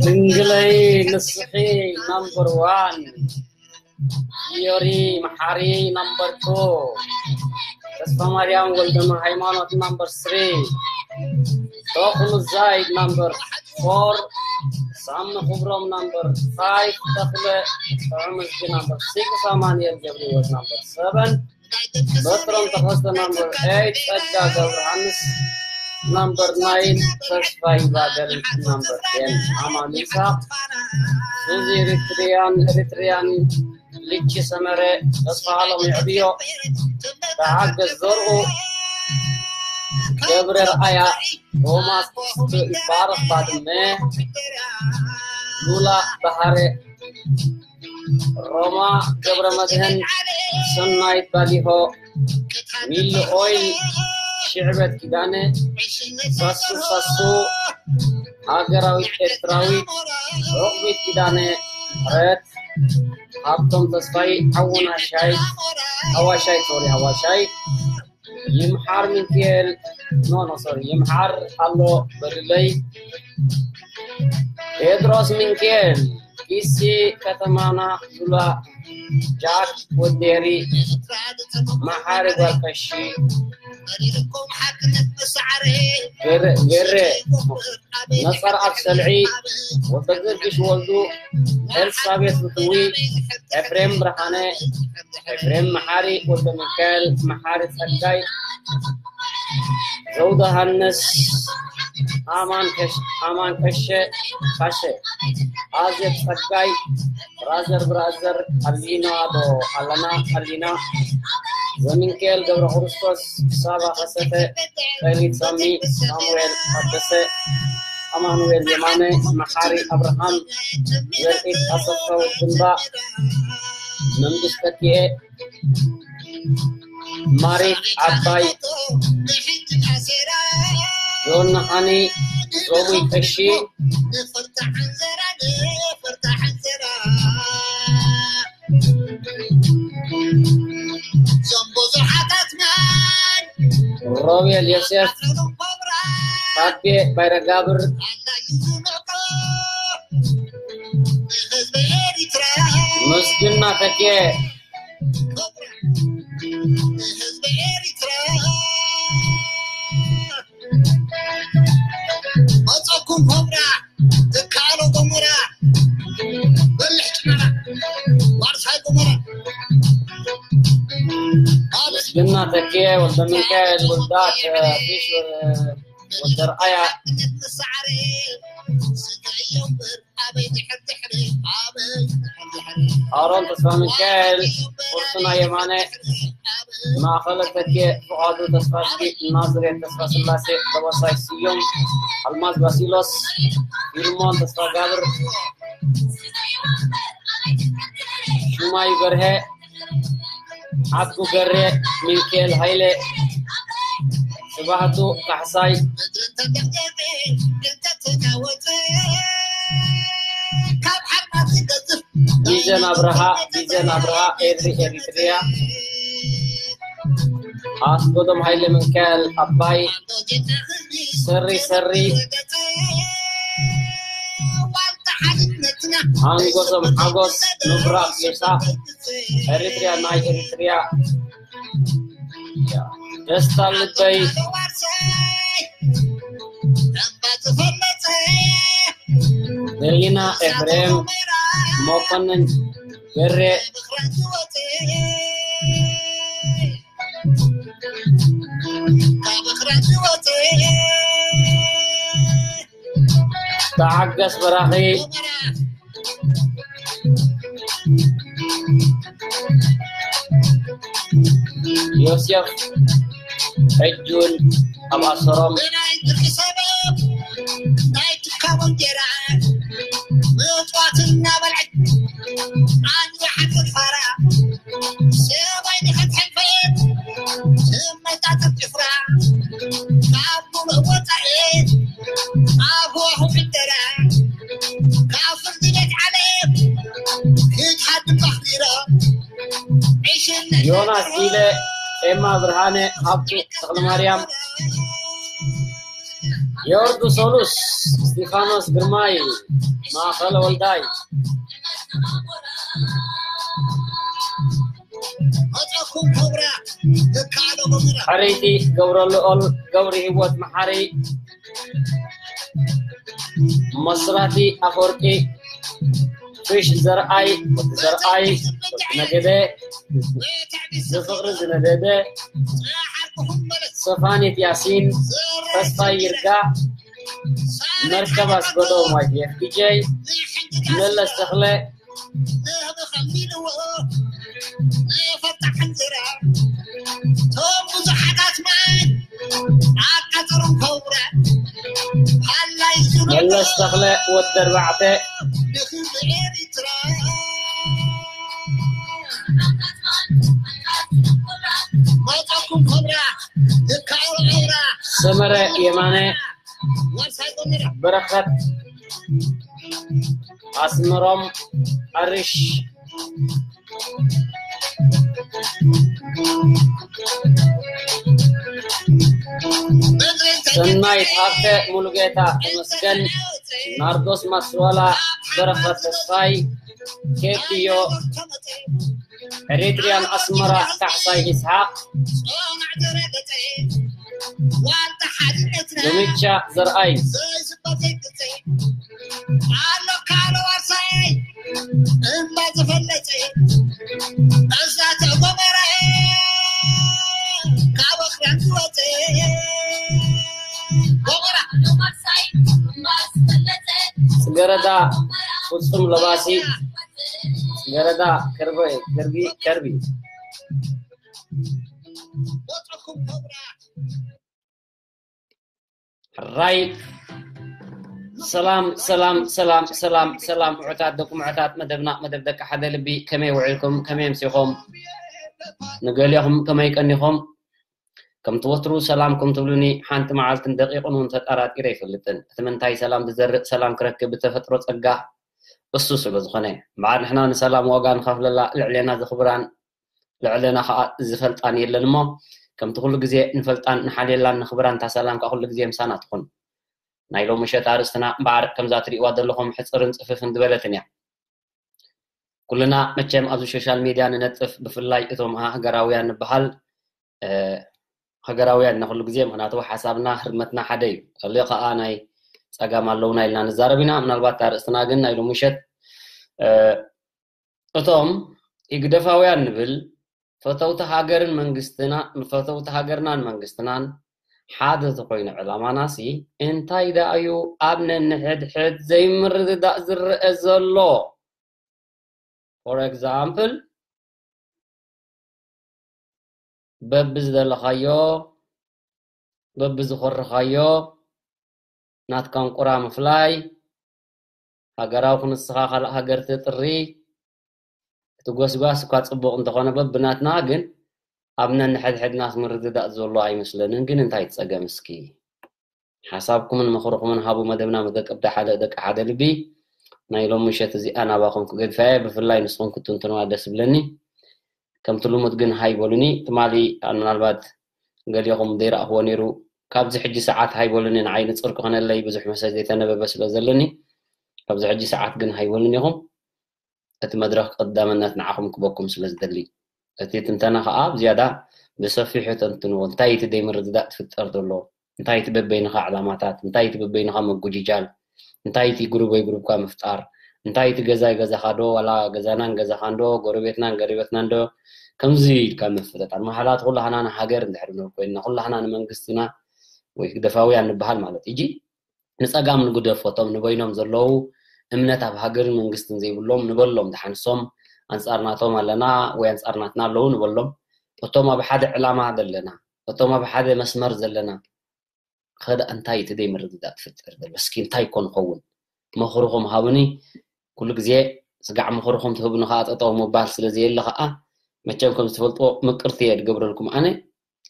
ድንግለይ ንስኺ ናምበር ዋን። ዮሪ መሓሪ ናምበር ቱ። ተስፋ ማርያም ወልደ ሃይማኖት ናምበር ስሪ። ቶኽሉ ዛይድ ናምበር ፎር። ሳሚ ክብሮም ናምበር ፋይቭ። ተኽለ ጥዑም እዝጊ ናምበር ሲክስ። ኣማኑኤል ገብረህይወት ናምበር ሰቨን። በትሮም ተኸስተ ናምበር ኤይት። ጸጋ ገብረሃንስ ናምበር ናይን። ተስፋ ይባገል ናምበር ቴን። ኣማን ይስሐቅ። ሱዚ ኤሪትሪያን፣ ኤሪትሪያን። ልቺ ሰመረ። ተስፋ ሃሎም የዕብዮ። ተሓገዝ ዘርኡ። ገብረ ርኣያ። ቶማስ ይባረኽ ባድመ። ሉላ ባህረ። ሮማ ገብረ መድህን። ሰናይት ባሊሆ። ሚሊ ኦይል። ሽዕበት ኪዳነ። ሳሱ ሳሱ። ሃገራዊት ኤርትራዊት። ሮክቢት ኪዳነ። ረት። ሃብቶም ተስፋይ። ሓውና ሻይ። ሃዋሻይ፣ ሶሪ፣ ሃዋሻይ። ይምሓር ሚካኤል። ኖ፣ ኖ፣ ሶሪ። ይምሓር ኣሎ በልለይ። ቴድሮስ ሚካኤል። ኪሲ ከተማና ዙላ። ጃክ ወዴሪ። መሓሪ ጓል ቀሺ። ገረ፣ ገረ። ነጸር ኣብ ሰልዒ። ወልደ ጊዮርጊስ ወልዱ። ኤልሳቤት ፍትዊ። ኤፍሬም ብርሃነ። ኤፍሬም መሓሪ። ወልደ ሚካኤል መሓሪ ጸጋይ። ዘውደ ሃንስ። ኣማን ከሽ-፣ ኣማን ቀሸ፣ ካሸ። ኣዜብ ጸጋይ። ብራዘር፣ ብራዘር፣ ኣሊና ዶ ኣለና? ኣሊና። ዘሚንካኤል ገብረ ክርስቶስ፣ ሳባ ከሰተ፣ ዳዊት ሳሚ፣ ሳሙኤል ታደሰ፣ ኣማኑኤል የማነ፣ መሓሪ ኣብርሃም፣ ዘርኢት ኣሰፋ፣ ግንባ፣ መንግስት ተኪኤ፣ ማሪት ዓባይ፣ ጆን መሓኒ፣ ዞሙይ ቀሺ። ሮቤል ዮሴፍ፣ ታቤ ባይረጋብር፣ ምስግና ተኬ። መጸኩም ኮብራ፣ ትካሎ ጎሞራ፣ በልሕ ጭመራ፣ ዋርሳይ ጎሞራ። ምስግና ተኬ፣ ወልደ ሚካኤል፣ ውልዳት፣ ፊሽ፣ ወልደ ርኣያ። ኣሮን ተስፋ ሚካኤል፣ ቁርሱና የማነ፣ ማእኸለ ተኬ፣ ፍቓዱ ተስፋዝጊ፣ ናዝሬት ተስፋ ስላሴ፣ ደበሳይ ስዩም፣ ኣልማዝ ባሲሎስ፣ ፊልሞን ተስፋ ጋብር፣ ሹማይ በርሀ፣ ዓዱ ገሬ፣ ሚካኤል ሃይለ፣ ስባህቱ ካሕሳይ፣ ቢዘን ኣብርሃ፣ ቢዘን ኣብርሃ፣ ኤሪ ኤሪትሪያ፣ ኣስጎዶም ሃይለ፣ ሚካኤል ኣባይ፣ ሰሪ ሰሪ፣ ሓንጎሶም ሓጎስ፣ ምብራቕ ሜሳ፣ ኤሪትሪያ ናይ ኤሪትሪያ፣ ደስታ ልበይ፣ ደሊና ኤፍሬም፣ መኮንን ገሬ፣ ተዓገስ በራኺ፣ ዮሴፍ ሕጂ እውን ኣብ ኣሰሮም። ብናይ ብርቂ ሰበብ ናይ ትካቦ እንጀራ ምጽዋት እናበልዐት ኣንዋሓት ፋራ ሰባይ ንኸትሕልፈት ትመጣጠር ጭፍራ ካብ ሙሉእ ወፃኢ ኣብ ህዋኹ ዕደራ ካብ ፍርዲ ዮናስ ኢለ፣ ኤማ ብርሃነ፣ ሃብቱ ተኽለማርያም፣ ዮርዱ ሶሉስ፣ እስጢፋኖስ ግርማይ፣ ማእኸለ ወልዳይ፣ መጻኩም ኮብራ፣ ደካ ዓለሙ ምራ። ሕርይቲ ገብረልኦል፣ ገብሪ ህይወት መሓሪ፣ መስራቲ ኣፈወርቂ፣ ፊሽ ዘርኣይ፣ ወዲ ዘርኣይ፣ ወዲ ነገደ፣ ዝፍቕሪ ዝነደደ፣ ሰፋኒት ያሲን፣ ተስፋይ ይርጋ፣ መርከብ ኣስገዶም ዋይ ዲ ኤፍ ዲ ጀይ፣ መለስ ተኽለ፣ መለስ ተኽለ ወዲ ኣርባዕተ፣ ሰመረ የማነ፣ በረኸት ኣስመሮም፣ ኣርሽ ሰናይት ሃብተ፣ ሙሉጌታ ተመስገን፣ ናርዶስ ማስዋላ፣ በረኸት ተስፋይ፣ ኬድዮ፣ ኤሪትሪያን ኣስመራ፣ ካሕሳይ ይስሓቕ፣ ሉሚቻ ዘርኣይ፣ ጽገረዳ ፍጹም ለባሲ፣ ጽገረዳ ከርቢ፣ ከርቢ፣ ከርቢ። ሕራይ። ሰላም፣ ሰላም፣ ሰላም፣ ሰላም፣ ሰላም፣ ምዑታት ደቂ ምዑታት መደብና፣ መደብ ደቂ ሓደ ልቢ፣ ከመይ ውዒልኩም? ከመይ ኣምሲኹም? ንገሊኹም ከመይ ቀኒኹም? ከምቲ ወትሩ ሰላምኩም ትብሉኒ፣ ሓንቲ መዓልትን ደቂቕን እውን ተጠራጢረ ኣይፈልጥን። እቲ ምንታይ ሰላም ዝዘርእ፣ ሰላም ክረክብ ብተፈጥሮ ጸጋ እሱ ስለ ዝኾነ። እምበኣር ንሕና ንሰላም ዋጋ ንኸፍለላ፣ ልዕሌና ዘኽብራን ልዕሌና ኸኣ ዝፈልጣን የለን እሞ፣ ከምቲ ኩሉ ግዜ ንፈልጣን ንሓልየላን ንኽብራን፣ እታ ሰላም ከኣ ኩሉ ግዜ ምሳና ትኹን። ናይ ሎሚ ምሸት ኣርእስትና እምበኣር ከምዛ ትርእይዋ ዘለኹም ሕጽርን ጽፍፍን ዝበለትን እያ። ኩልና መቸም ኣብዚ ሶሻል ሜድያ ንነጥፍ፣ ብፍላይ እቶም ሃገራውያን ንበሃል፣ እ፣ ሃገራውያን ኢና ኩሉ ግዜ፣ ምኽንያቱ ሓሳብና ህርመትና ሓደ እዩ። ገለ ኸኣ ናይ ጸጋም ኣለውና ኢልና ንዛረብ ኢና። ምናልባት ኣርእስትና ግን ናይ ሎሚ ምሸት፣ እ፣ እቶም ኢግደፋውያን ንብል፣ ፈተውቲ ሃገርን መንግስትና፣ ፈተውቲ ሃገርናን መንግስትናን ሓደ ተኾይኑ ዕላማናሲ፣ እንታይ ደኣ እዩ ኣብ ነንሕድሕድ ዘይምርድዳእ ዝረአ ዘሎ? For example፣ በብዝደለኻዮ፣ በብዝኾርኻዮ ናትካ እንቁራ ምፍላይ፣ ሃገራዊ ክንስኻ ካልእ ሃገር ትጥሪ፣ እቲ ጎስጓስ እኳ ጽቡቕ እንተኾነ በብናትና ግን ኣብ ነንሕድሕድናስ ምርድዳእ ዘሎ ኣይመስለንን። ግን እንታይ ትጸገም እስኪ? ሓሳብኩምን ምኽርኹምን ሃቡ። መደብና መደቀብታ ሓደ ደቂ ሓደ ልቢ ናይ ሎሚ ምሸት እዚኣ ናባኹም ክገድፋ እየ። ብፍላይ ንስኹም ክትትንትንዋ ደስ ይብለኒ። ከምቲ ልሙድ ግን ሃይ በሉኒ። ትማሊ ምናልባት ገሊኹም ዘይረኣኽዎ ነይሩ። ካብዚ ሕጂ ሰዓት ሃይ በሉኒ፣ ንዓይ ንጹር ክኾነለይ ብዙሕ መሰጅ ዘይተነበበ ስለ ዘለኒ፣ ካብዚ ሕጂ ሰዓት ግን ሃይ በሉኒ ኢኹም። እቲ መድረኽ ቀዳምነት ንዓኹም ክበኩም ስለ ዝደሊ፣ እቲ ትንተና ኸኣ ብዝያዳ ብሰፊሑ ተንትንዎ። እንታይ እቲ ዘይምርድዳእ ትፍጠር ዘሎ? እንታይ እቲ በበይንኻ ዕላማታት? እንታይ እቲ በበይንኻ መጉጅጃል? እንታይ እቲ ግሩበይ ግሩብካ ምፍጣር? እንታይ እቲ ገዛይ ገዛኻ ዶ፣ ዋላ ገዛናን ገዛኻን ዶ፣ ጎረቤትናን ገረቤትናን ዶ፣ ከምዚ ኢልካ ምፍልጣር? መሓላት ኩላህና ንሃገር እንድሕር ንብል ኮይንና፣ ኩላህና ንመንግስትና ወይ ግደፋውያን ንበሃል ማለት እዩ። ንጸጋም ንግደፎ፣ እቶም ንበይኖም ዘለዉ እምነት ኣብ ሃገርን መንግስትን ዘይብሎም ንበሎም፣ ደሓንሶም ኣንጻር ናቶም ኣለና ወይ ኣንጻር ናትና ኣለዉ ንበሎም። እቶም ኣብ ሓደ ዕላማ ዘለና፣ እቶም ኣብ ሓደ መስመር ዘለና፣ ኸ ደኣ እንታይ እቲ ዘይምርድዳእ ትፍጠር ዘሎ? እስኪ እንታይ ኮን ኸውን? ምኽርኹም ሃቡኒ። ኩሉ ግዜ ስጋዕ ምኽርኹም ትህቡኒ ኸኣ ጠጠው ምባል ስለ ዘየለ ኸኣ፣ መቸም ከም ዝትፈልጥዎ ምቅርቲ እየ ድገብረልኩም ኣነ።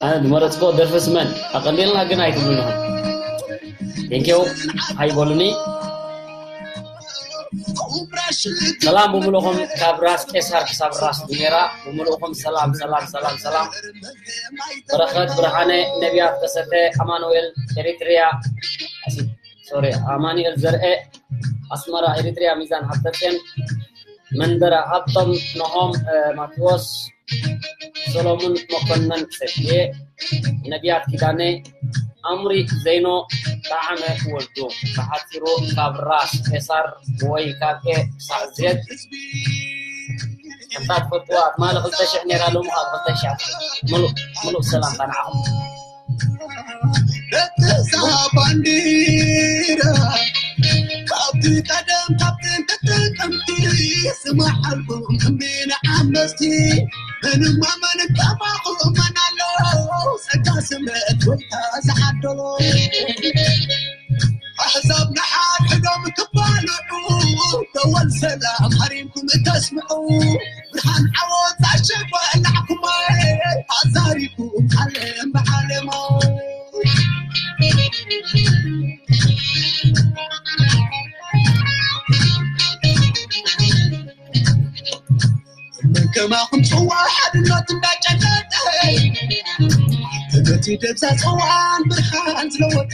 ኣነ ዝመረጽክዎ ደርፊ ስመን ኣቐሊልና ግን ኣይትብሉን ኢኹም። ቴንኪው፣ ሃይ በሉኒ። ሰላም ብምልኡኹም ካብ ራስ ቄሳር ክሳብ ራስ ዱሜራ ብምልኡኹም ሰላም ሰላም ሰላም ሰላም። በረኸት ብርሃነ፣ ነቢያት ከሰተ፣ ኣማኑኤል ኤሪትሪያ፣ ሶሪ፣ ኣማኑኤል ዘርኤ ኣስመራ ኤሪትሪያ፣ ሚዛን ሃብተፅዮን መንበረ ሃብቶም፣ ኖሆም ማቴዎስ፣ ሰሎሙን መኮነን፣ ሰብየ ነቢያት ኪዳነ፣ ኣምሪ ዘይኖ፣ ጣዕመ ወልዱ፣ ብሓፂሩ ካብ ራስ ቄሳር ወይ ካብ ኤ ክሳዕ ዜድ። ከምታ ትፈልጥዋ ትማሊ ክልተ ሽሕ ነይራ፣ ሎሚ ካብ ክልተ ሽሕ። ምሉእ ምሉእ ሰላምታ ንዓኹም። ደቅሳ ባንዲራ ካብቲ ቀደም ካብ ጥንቲ ጥቅምቲ ዝመሓልኩም እምቢ ንዓመስቲ ምንም ኣመን ከማኹም መን ኣሎ ጸጋ ስምረት ወይታ ዝዓደሎ ኣሕዛብ ንሓድሕዶም ክባልዑ ደወል ሰላም ሃሪምኩም እተስምዑ ብርሃን ዓወት ኣሸበላዕኩማ ኣዛሪኩም ዓለም ብዓለሞ መን ከማኹም ጽዋ ሓድነት እንዳጨለጠ ነቲ ደብዛ ጽዋን ብርሃን ዝለወጠ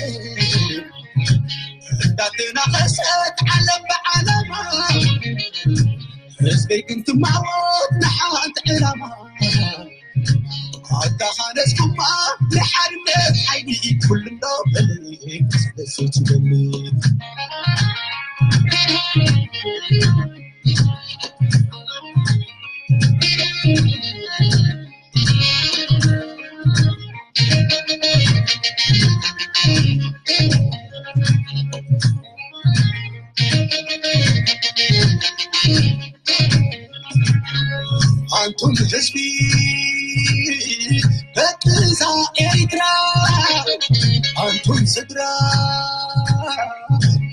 እንዳተናኸሰት ዓለም ብዓለማ ህዝበይ ግን ትማወት ንሓንቲ ዕላማ ኣተኻነስኩማ ንሓድነት ሓይሊ ኩልና በሊ ስለሰይትበሊ ኣንቱም ህዝቢ ደቅዛ ኤሪትራ ኣንቱም ስድራ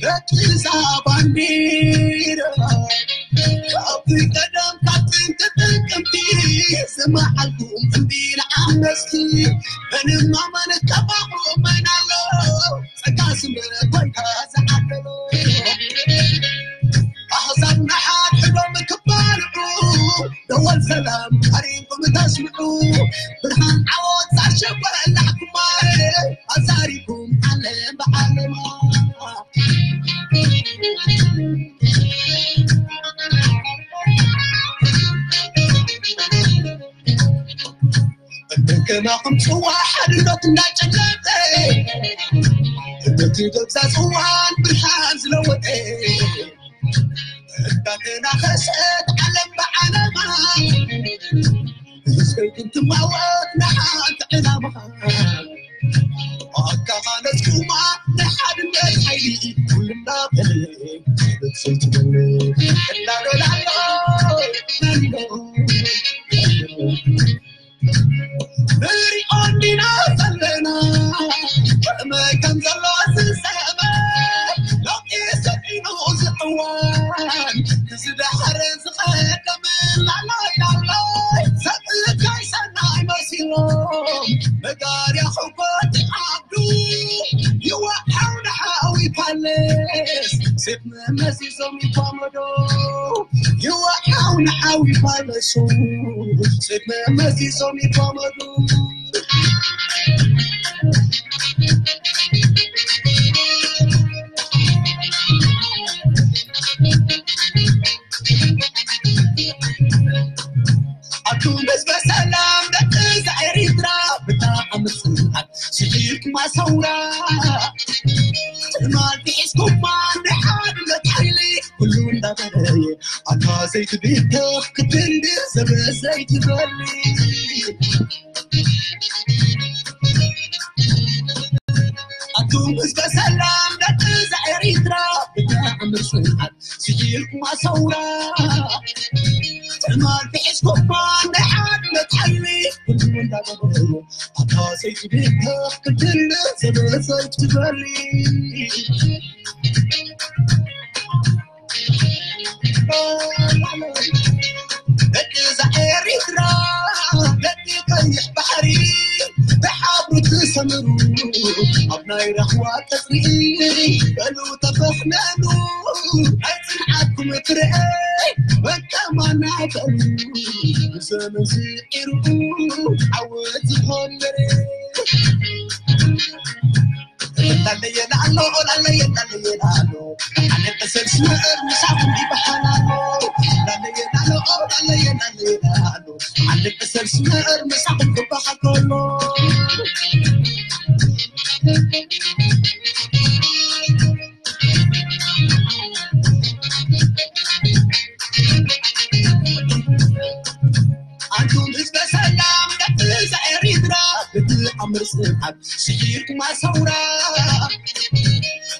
ደቅዛ ባንዲራ ካብ ቀደም ካብ ጥንቲ ጥቅምቲ ዝመሓልኩም እምቢ ንዓመስቲ ምንም ኣመን ከማኹም መን ኣሎ ጸጋ ስምረት ወይታ ዝዓደሎ ኣሕዛብ ንሓድሕዶም ክባልዑ ደወል ሰላም ሃሪምኩም ተስምዑ ብርሃን ዓወት ኣሸበላዕኩማ ኣዛሪኩም ዓለም ብዓለማ እንደገናኹም ጽዋ ሓድነት እንዳጨለጠ ነቲ ገብዛ ጽዋን ብርሃን ዝለወጠ እንዳተናኸሰት ዓለም ብዓለማ ህዝበይ ክንትማወት ንሓንቲ ዕላማ ኣካኻነስኩማ ንሓድነት ሓይሊ ኩልና በለ ሰይትበለ እናበላሎ ንሪኦ እንዲና ዘለና ከመይ ከም ዘሎ ዝሰመ ለውጢ ሰኢኑ ዝዕዋን ክዝዳሕረ ዝቐደመ ላላይ ላላይ ሰብእካይ ሰናይ መሲሎም መጋርያ ሕጎቲ ዓብዱ ይወሓው ንሓዊ ፓሌስ ሴፍ መመሲሶም ይኳመዶ ይወሓው ንሓዊ ፓለሱ ሴፍ መመሲሶም ይኳመዱ ኣቱም ህዝበ ሰላም ደቂ ዛ ኤሪትራ ብጣዕሚ ጽንዓት ስዒርኩም ኣሰውራ ትማል ሒዝኩማ ንሓድነት ሓይሊ ኩሉ እንዳበረየ ኣታ ዘይትብተኽ ክትንድር ዘበ ዘይትበሊ ኣቱም ህዝበ ሰላም ደቂ ዛ ኤሪትራ ብጣዕሚ ጽንዓት ስዒርኩም ኣሰውራ ትማል ሒዝኩማ ናይ ሓድነት ሓይሊ ኩሉ እንዳገበሩ ኣታ ዘይትብተኽ ክትንድር ዘበ ዘይትበሊ ደቂ ዛ ኤሪትራ ደቂ ቀይሕ ባሕሪ ብሓብሩ ትሰምሩ ኣብ ናይ ራህዋ ቀጽሪ በሉ ተፈሕነኑ ናይ ጽንዓትኩም ትርአ በቃ ማናተን ብዘመን ስዒሩ ዓወት ዝኾነረ ላለየ ላሎ ላለየ ላለየ ላሎ ኣነ ቀሰል ስመር ምሳኹም ይበሃላሎ ላለየ ላሎ ላለየ ላለየ ላሎ ኣነ ቀሰል ስመር ምሳኹም ክበሃል ከሎ ኣንቱም ህዝበ ሰላም ደቂ ኤሪትራ ብትኣምር ጽንዓት ስዒርኩም ኣሰውራ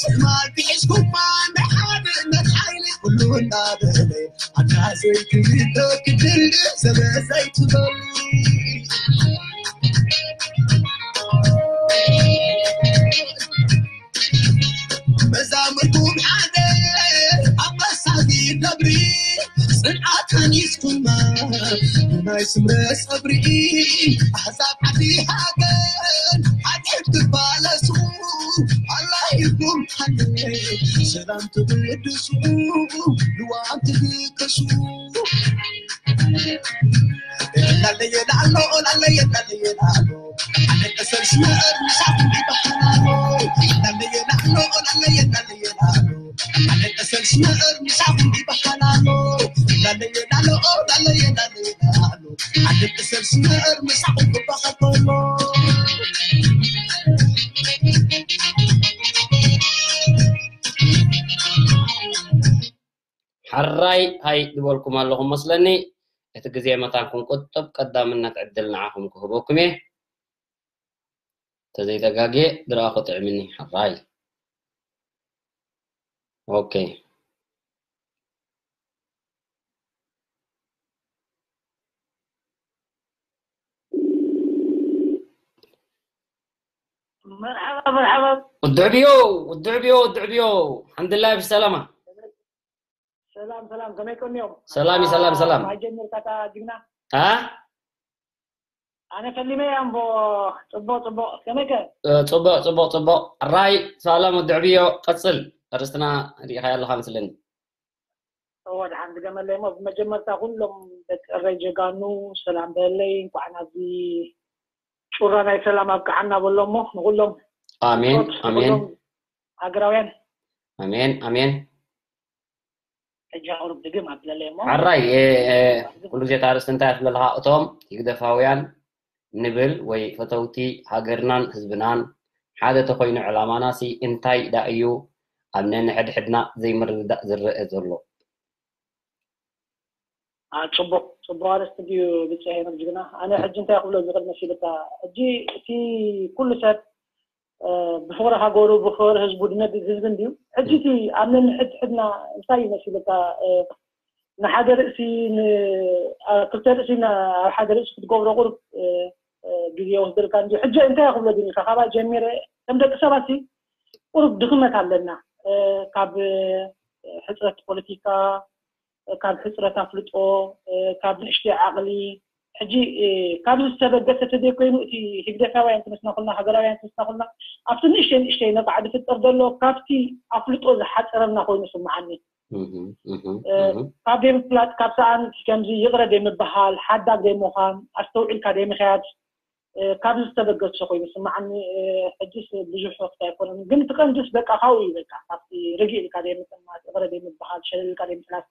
ትማል ክሒዝኩማ ናይ ሓድነት ሓይሊ ኩሉ እንዳበለ ኣታ ዘይትብሎ ክድል ዘበ ዘይትበሉ መዛምርኩም ሓደ ኣብ መሳጊድ ነብሪ ጽንዓት ከኒስኩማ ብናይ ስምረ ጸብሪ ኣሕዛብ ዓዲ ሃገር ሓጢኣት ትባለሱ ኣላሂኩም ሓደ ሰላም ትብድሱ ልዋም ትብከሱ ላለየ ላሎ ላለየ ላለየ ላሎ ኣነ ቀሰል ስመር ምሳኹም ይበሃላሎ ላለየ ላሎ ላለየ ላለየ ላሎ ኣነ ቀሰል ስመር ምሳኹም ይበሃላሎ ላለየ ላሎ ላለየ ላለየ ላሎ ኣነ ቀሰል ስመር ምሳኹም ክበሃል ከሎ ሓራይ ሃይ ዝበልኩም ኣለኹም መስለኒ። እቲ ግዜ መታን ክንቁጥብ ቀዳምነት ዕድል ንዓኹም ክህበኩም እየ። ተዘይተጋግየ ድረኣ ክጥዕምኒ ሓራይ። ኦኬ። መርሓባ መርሓባ። ውድዕ ብዮ ውድዕ ብዮ ውድዕ ብዮ ሓምድላይ ብሰላማ። ሰላም ሰላም፣ ከመይ ቀኒዮም? ሰላም እዩ፣ ሰላም፣ ሰላም። ማይ ጀሚርካ እታ ጅግና? አ? ኣነ ፈሊመ እያ እምቦ። ጽቡቕ ጽቡቕ፣ ከመይ ከ? እ፣ ጽቡቕ ጽቡቕ ጽቡቕ። ራይ ሰላም ወዲ ዕብዮ፣ ቀጽል። ኣርእስትና ርኢኻዮ ኣለኻ መስለኒ። እወ፣ ደሓን ድገመለይ እሞ፣ ብመጀመርታ ኩሎም ደቂ እረይ ጀጋኑ ሰላም በለለይ። እንኳዕ ናብዚ ጩራ ናይ ሰላም ኣብቅዓና በሎ እሞ፣ ንኹሎም ኣሜን፣ ብጾት ኣሜን። ንኹሎም ሃገራውያን። ኣሜን፣ ኣሜን። ሕጂ ኣቕርብ ድግም ኣብለለይ እሞ። ዓራይ፣ እ፣ እ፣ ኩሉ ግዜ እታ ኣርእስቲ እንታይ እያ ትብለለኻ? እቶም ህግደፋውያን ንብል ወይ ፈተውቲ ሃገርናን ህዝብናን ሓደ ተኾይኑ ዕላማናሲ እንታይ ደኣ እዩ ኣብ ነንሕድሕድና ዘይምርድዳእ ዝረአ ዘሎ? አ፣ ጽቡቕ፣ ጽቡቕ ኣርእስቲ ድዩ ብጻይ ሄኖክ ጅግና? ኣነ ሕጂ እንታይ ክብሎ ዝኽእል መሲልካ? ሕጂ እቲ ኩሉ ሰብ እ፣ ብፍቕሪ ሃገሩ፣ ብፍቕሪ ህዝቡ ድነግድ ህዝቢ እንድዩ። ሕጂ እቲ ኣብ ነንሕድሕድና እንታይ እዩ መሲልካ? እ፣ ንሓደ ርእሲ፣ ን-፣ ኣ-፣ ክልተ ርእሲ ና-፣ ኣብ ሓደ ርእሲ ክትገብሮ ቁሩብ፣ እ፣ እ፣ ግዜ ይወስደልካ እንድዩ። ሕጂ እንታይ ክብሎ ድንካ? ካባይ ጀሚረ፣ ከም ደቂ ሰባት ሲ ቁሩብ ድኽመት ኣለና። እ፣ ካብ፣ እ፣ ሕጽረት ፖለቲካ፣ ካብ ሕጽረት ኣፍልጦ፣ ካብ ንእሽተይ ዓቕሊ፣ ሕጂ ካብዚ ዝተበገሰ ተዘይኮይኑ እቲ ህግደፋውያን ክነስና ኩልና ሃገራውያን ክነስና ኩልና ኣብቲ ንእሽተይ ንእሽተይ ነቃዕ ዝፍጠር ዘሎ ካብቲ ኣፍልጦ ዝሓፀረና ኮይኑ ስምዓኒ። ካብ ዘይምፍላጥ ካብ ሰኣን ከምዚ ይቕረ ዘይምበሃል ሓዳግ ዘይምዃን ኣስተውዒልካ ዘይምኽያድ ካብዚ ዝተበገሰ ኮይኑ ስምዓኒ። ሕጅስ ብዙሕ ወቅቲ ኣይኮነን ግን እቲ ቀንድስ በቃ ካብኡ እዩ በቃ ካብቲ ርግእ ኢልካ ዘይምጥማት ይቕረ ዘይምበሃል ሸለል ኢልካ ዘይምሕላፍ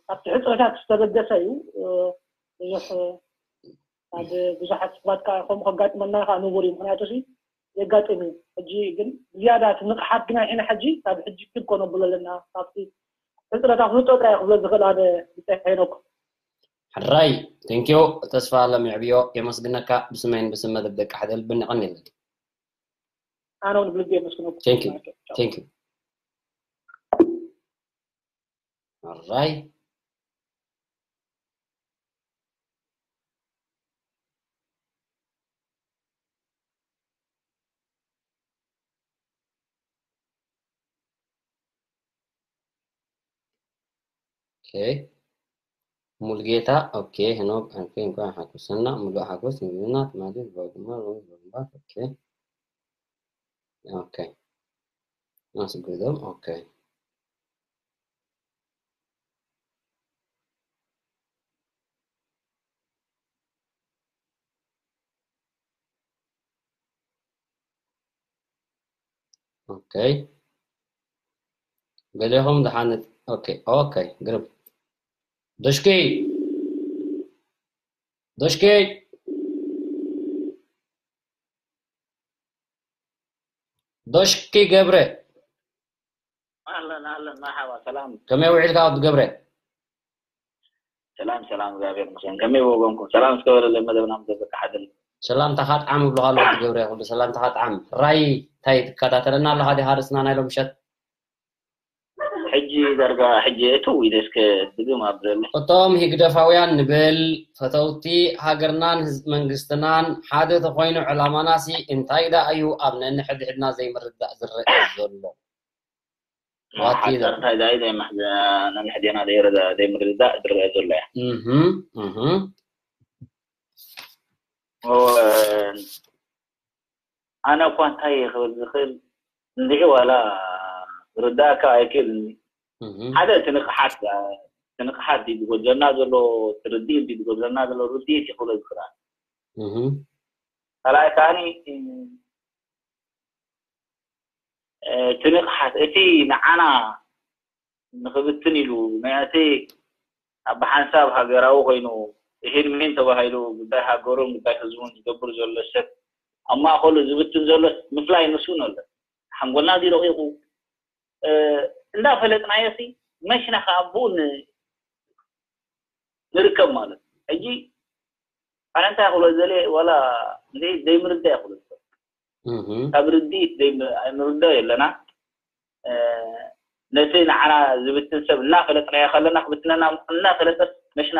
ካብቲ ሕፅረታት ዝተበገሰ እዩ። ብዙሕ ካብ ብዙሓት ሰባት ከዓ ከምኡ ከጋጥመና ከዓ ንቡር እዩ። ምክንያቱ ሲ የጋጥም እዩ። ሕጂ ግን ዝያዳ እቲ ንቕሓት ግና ሕና ሕጂ ካብ ሕጂ ክብ ኮነ ብሎ ኣለና ካብቲ ሕፅረት ኣፍልጦ ጥራይ ክብሎ ዝኽእል ኣነ ብፀ ሄኖክ። ሕራይ ቴንኪዮ ተስፋ ለሚዕብዮ የመስግነካ ብስመይን ብስም መደብ ደቂ ሓደ ልብኒ ቀኒለኒ። ኣነ እውን ብልቢ የመስግነኩም። Thank you. Thank you. All right. Okay. ሙልጌታ ኦኬ ሄኖክ ኣንፌ እንኳን ሓጎሰና ሙሉእ ሓጎስ ንህዝብና ትማሊ ዝባጉማ ሮም ሮምባት ኦኬ ኦኬ ኣስግዶም ኦኬ ኦኬ፣ ገሌኹም ደሓነት። ኦኬ፣ ኦኬ፣ ግርም። ዶሽኪ፣ ዶሽኪ፣ ዶሽኪ ገብረ። ኣለን ኣለን፣ መርሓባ፣ ሰላም። ከመይ ውዒልካ ወዲ ገብረ? ሰላም ሰላም፣ እግዚኣብሔር ይመስገን። ከመይ ወገንኩም? ሰላም እስከ በለለይ መደብና፣ መደብ በቃ ሓደል። ሰላምታኻ ጥዓም እብለኻ ኣሎ ወዲ ገብረ። ኩሉ ሰላምታኻ ጥዓም። ራይ እንታይ ትከታተለና ኣለኻ ዲኻ? ርእስና ናይ ሎም ምሸት ሕጂ ዳርጋ ሕጂ እትው ኢለ እስከ ድግም ኣብለለይ። እቶም ህግደፋውያን ንብል ፈተውቲ ሃገርናን ህዝቢ መንግስትናን ሓደ ተኾይኑ ዕላማናሲ እንታይ ደኣ እዩ ኣብ ነንሕድሕድና ዘይምርዳእ ዝረአ ዘሎ? What is ሓዳር it? እንታይ ዳይ ዘይማሕዘ ነንሕድሕድና ዘይረዳ ዘይምርዳእ ዝረአ ዘሎ እያ። እህም፣ እህም። ኦ፣ ኣነ እኳ እንታይ እየ ክብል ዝኽእል እንድዒ ዋላ ርዳእካ ኣይክእልን። እህም። ሓደ እቲ ንቕሓት እቲ ንቕሓት ድዩ ዝጎድለና ዘሎ፣ እቲ ርድኢት ድዩ ዝጎድለና ዘሎ፣ ርድኢት ይኽብሎ ዝኽእል። እህም። ካልኣይ ከዓኒ እቲ ንቕሓት እቲ ንዓና ንኽብትን ኢሉ ነቲ ኣብ ሓንሳብ ሃገራዊ ኮይኑ፣ ይሄን ሜን ተባሂሉ ጉዳይ ሃገሩን ጉዳይ ህዝቡን ዝገብር ዘሎ ሰብ ኣብ ማእኸሉ ዝብትን ዘሎ ምፍላይ ንሱ ነሎ። ሓንጎልና እዚ ረቂቑ እንዳፈለጥናዮ ሲ መሽና ከዓ ኣብኡ ንርከብ ማለት እዩ። ሕጂ ኣነ እንታይ ክብሎ ዘለ ዋላ ዘይምርዳ ይኽብሎ፣ ካብ ርድኢት ኣይንርዳእ የለና። ነቲ ንዓና ዝብትን ሰብ እናፈለጥናዮ ከለና ክብትነና እናፈለጠ መሽና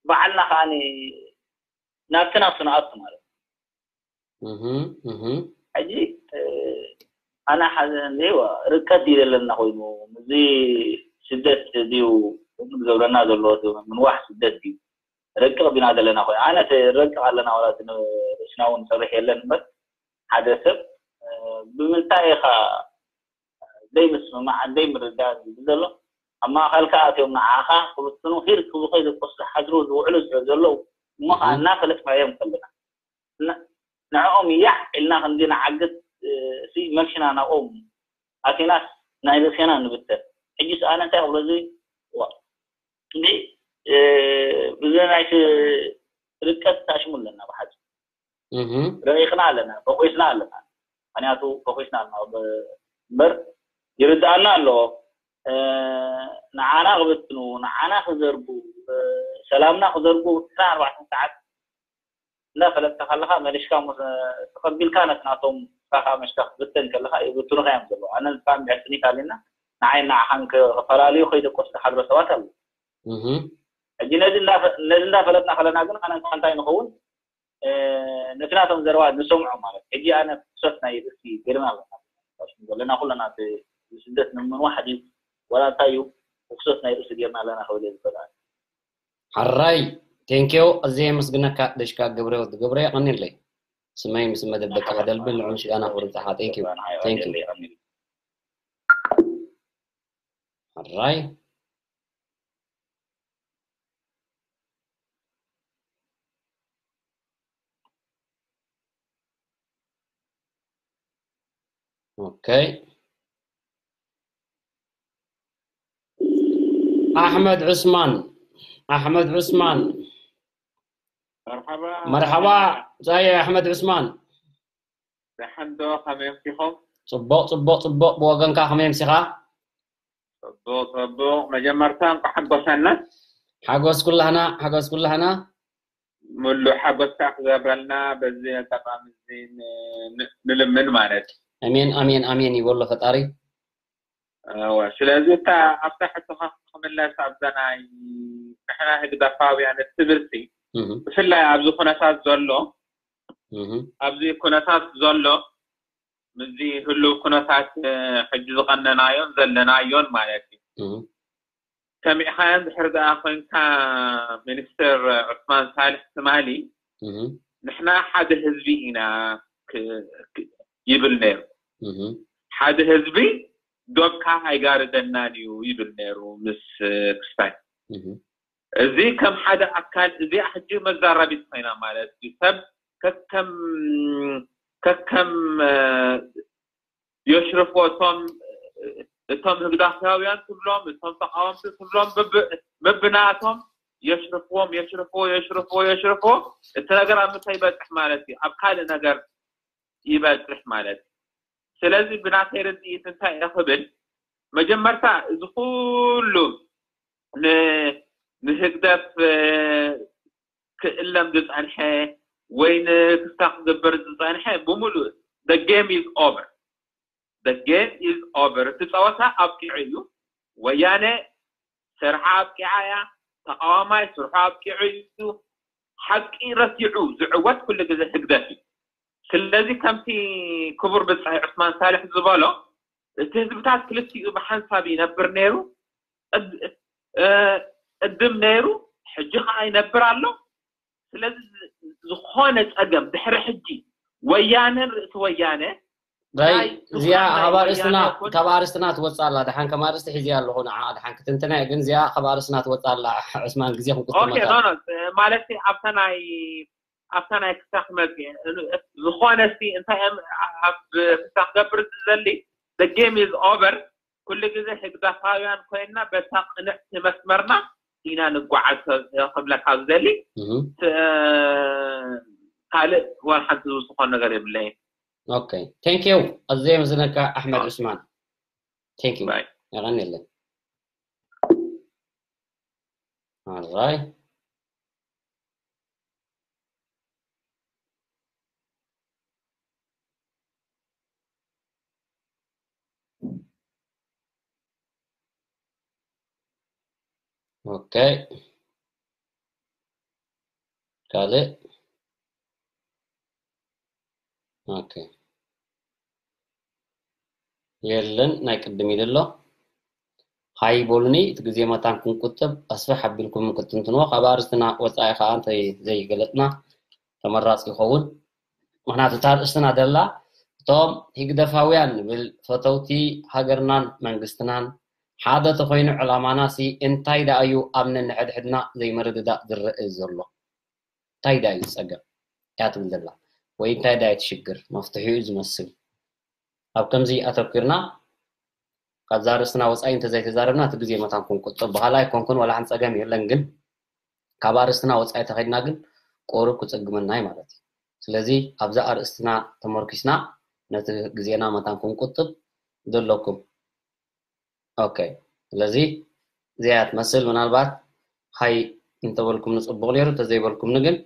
ባዕልና ከዓ ናብቲ ናብቲ ንኣቱ ማለት ሕጂ ኣነ ሓዘ እንዲዋ ርቀት ድዩ ዘለና ኮይኑ እዚ ስደት ድዩ ዝገብረና ዘሎ ምንዋሕ ስደት ድዩ ረቅቕ ቢና ዘለና ኮይኑ ኣነ ረቅቕ ኣለና ወላ ርእስና እውን ሰርሕ የለን እምበር ሓደ ሰብ ብምንታይ ኢኻ ዘይምስምማዕ ዘይምርዳእ ዘሎ ኣብ ማእኸልካ ኣትዮም ንዓኻ ክብትኑ ሂር ክብሉ ከይደቆስ ዝሓድሩ ዝውዕሉ ዝሕር ዘለዉ እሞ ከዓ እናፈለጥናዮም ከለና ንዕኦም ያዕ ኢልና ከምዚ ንዓግት ሲ መልሽና ናብኦም ኣቲናስ ናይ ርእሴና ንብተን ሕጂስ ኣነ እንታይ ክብሎ እዚ እንዲ እዚ ናይ ርቀት ታሽሙ ኣለና ብሓፂ ረቂቕና ኣለና ፈኮስና ኣለና ምክንያቱ ፈኮስና ኣለና እምበር ይርድኣና ኣለዎ ንዓና ክብትኑ ንዓና ክዘርጉ ሰላምና ክዘርጉ ዕስራን ኣርባዕተን ሰዓት እንዳፈለጥካ ከለካ መሊስካ ተቀቢልካ ነቲ ናቶም ስኻ ከዓ መሽካ ክትብትን ከለካ ይብትኑካ እዮም ዘለዉ ኣነ ንስካ እንድሕር ስኒት ኣሊና ንዓይ ንዓኻን ክፈላለዩ ከይደቆስ ዝሓድሮ ሰባት ኣለዉ ሕጂ ነዚ እንዳፈለጥና ከለና ግን ኣነ እንታይ ንኸውን ነቲ ናቶም ዘረባ ንሰምዖ ማለት ሕጂ ኣነ ክሶት ናይ ርእሲ ገርና ኣለና ዘለና ኩለና ስደት ንምንዋሕ ድዩ ወላ እንታይ እዩ ክሶት ናይ ርእሲ ገርና ኣለና ክብል ዝኽእል ሓራይ ቴንኪዮ እዚ የመስግነካ ደሽካ ገብረ ወዲ ገብረ የቐኒለይ ስመይ ምስ መደብ ደቂ ሓደልብን ንዑ ምስጋና ክብሪ ንዓኻ ቴንኪዩ ቴንኪዩ ሓራይ ኦኬ ኣሕመድ ዑስማን ኣሕመድ ዑስማን መርሓባ መርሓባ ዛየ ኣሕመድ ዑስማን ደሓን ዶ ከመይ ኣምሲኹም ፅቡቕ ፅቡቕ ፅቡቕ ብወገንካ ከመይ ኣምሲኻ ፅቡቕ ፅቡቕ መጀመርታ እንኳ ሓጎሰና ሓጎስ ኩላህና ሓጎስ ኩላህና ሙሉእ ሓጎስካ ክገብረልና በዚ ኣጋጣሚ እዚ ንልምን ማለት እዩ ኣሜን ኣሜን ኣሜን ይበሎ ፈጣሪ እወ ስለዚ እታ ኣብታ ሕቶኻ ክምለስ ኣብዛ ናይ ንሕና ህግደፋውያን እትብል ሲ ብፍላይ ኣብዚ ኩነታት ዘሎ ኣብዚ ኩነታት ዘሎ ምስዚ ህልው ኩነታት ሕጂ ዝቐነናዮን ዘለናዮን ማለት እዩ ሰሚዕኻዮ እንድሕር ደኣ ኮይንካ ሚኒስትር ዑስማን ሳልሕ ትማሊ ንሕና ሓደ ህዝቢ ኢና ይብል ነይሩ ሓደ ህዝቢ ዶብካ ኣይጋርደናን እዩ ይብል ነይሩ ምስ ክስታይ እዚ ከም ሓደ ኣካል እዚኣ ሕጂ መዛረቢት ኮይና ማለት እዩ ሰብ ከከም ከከም የሽርፎ እቶም እቶም ህግዳፋውያን ትብሎም እቶም ተቃወምቲ ትብሎም በብናቶም የሽርፍዎም የሽርፍዎ የሽርፍዎ የሽርፍዎ እቲ ነገር ኣብ ምንታይ ይበፅሕ ማለት እዩ ኣብ ካልእ ነገር ይበፅሕ ማለት እዩ ስለዚ ብናተይ ርድኢት እንታይ እየ ክብል መጀመርታ እዚ ኩሉ ንህግደፍ ክእለም ዝፀንሐ ወይ ንክስታ ክገብር ዝፀንሐ ብምሉእ the game is over the game is over እቲ ፀወታ ኣብቂዑ እዩ ወያነ ስርሓ ኣብቂዓ እያ ተቃዋማይ ስርሑ ኣብቂዑ እዩ ሓቂ ረሲዑ ዝዕወት ኩሉ ግዜ ህግደፍ እዩ ስለዚ ከምቲ ክቡር ብፃይ ዑስማን ሳልሕ ዝበሎ እቲ ህዝብታት ክልቲኡ ብሓንሳብ ይነብር ነይሩ ቅድም ነይሩ ሕጂ ከዓ ይነብር ኣሎ ስለዚ ዝኾነ ፀገም ድሕሪ ሕጂ ወያነን ርእሲ ወያነ እዚኣ ካብ ኣርእስትና ትወፅእ ኣላ ድሓን ከም ኣርእስቲ ሒዝያ ኣለኹ ንዓ ድሓን ክትንትና ግን እዚኣ ካብ ኣርእስትና ትወፅእ ኣላ ዕስማን ግዜ ክንቁጥመታ ማለት ኣብታ ናይ ኣብታ ናይ ክሳክ መፅእ ዝኾነ ሲ እንታይ ኣብ ክሳክ ገብር ዝዘሊ the game is over ኩሉ ግዜ ህግደፋውያን ኮይንና በታ ቅንዕቲ መስመርና ኢና ንጓዓዝ ክብለካ ዝደሊ ካልእ ዋላ ሓንቲ ዝውስኾ ነገር የብለይን okay thank you ኣዘየ ምስነካ ኣሕመድ ዑስማን thank you የቐንየለይ ኣራይ okay ካልእ okay የለን ናይ ቅድም ኢሉ ኣሎ ሃይ በሉኒ እቲ ግዜ መታን ክንቁጥብ ኣስፍሕ ኣቢልኩም ክትንትንዎ ካብ ኣርስትና ወፃኢ ከዓ እንተ ዘይገለፅና ተመራፂ ይኸውን ምክንያቱ እታ ኣርእስትና ደላ እቶም ሂግደፋውያን ንብል ፈተውቲ ሃገርናን መንግስትናን ሓደ ተኮይኑ ዕላማና ሲ እንታይ ደኣ እዩ ኣብ ነንሕድሕድና ዘይምርድዳእ ዝረእ ዘሎ እንታይ ደኣ እዩ ዝፀገም እያ ትብል ዘላ ወይ እንታይ ደኣ እቲ ሽግር መፍትሒኡ ዝመስል ኣብ ከምዚ ኣተኩርና ካብዛ ርእስና ወፃኢ እንተዘይተዛረብና እቲ ግዜ መታን ክንቁጥብ በሃላ ኣይኮንኩን ዋላ ሓንቲ ፀገም የለን ግን ካብ ኣርእስትና ወፃኢ ተኸድና ግን ቁሩብ ክፅግመና እዩ ማለት እዩ ስለዚ ኣብዛ ኣርእስትና ተመርኪስና ነቲ ግዜና መታን ክንቁጥብ ዘለኩም okay ስለዚ እዚኣ ትመስል ምናልባት ሃይ እንተበልኩም ንፅቡቅ ነይሩ እንተዘይበልኩምኒ ግን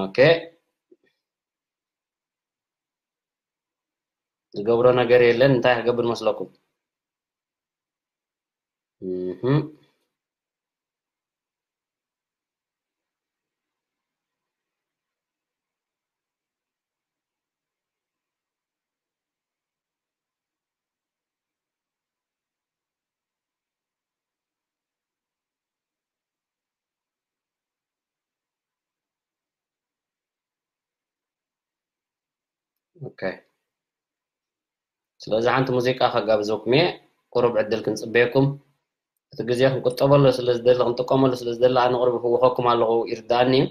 okay ዝገብሮ ነገር የለን እንታይ ክገብር መስለኩም okay ስለዚ ሓንቲ ሙዚቃ ከጋብዘኩም እየ ቁሩብ ዕድል ክንፅበየኩም እቲ ግዜ ክንቁጠበሉ ስለ ዝደሊ ክንጥቀመሉ ስለ ዝደሊ ኣነ ቁሩብ ይፍውኸኩም ኣለኹ ይርዳእኒ እዩ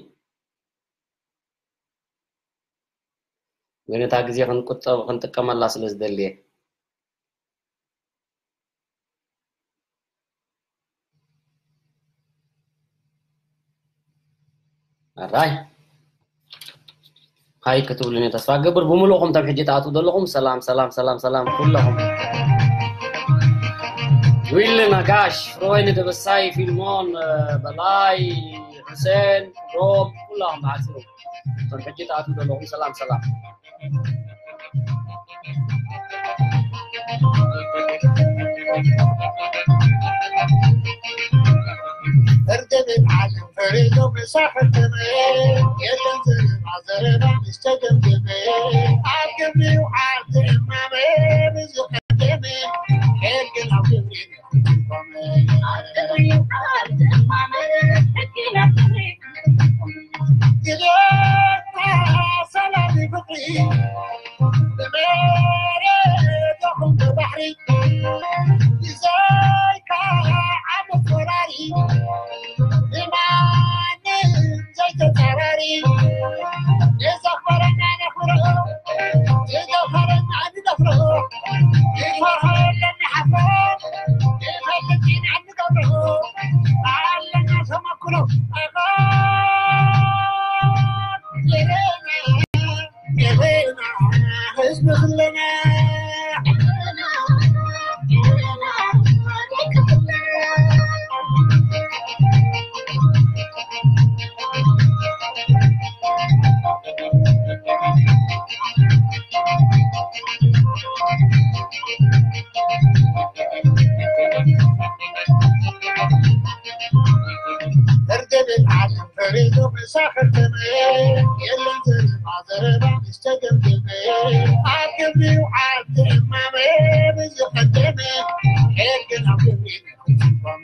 ግን እታ ግዜ ክንቁጠብ ክንጥቀመላ ስለ ዝደሊ እየ ኣራይ ሃይ ክትብሉኒ ተስፋ ገብር ብምሉእኹም ተም ሕጂ ትኣትዉ ዘለኹም ሰላም ሰላም ሰላም ሰላም ኩለኹም ዊል ነጋሽ ፍሮወይኒ ደበሳይ ፊልሞን በላይ ሕሴን ሮም ኩላኹም ብሓፂሩ እቶም ሕጂ ትኣትዉ ዘለኹም ሰላም ሰላም እርድብን ዓለም ፈሪዶም ሳሕትም የለን ዝርባ ዘረባ ምስ ተገምገመ ኣብ ግብሪ ውዓል ትእማመ ብዝቐደመ ሄል ግን ኣብ ግብሪ ሕግን ኣብ ክብሪ ንኽትቆም።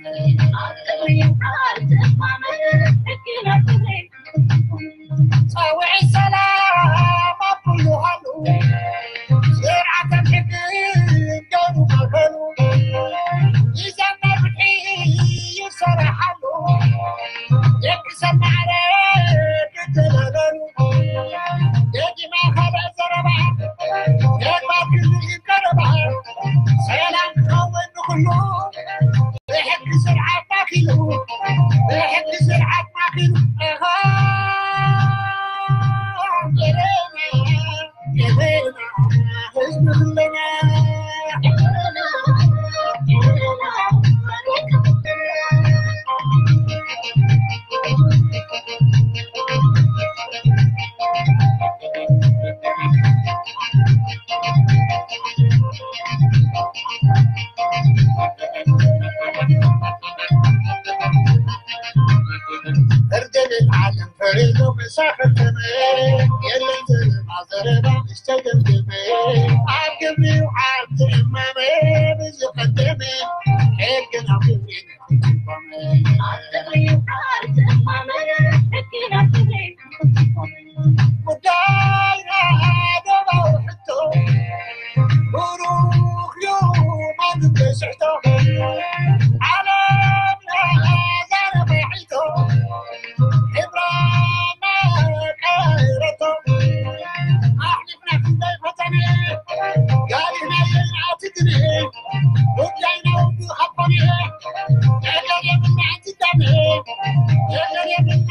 ጸውዒ ሰላም ኣብ ኩሉ ሃሉ። ስርዓትን ሕግን ገሩ ማእከሉ። ይዘመር ፍትሒ ይሰረሓሉ። ደቂ ሰብ ማዕረ ክተባበሩ። ደጊማ ካልእ ዘረባ ተግባር ክልል ቀረባ። ሰላም ክኸውን ንኹሉ። ብሕጊ ስርዓት ማኪሉ፣ ብሕጊ ስርዓት ማኪሉ። ኣሃ፣ የበና፣ የበና፣ ህዝቢ ኩለና። እርድን ዓለም ፈሪዱ ምሳኸተመ የለን ዘረባ ዘረባ ምስተደምደመ ኣብ ግብሪ ይውዓል ትእማመ ብዝቐደመ ሕግን ኣብ ግብሪ ንክትቆመ ኣብ ግብሪ ይውዓል ትእማመ ሕግን ኣብ ግብሪ ንክትቆመ ጉዳይና ደባዊ ሕቶ ብሩኽ እዩ ማንም ዘይስሕቶ ዓለምና ዛረባ ሒቶ ሕብራና ቀይረቶ ኣሕሊፍና ክንደይ ፈተነ ጋሪና የይናትግነ ጉዳይና ውዱ ሃኮነ ነገር የብልና እንትዳነ ነገር የብልና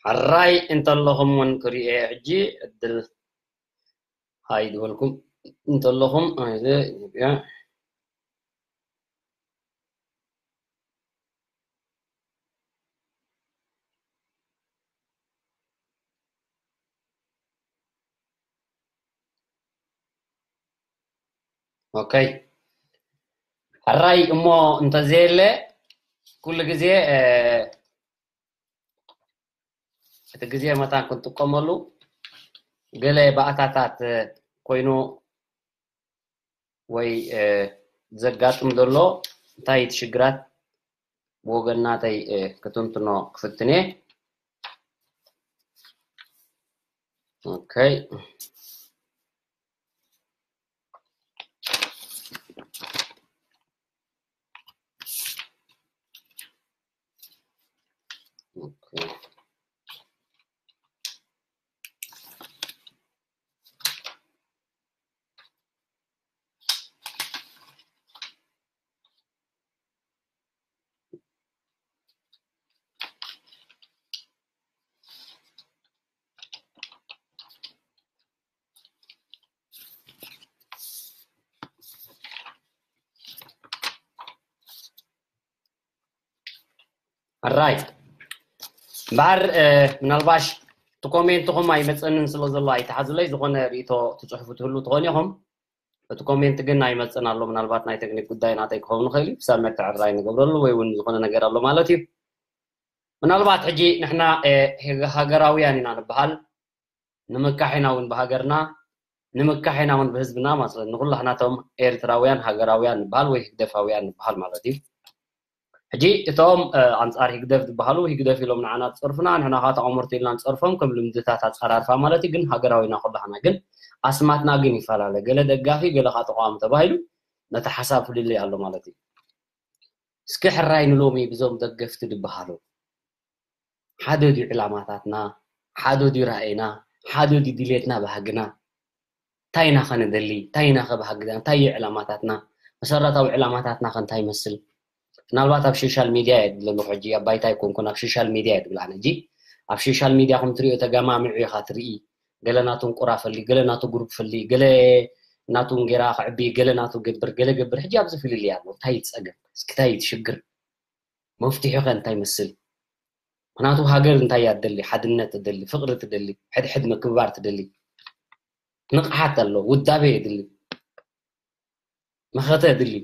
ሕራይ እንተለኹም እውን ክርእየ ሕጂ ዕድል ሃይ ዝበልኩም እንተለኹም ኣነ ኢትዮጵያ ኦኬ ሕራይ እሞ እንተዘየለ ኩሉ ግዜ እቲ ግዜ መታን ክንጥቀመሉ ገለ ባእታታት ኮይኑ ወይ ዘጋጥም ዘሎ እንታይ እቲ ሽግራት ብወገን ናተይ ክትንትኖ ክፍትን እየ። ኦኬ ኦኬ ኣራይ እምበኣር፣ እ፣ ምናልባሽ እቲ ኮሜንትኹም ኣይመፀንን ስለ ዘሎ ኣይተሓዙለይ። ዝኾነ ርእቶ ትፅሕፉ ትህሉ ትኾን ኢኹም። እቲ ኮሜንት ግን ኣይመፅን ኣሎ። ምናልባት ናይ ቴክኒክ ጉዳይ ናተይ ክኸውን ይኽእል እዩ። ክሳብ መተዕራይ ንገብረሉ ወይ እውን ዝኾነ ነገር ኣሎ ማለት እዩ። ምናልባት ሕጂ ንሕና፣ እ፣ ሃገራውያን ኢና ንበሃል። ንምካሕ ኢና እውን ብሃገርና፣ ንምካሕ ኢና እውን ብህዝብና ማለት እዩ። ንኹላህናቶም ኤርትራውያን ሃገራውያን ንበሃል ወይ ህግደፋውያን ንበሃል ማለት እዩ። ሕጂ እቶም፣ እ፣ ኣንጻር ህግደፍ ዝበሃሉ ህግደፍ ኢሎም ንዓና ዝጸርፉና፣ ንሕና ከዓ ተቓወምቲ ኢልና ንጸርፎም ከም ልምድታት ኣጸራርፋ ማለት እዩ። ግን ሃገራዊ ኢና ኩላህና። ግን ኣስማትና ግን ይፈላለ። ገለ ደጋፊ፣ ገለ ከዓ ተቓዋሚ ተባሂሉ ነቲ ሓሳብ ፍልልይ ኣሎ ማለት እዩ። እስኪ ሕራይ ንሎሚ ብዞም ደገፍቲ ዝበሃሉ ሓደ ድዩ ዕላማታትና፣ ሓደ ድዩ ራእይና፣ ሓደ ድዩ ድሌትና ባህግና? እንታይ ኢና ኸ ንደሊ? እንታይ ኢና ኸ ባህግና? እንታይ እዩ ዕላማታትና? መሰረታዊ ዕላማታትና ኸ እንታይ ይመስል? ምናልባት ኣብ ሶሻል ሚድያ እየ ዘለኹ ሕጂ፣ ኣብ ባይታ ኣይኮንኩን፣ ኣብ ሶሻል ሚድያ እየ ዝብል ኣነ ሕጂ። ኣብ ሶሻል ሚድያ ከም ትሪኦ ተገማሚዑ ኢኻ ትርኢ። ገለ ናቱ እንቁራ ፈሊ፣ ገለ ናቱ ግሩፕ ፈሊ፣ ገለ ናቱ እንጌራ ክዕቢ፣ ገለ ናቱ ገብር፣ ገለ ገብር። ሕጂ ኣብዚ ፍልልይ ኣሎ። እንታይ እዩ ጸገም? እስኪ እንታይ እዩ እቲ ሽግር? መፍትሒ ከ እንታይ ይመስል? ምኽንያቱ ሃገር እንታይ እያ ትደሊ? ሓድነት ትደሊ፣ ፍቕሪ ትደሊ፣ ሕድሕድ ምክብባር ትደሊ። ንቕሓት ኣሎ፣ ውዳቤ የድሊ፣ መኸተ የድሊ።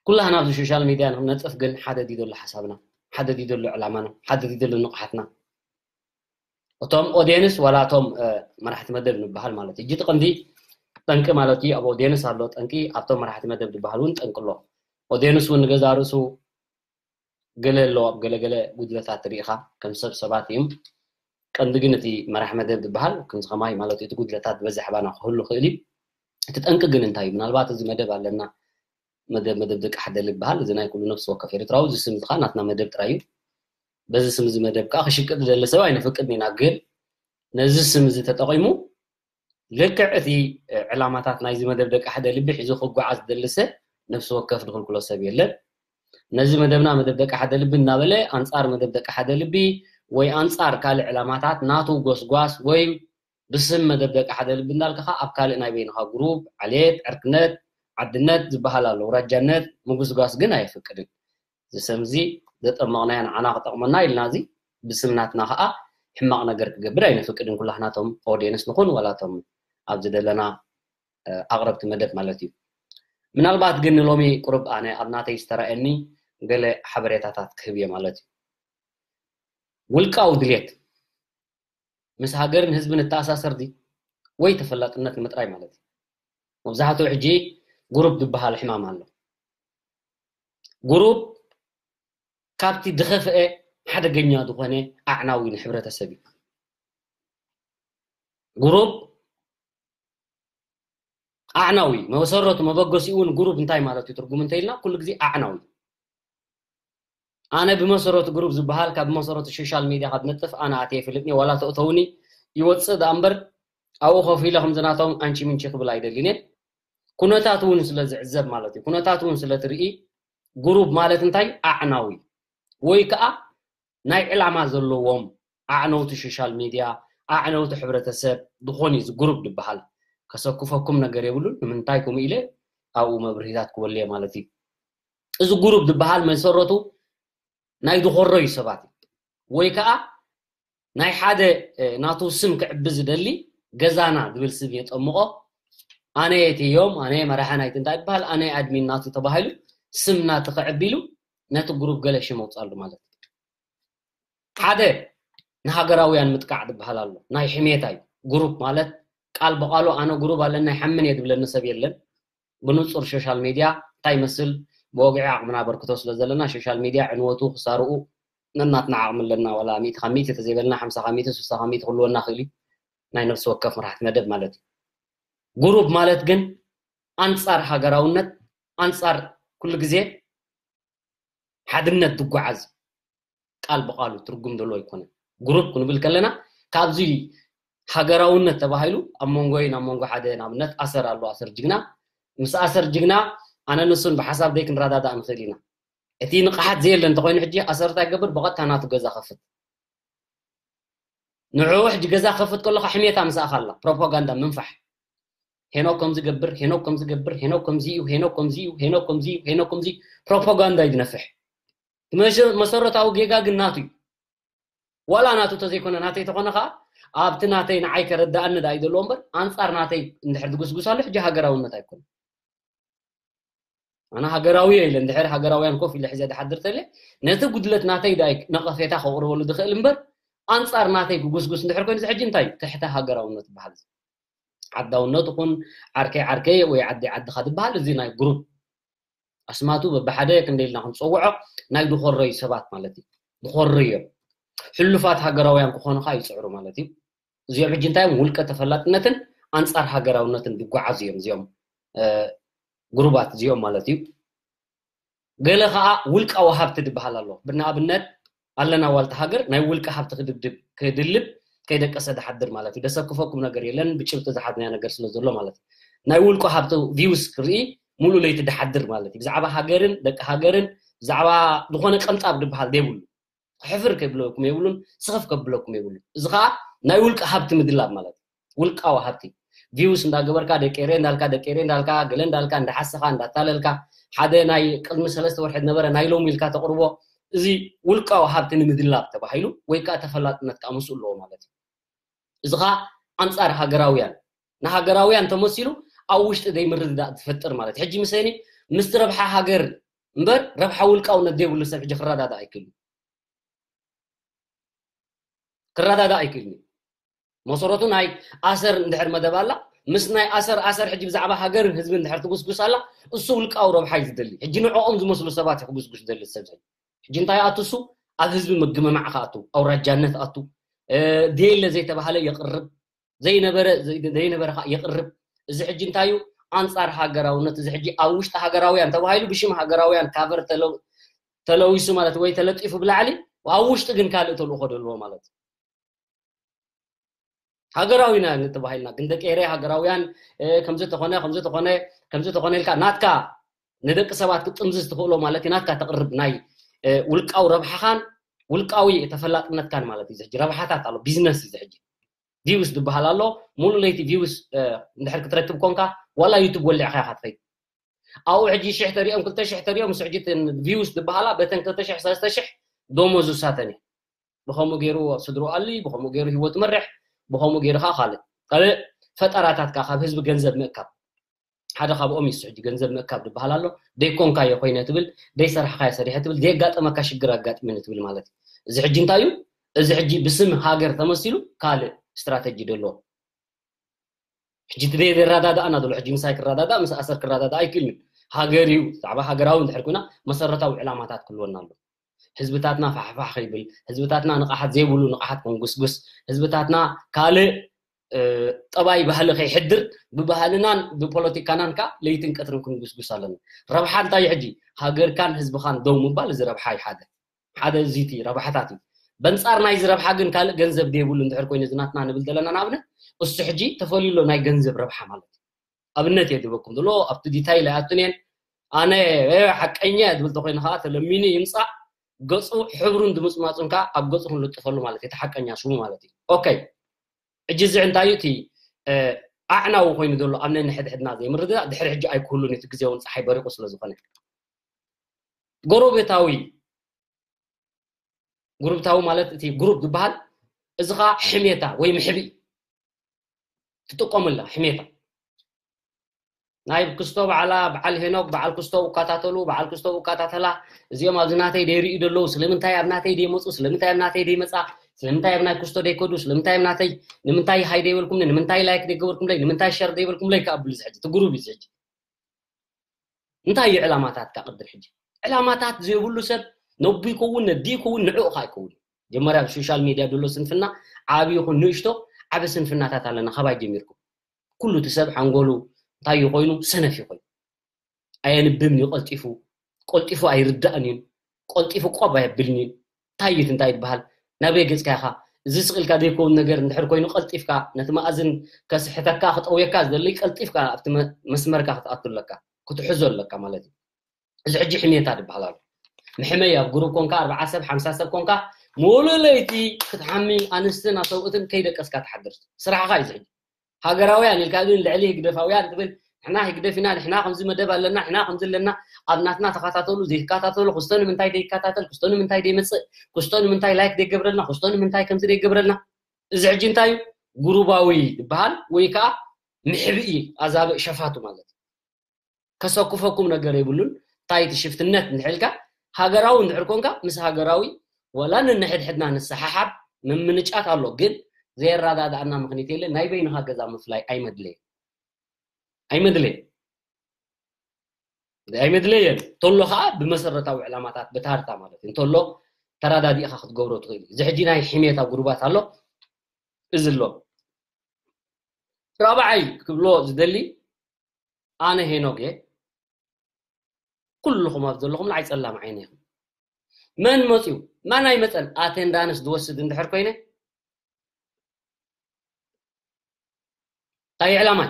ኩላህና ኣብዚ ሶሻል ሚድያ ንክነጥፍ ግን ሓደ ድዩ ዘሎ ሓሳብና? ሓደ ድዩ ዘሎ ዕላማና? ሓደ ድዩ ዘሎ ንቕሓትና? እቶም ኦድየንስ ዋላ እቶም፣ እ፣ መራሕቲ መደብ ንበሃል ማለት እዩ። ሕጂ እቲ ቀንዲ ጠንቂ ማለት እዩ፣ ኣብ ኦድየንስ ኣሎ ጠንቂ፣ ኣብቶም መራሕቲ መደብ ዝበሃል እውን ጠንቂ ኣሎ። ኦድየንስ እውን ንገዛ ርእሱ ገለ ኣሎ፣ ኣብ ገለ ገለ ጉድለታት ርኢኻ፣ ከም ሰብ ሰባት እዮም። ቀንዲ ግን እቲ መራሕ መደብ ዝበሃል ከምዚ ከማይ ማለት እዩ፣ እቲ ጉድለታት ዝበዝሕ ኣባና ክህሉ ይኽእል እዩ። እቲ ጠንቂ ግን እንታይ እዩ? ምናልባት እዚ መደብ ኣለና፣ መደብ፣ መደብ ደቂ ሓደ ዝበሃል፣ እዚ ናይ ኩሉ ነፍሲ ወከፍ ኤርትራዊ፣ እዚ ስም እዚ ከዓ ናትና መደብ ጥራይ እዩ። በዚ ስም እዚ መደብ ከዓ ክሽቅጥ ዝደሊ ሰብ ኣይነፍቅድን ኢና። ግን ነዚ ስም እዚ ተጠቒሙ ልክዕ እቲ፣ እ፣ ዕላማታት ናይዚ መደብ ደቂ ሓደ ልቢ ሒዙ ክጓዓዝ ዝደሊ ሰብ ነፍሲ ወከፍ ዝኽልክሎ ሰብ የለን። ነዚ መደብና መደብ ደቂ ሓደ ልቢ እናበለ ኣንጻር መደብ ደቂ ሓደ ልቢ ወይ ኣንጻር ካልእ ዕላማታት ናቱ ጎስጓስ ወይ ብስም መደብ ደቂ ሓደ ልቢ እንዳልካ ኣብ ካልእ ናይ በይንኻ ግሩፕ፣ ዓሌት፣ ዕርክነት፣ ዓድነት ዝበሃል ኣሎ። ውራጃነት ምጉስጓስ ግን ኣየፍቅድን። እዚ ስም እዚ ዘጠመቕናዮ ንዓና ክጠቕመና ኢልና እዚ ብስም ናትና ከዓ ሕማቕ ነገር ክገብር ኣይነፍቅድን። ኩላህናቶም ኦድየንስ ንኹን ዋላቶም ኣብዚ ዘለና፣ እ፣ ኣቕረብቲ መደብ ማለት እዩ። ምናልባት ግን ንሎሚ ቁሩብ ኣነ ኣብ ናተይ ዝተራእየኒ ገለ ሓበሬታታት ክህብ እየ ማለት እዩ። ውልቃዊ ድሌት ምስ ሃገርን ህዝብን እተኣሳሰር ድዩ? ወይ ተፈላጥነት ንምጥራይ ማለት እዩ። መብዛሕትኡ ሕጂ ግሩፕ ዝበሃል ሕማም ኣሎ። ግሩፕ ካብቲ ዝኸፍአ ሓደገኛ ዝኾነ ኣዕናዊ ንሕብረተሰብ እዩ። ግሩፕ ኣዕናዊ፣ መሰረቱ መበገሲኡ እውን ግሩፕ እንታይ ማለት እዩ ትርጉም እንተኢልና፣ ኩሉ ግዜ ኣዕናዊ። ኣነ ብመሰረቱ ግሩፕ ዝበሃል ካብ መሰረቱ ሶሻል ሚድያ ካብ ነጥፍ ኣነ ኣትየ ይፈልጥኒ፣ ዋላ ተእተውኒ ይወፅእ ደኣ እምበር ኣብኡ ኮፍ ኢለ ከምዚ ናቶም ኣንቺ ምንቺ ክብል ኣይደልን እየ። ኩነታት እውን ስለ ዝዕዘብ ማለት እዩ፣ ኩነታት እውን ስለ ትርኢ፣ ግሩፕ ማለት እንታይ? ኣዕናዊ ወይ ከዓ ናይ ዕላማ ዘለዎም ኣዕነውቲ ሶሻል ሚድያ፣ ኣዕነውቲ ሕብረተሰብ ዝኾን እዩ እዚ ግሩፕ ዝበሃል። ከሰክፈኩም ነገር የብሉን። ንምንታይ ከምኡ ኢለ ኣብኡ መብርሂታት ክበሉ እየ ማለት እዩ። እዚ ግሩፕ ዝበሃል መሰረቱ ናይ ዝኾረዩ ሰባት እዩ። ወይ ከዓ ናይ ሓደ፣ እ፣ ናቱ ስም ክዕቢ ዝደሊ ገዛና ዝብል ስም የጠምቆ። ኣነ የትዮም፣ ኣነ መራሒ ናይቲ እንታይ ዝበሃል፣ ኣነ ኣድሚን ናቱ ተባሂሉ ስም ናቱ ክዕቢ ኢሉ ነቲ ግሩፕ ገለ ሽም ኣውፅኣሉ ማለት እዩ። ሓደ ንሃገራውያን ምጥቃዕ ዝበሃል ኣሎ። ናይ ሕሜታ እዩ። ግሩፕ ማለት ቃል ብቃሉ ኣነ ግሩፕ ኣለና ይሓምን እየ ዝብለኒ ሰብ የለን። ብንጹር ሶሻል ሚድያ እንታይ ይመስል ብወግዒ ዓቕምና ኣበርክቶ ስለ ዘለና ሶሻል ሚድያ ዕንወቱ ክሳርኡ ነናትና ዓቕሚ ኣለና። ዋላ ሚእቲ ካብ ሚእቲ ተዘይበልና ሓምሳ ካብ ሚእቲ ስሳ ካብ ሚእቲ ክህልወና ክእል እዩ። ናይ ነፍሲ ወከፍ መራሕቲ መደብ ማለት እዩ። ግሩፕ ማለት ግን ኣንጻር ሃገራውነት፣ ኣንጻር ኩሉ ግዜ ሓድነት ዝጓዓዝ ቃል ብቃሉ ትርጉም ዘለዎ ኣይኮነን። ግሩፕ ክንብል ከለና ካብዚ ሃገራውነት ተባሂሉ ኣብ መንጎ ኣብ መንጎ ሓደ ንኣብነት ኣሰር ኣሎ፣ ኣሰር ጅግና። ምስ ኣሰር ጅግና ኣነ ንሱን ብሓሳብ ደይ ክንረዳዳእ ንኽእል ኢና። እቲ ንቕሓት ዘየለ እንተኮይኑ ሕጂ ኣሰር እንታይ ገብር ብቐጥታ ናቱ ገዛ ከፍት። ንዕኡ ሕጂ ገዛ ከፍት ከለካ ሕሜታ ምስኣኻ ኣላ፣ ፕሮፓጋንዳ ምንፋሕ። ሄኖክ ከምዚ ገብር፣ ሄኖክ ከምዚ ገብር፣ ሄኖክ ከምዚ እዩ፣ ሄኖክ ከምዚ እዩ፣ ሄኖክ ከምዚ እዩ፣ ሄኖክ ከምዚ እዩ፣ ፕሮፓጋንዳ እዩ ዝነፍሕ። መሰረታዊ ጌጋ ግን ናቱ እዩ። ዋላ ናቱ ተዘይኮነ ናተይ ተኾነ ከዓ ኣብቲ ናተይ ንዓይ ከረዳእኒ ዳ እዩ ዘለዎ እምበር፣ ኣንፃር ናተይ እንድሕር ዝጉስጉስ ኣሎ ሕጂ ሃገራውነት ኣይኮነ። ኣነ ሃገራዊ እየ ኢለ እንድሕር ሃገራውያን ኮፍ ኢለ ሕዘ ዝሓድር ተለ፣ ነቲ ጉድለት ናተይ ዳ ነቐፌታ ከቕርበሉ ዝኽእል እምበር፣ ኣንፃር ናተይ ክጉስጉስ እንድሕር ኮይኑ እዚ ሕጂ እንታይ እዩ? ትሕተ ሃገራውነት ይበሃል። ዓዳውነት ይኹን ዓርከይ ዓርከይ ወይ ዓዲ ዓድኻ ዝበሃል እዚ ናይ ግሩፕ ኣስማቱ በብሓደ ክንደይ ኢልና ክንፀውዖ ናይ ድኾረዩ ሰባት ማለት እዩ። ድኾረዩ እዮም። ሕሉፋት ሃገራውያን ክኾኑ ከዓ ይፅዕሩ ማለት እዩ። እዚኦም ሕጂ እንታይ እዮም? ውልቀ ተፈላጥነትን ኣንፃር ሃገራውነትን ዝጓዓዙ እዮም እዚኦም ግሩባት እዚኦም ማለት እዩ። ገለ ከዓ ውልቃዊ ሃብቲ ዝበሃል ኣሎ። ብንኣብነት ኣለና ዋልታ ሃገር ናይ ውልቀ ሃብቲ ክድድብ ክድልብ ከይደቀሰ ዝሓድር ማለት እዩ። ደሰክፈኩም ነገር የለን፣ ብጭብጢ ዝሓዝናዮ ነገር ስለ ዘሎ ማለት እዩ። ናይ ውልቁ ሃብቲ ቪውስ ክርኢ ሙሉ ለይቲ ዝሓድር ማለት እዩ። ብዛዕባ ሃገርን ደቂ ሃገርን ብዛዕባ ዝኾነ ቀንጣብ ዝበሃል ዘይብሉ፣ ሕፍር ከብለኩም የብሉን፣ ስኽፍ ከብለኩም የብሉን። እዚ ከዓ ናይ ውልቀ ሃብቲ ምድላብ ማለት እዩ። ውልቃዊ ሃብቲ ቪውስ እንዳገበርካ ደቂ ኤረ እንዳልካ ደቂ ኤረ እንዳልካ ገለ እንዳልካ እንዳሓሰኻ እንዳታለልካ ሓደ ናይ ቅድሚ ሰለስተ ወርሒ ዝነበረ ናይ ሎሚ ኢልካ ተቕርቦ፣ እዚ ውልቃዊ ሃብቲ ንምድላብ ተባሂሉ ወይ ከዓ ተፈላጥነት ከዓ ምስኡ ኣለዎ ማለት እዩ። እዚ ከዓ ኣንፃር ሃገራውያን ንሃገራውያን ተመሲሉ ኣብ ውሽጢ ዘይምርድዳእ ዝፈጥር ማለት እዩ። ሕጂ ምሰኒ ምስቲ ረብሓ ሃገር እምበር ረብሓ ውልቃውነት ዘይብሉ ሰብ ሕጂ ክረዳዳእ ኣይክእልን። ክረዳዳእ ኣይክእልን እዩ። መሰረቱ ናይ ኣሰር እንድሕር መደብ ኣላ ምስ ናይ ኣሰር ኣሰር ሕጂ ብዛዕባ ሃገርን ህዝብን እንድሕር ትጉስጉስ ኣላ እሱ ውልቃዊ ረብሓ እዩ ዝደሊ። ሕጂ ንዕኦም ዝመስሉ ሰባት እዩ ክጉስጉስ ዝደሊ ሰብ ሕጂ እንታይ ኣቱ እሱ ኣብ ህዝቢ ምግምማዕ ከኣቱ ኣውራጃነት ኣቱ ደየለ ዘይተባህለ የቕርብ ዘይነበረ ዘይነበረ ከዓ የቕርብ። እዚ ሕጂ እንታይ እዩ ኣንፃር ሃገራውነት እዚ ሕጂ ኣብ ውሽጢ ሃገራውያን ተባሂሉ ብሽም ሃገራውያን ካቨር ተለዊሱ ማለት ወይ ተለጢፉ ብላዕሊ ኣብ ውሽጢ ግን ካልእ ተልእኮ ደልዎ ማለት ሃገራዊና ንተባሂልና ግን ደቂ ኤረይ ሃገራውያን ከምዚ ተኾነ ከምዚ ተኾነ ከምዚ ተኾነ ኢልካ ናትካ ንደቂ ሰባት ክትጥምዝዝ ትኽእሎ ማለት እዩ ናትካ ተቕርብ ናይ ውልቃዊ ረብሓኻን ውልቃዊ ተፈላጥነትካን ማለት እዩ ሕጂ ረብሓታት ኣሎ ቢዝነስ እዩ ሕጂ ቪውስ ዝበሃል ኣሎ ሙሉ ለይቲ ቪውስ እንድሕር ክትረክብ ኮንካ ዋላ ዩቱብ ወሊዕካ ኢኻ ትኸይድ ኣብኡ ሕጂ ሽሕ ተሪኦም ክልተ ሽሕ ተሪኦም ምስ ሕጂ ቪውስ ዝበሃላ በተን ክልተ ሽሕ ሰለስተ ሽሕ ደሞዝ ውሳተን እዩ ብኸምኡ ገይሩ ስድሩ ኣሊ ብኸምኡ ገይሩ ህይወት መርሕ ብኸምኡ ገይሩ ከዓ ካልእ ካልእ ፈጠራታት ከዓ ካብ ህዝቢ ገንዘብ ምእካብ ሓደ ካብኦም እዩ ሕጂ ገንዘብ ምእካብ ዝበሃል ኣሎ ደይኮንካዮ ኮይነ ትብል ደይሰራሕካዮ ሰሪሐ ትብል ዘየጋጠመካ ሽግር ኣጋጥመኒ ትብል ማለት እዩ እዚ ሕጂ እንታይ እዩ እዚ ሕጂ ብስም ሃገር ተመሲሉ ካልእ ስትራተጂ ደሎ ሕጂ እቲ ደየረዳዳእና ዘሎ ሕጂ ምሳይ ክረዳዳእ ምስ ኣሰር ክረዳዳእ ኣይክእልን እዩ ሃገር እዩ ብዛዕባ ሃገራዊ እንድሕር ኮይና መሰረታዊ ዕላማታት ክህልወና ኣሎ ህዝብታትና ፋሕፋሕ ከይብል ህዝብታትና ንቕሓት ዘይብሉ ንቕሓት ከንጉስጉስ ህዝብታትና ካልእ ጠባይ ባህሊ ከይሕድር ብባህልናን ብፖለቲካናን ከዓ ለይትን ቀትርን ክንጉስጉስ ኣለና ረብሓ እንታይ ሕጂ ሃገርካን ህዝብኻን ደው ምባል እዚ ረብሓ እዩ ሓደ ሓደ እዚ እቲ ረብሓታት እዩ በንፃር ናይዚ ረብሓ ግን ካልእ ገንዘብ ደይብሉ እንድሕር ኮይኑ እዚ ናትና ንብል ዘለና ንኣብነት እሱ ሕጂ ተፈልዩ ኣሎ ናይ ገንዘብ ረብሓ ማለት እዩ ኣብነት እየ ዝህበኩም ዘሎ ኣብቲ ዲታይል ኣይኣቱን እየን ኣነ ሓቀኛ እየ ዝብል ተኮይኑ ከዓ ተለሚኑ ይምፃእ ገፁ ሕብሩን ድምፅማፁን ከዓ ኣብ ገፁ ክንልጥፈሉ ማለት እዩ እቲ ሓቀኛ ሽሙ ማለት እዩ ኦኬ ሕጂ እዚ እንታይ እዩ እቲ ኣዕናዊ ኮይኑ ዘሎ ኣብ ነንሕድሕድና ዘይምርድዳእ ድሕሪ ሕጂ ኣይክህሉን እቲ ግዜ እውን ፀሓይ በሪቁ ስለ ዝኾነ ጎረቤታዊ ጉሩብታዊ ማለት እቲ ጉሩብ ዝበሃል እዚ ከዓ ሕሜታ ወይ ምሕብኢ ትጥቀመላ ሕሜታ ናይ ክስቶ በዓላ በዓል ሄኖክ በዓል ክስቶ እካታተሉ በዓል ክስቶ እካታተላ እዚኦም ኣብዚ ናተይ ደይርእዩ ደለዉ ስለምንታይ ኣብ ናተይ ደይመፁ ስለምንታይ ኣብ ናተይ ደይመፃ ስለምንታይ ኣብ ናይ ክስቶ ደይከዱ ስለምንታይ ኣብ ናተይ ንምንታይ ሃይ ደይበልኩምኒ ንምንታይ ላይክ ደይገበርኩምለይ ንምንታይ ሸር ደይበልኩምለይ ከኣ ብሉ ዝሕጂ እቲ ጉሩብ እዩ ዝሕጂ እንታይ እዩ ዕላማታትካ ቅድም ሕጂ ዕላማታት ዘይብሉ ሰብ ነቡ ይከውን ነዲ ይከውን ንዕኡ ካ ይከውን ጀመርያ ኣብ ሶሻል ሚድያ ዘሎ ስንፍና ዓብ ይኹን ንእሽቶ ዓብ ስንፍናታት ኣለና ካባይ ጀሚርኩም ኩሉ እቲ ሰብ ሓንጎሉ እንታይ እዩ ኮይኑ ሰነፍ እዩ ኮይኑ ኣየንብብን እዩ ቀልጢፉ ቀልጢፉ ኣይርዳእን እዩ ቀልጢፉ ቆብ ኣየብልን እዩ እንታይ እዩ እንታይ ይበሃል ናበይ ገጽካ ኢኻ እዚ ስቕ ኢልካ ዘይከውን ነገር እንድሕር ኮይኑ ቀልጢፍካ ነቲ መኣዝን ከስሕተካ ክጠውየካ ዝደሊ ቀልጢፍካ ኣብቲ መስመርካ ክትኣቱ ኣለካ ክትሕዞ ኣለካ ማለት እዩ እዚ ሕጂ ሕሜታ ዝበሃል ኣሎ መሕመይ ኣብ ግሩብ ኮንካ ኣርባዓ ሰብ ሓምሳ ሰብ ኮንካ ሙሉ ለይቲ ክትሓሚ ኣንስትን ኣሰብኡትን ከይደቀስካ ትሓድር ስራሕኻ እዩ ዝሕጂ ሃገራውያን ኢልካ ግን ልዕሊ ህግደፋውያን ትብል ንሕና ህግደፍ ኢና፣ ንሕና ከምዚ መደብ ኣለና፣ ንሕና ከምዚ ኣለና፣ ኣብ ናትና ተኸታተሉ፣ ዘይትከታተሉ፣ ክስቶ ንምንታይ ዘይከታተል፣ ክስቶ ንምንታይ ዘይመጽእ፣ ክስቶ ንምንታይ ላይክ ዘይገብረልና፣ ክስቶ ንምንታይ ከምዚ ዘይገብረልና። እዚ ሕጂ እንታይ እዩ? ጉሩባዊ ዝበሃል ወይ ከዓ ምሕብኢ ኣዛብእ ሸፋቱ ማለት እዩ። ከሰኩፈኩም ነገር የብሉን። እንታይ እቲ ሽፍትነት እንድሕልካ ሃገራዊ እንድሕር ኮንካ ምስ ሃገራዊ ወላ ንንሕድሕድና ንሰሓሓብ ምምንጫት ኣሎ፣ ግን ዘየረዳድኣና ምኽንያት የለን። ናይ በይንኻ ገዛ ምፍላይ ኣይመድለየን፣ ኣይመድለየን፣ ኣይመድለየን። እንተሎ ከዓ ብመሰረታዊ ዕላማታት ብታርታ ማለት እዩ። እንተሎ ተረዳዲእኻ ክትገብሮ ትኽእል እዩ። እዚ ሕጂ ናይ ሕሜታ ጉሩባት ኣሎ፣ እዚ ኣሎ። ራብዓይ ክብሎ ዝደሊ ኣነ ሄኖክ እየ። ኩልኹም ኣብ ዘለኹም ንዓይ ጸላም ዓይነ ኢኹም። መን መጽዩ? መን ኣይመጸን? ኣቴንዳንስ ዝወስድ እንድሕር ኮይነ እንታይ ዕላማይ?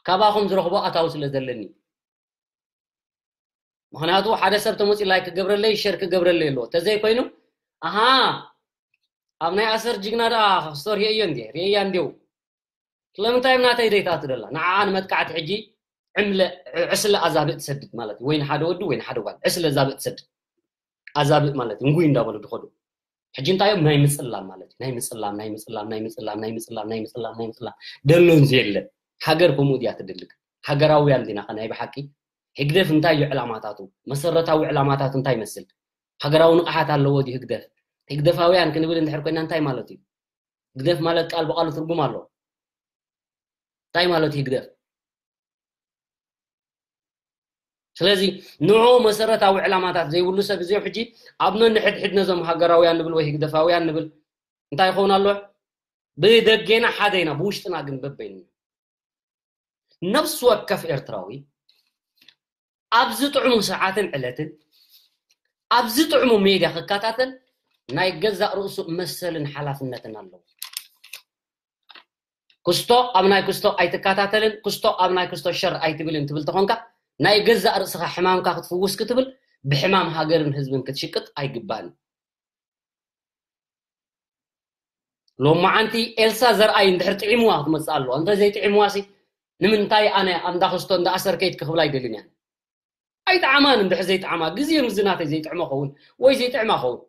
ካባኹም ዝረኽቦ ኣታዊ ስለ ዘለኒ። ምኽንያቱ ሓደ ሰብ ተመጺኡ ላይክ ክገብረለይ፣ ሸር ክገብረለይ ኣለዎ። ተዘይኮይኑ ኣሃ ኣብ ናይ ኣሰር ጅግና ደኣ ክስቶ ርእየዮ እንዴ? ርእየያ እንዴው። ስለምንታይ ኣብ ናተይ ዘይትኣቱ ደላ? ንዓኣ ንመጥቃዕቲ ሕጂ ዕምለ ዕስለ ኣዛብእ ትሰድድ ማለት እዩ። ወይ ንሓደ ወዲ ወይ ንሓደ ጓል ዕስለ ኣዛብእ ትሰድድ። ኣዛብእ ማለት እዩ። እንጉይ እንዳበሉ ድኸዱ። ሕጂ እንታይ እዮም? ናይ ምጽላም ማለት እዩ። ናይ ምጽላም፣ ናይ ምጽላም፣ ናይ ምጽላም፣ ናይ ምጽላም፣ ናይ ምጽላም፣ ናይ ምጽላም። ደሎን ዘየለ። ሃገር ከምኡ ድያ ትደሊ። ሃገራውያን ዲና ኸ ናይ ብሓቂ? ህግደፍ እንታይ እዩ ዕላማታቱ? መሰረታዊ ዕላማታቱ እንታይ ይመስል? ሃገራዊ ንቕሓት ኣለዎ ድዩ ህግደፍ? ህግደፋውያን ክንብል እንድሕር ኮይና እንታይ ማለት እዩ? ህግደፍ ማለት ቃል ብቃሉ ትርጉም ኣለዎ። እንታይ ማለት እዩ ህግደፍ? ስለዚ ንዑ መሰረታዊ ዕላማታት ዘይብሉ ሰብ እዚ ሕጂ ኣብ ነንሕድሕድ ነዞም ሃገራውያን ንብል ወይ ህግደፋውያን ንብል እንታይ ይኸውን ኣሎ? ብደጌና ሓደ ኢና፣ ብውሽጥና ግን በበይንና። ነፍሲ ወከፍ ኤርትራዊ ኣብዚ ጥዕሙ ሰዓትን ዕለትን ኣብዚ ጥዕሙ ሜድያ ክከታተል ናይ ገዛእ ርእሱ መሰልን ሓላፍነትን ኣለዎ። ክስቶ ኣብ ናይ ክስቶ ኣይትከታተልን፣ ክስቶ ኣብ ናይ ክስቶ ሸር ኣይትብልን ትብል ተኾንካ፣ ናይ ገዛእ ርእስኻ ሕማምካ ክትፍውስ ክትብል ብሕማም ሃገርን ህዝብን ክትሽቅጥ ኣይግባእን። ሎማዓንቲ ኤልሳ ዘርኣይ እንድሕር ጥዒምዋ ክትመጽእ ኣለዋ። እንተ ዘይጥዒምዋሲ ንምንታይ ኣነ ኣብ እንዳ ክስቶ እንዳ ኣሰር ከይድኪ ክብላ ኣይደልን እያ። ኣይጥዓማን እንድሕር ዘይጥዓማ፣ ግዜ ምስ ናተይ ዘይጥዕሞ ኸውን ወይ ዘይጥዕማ ኸውን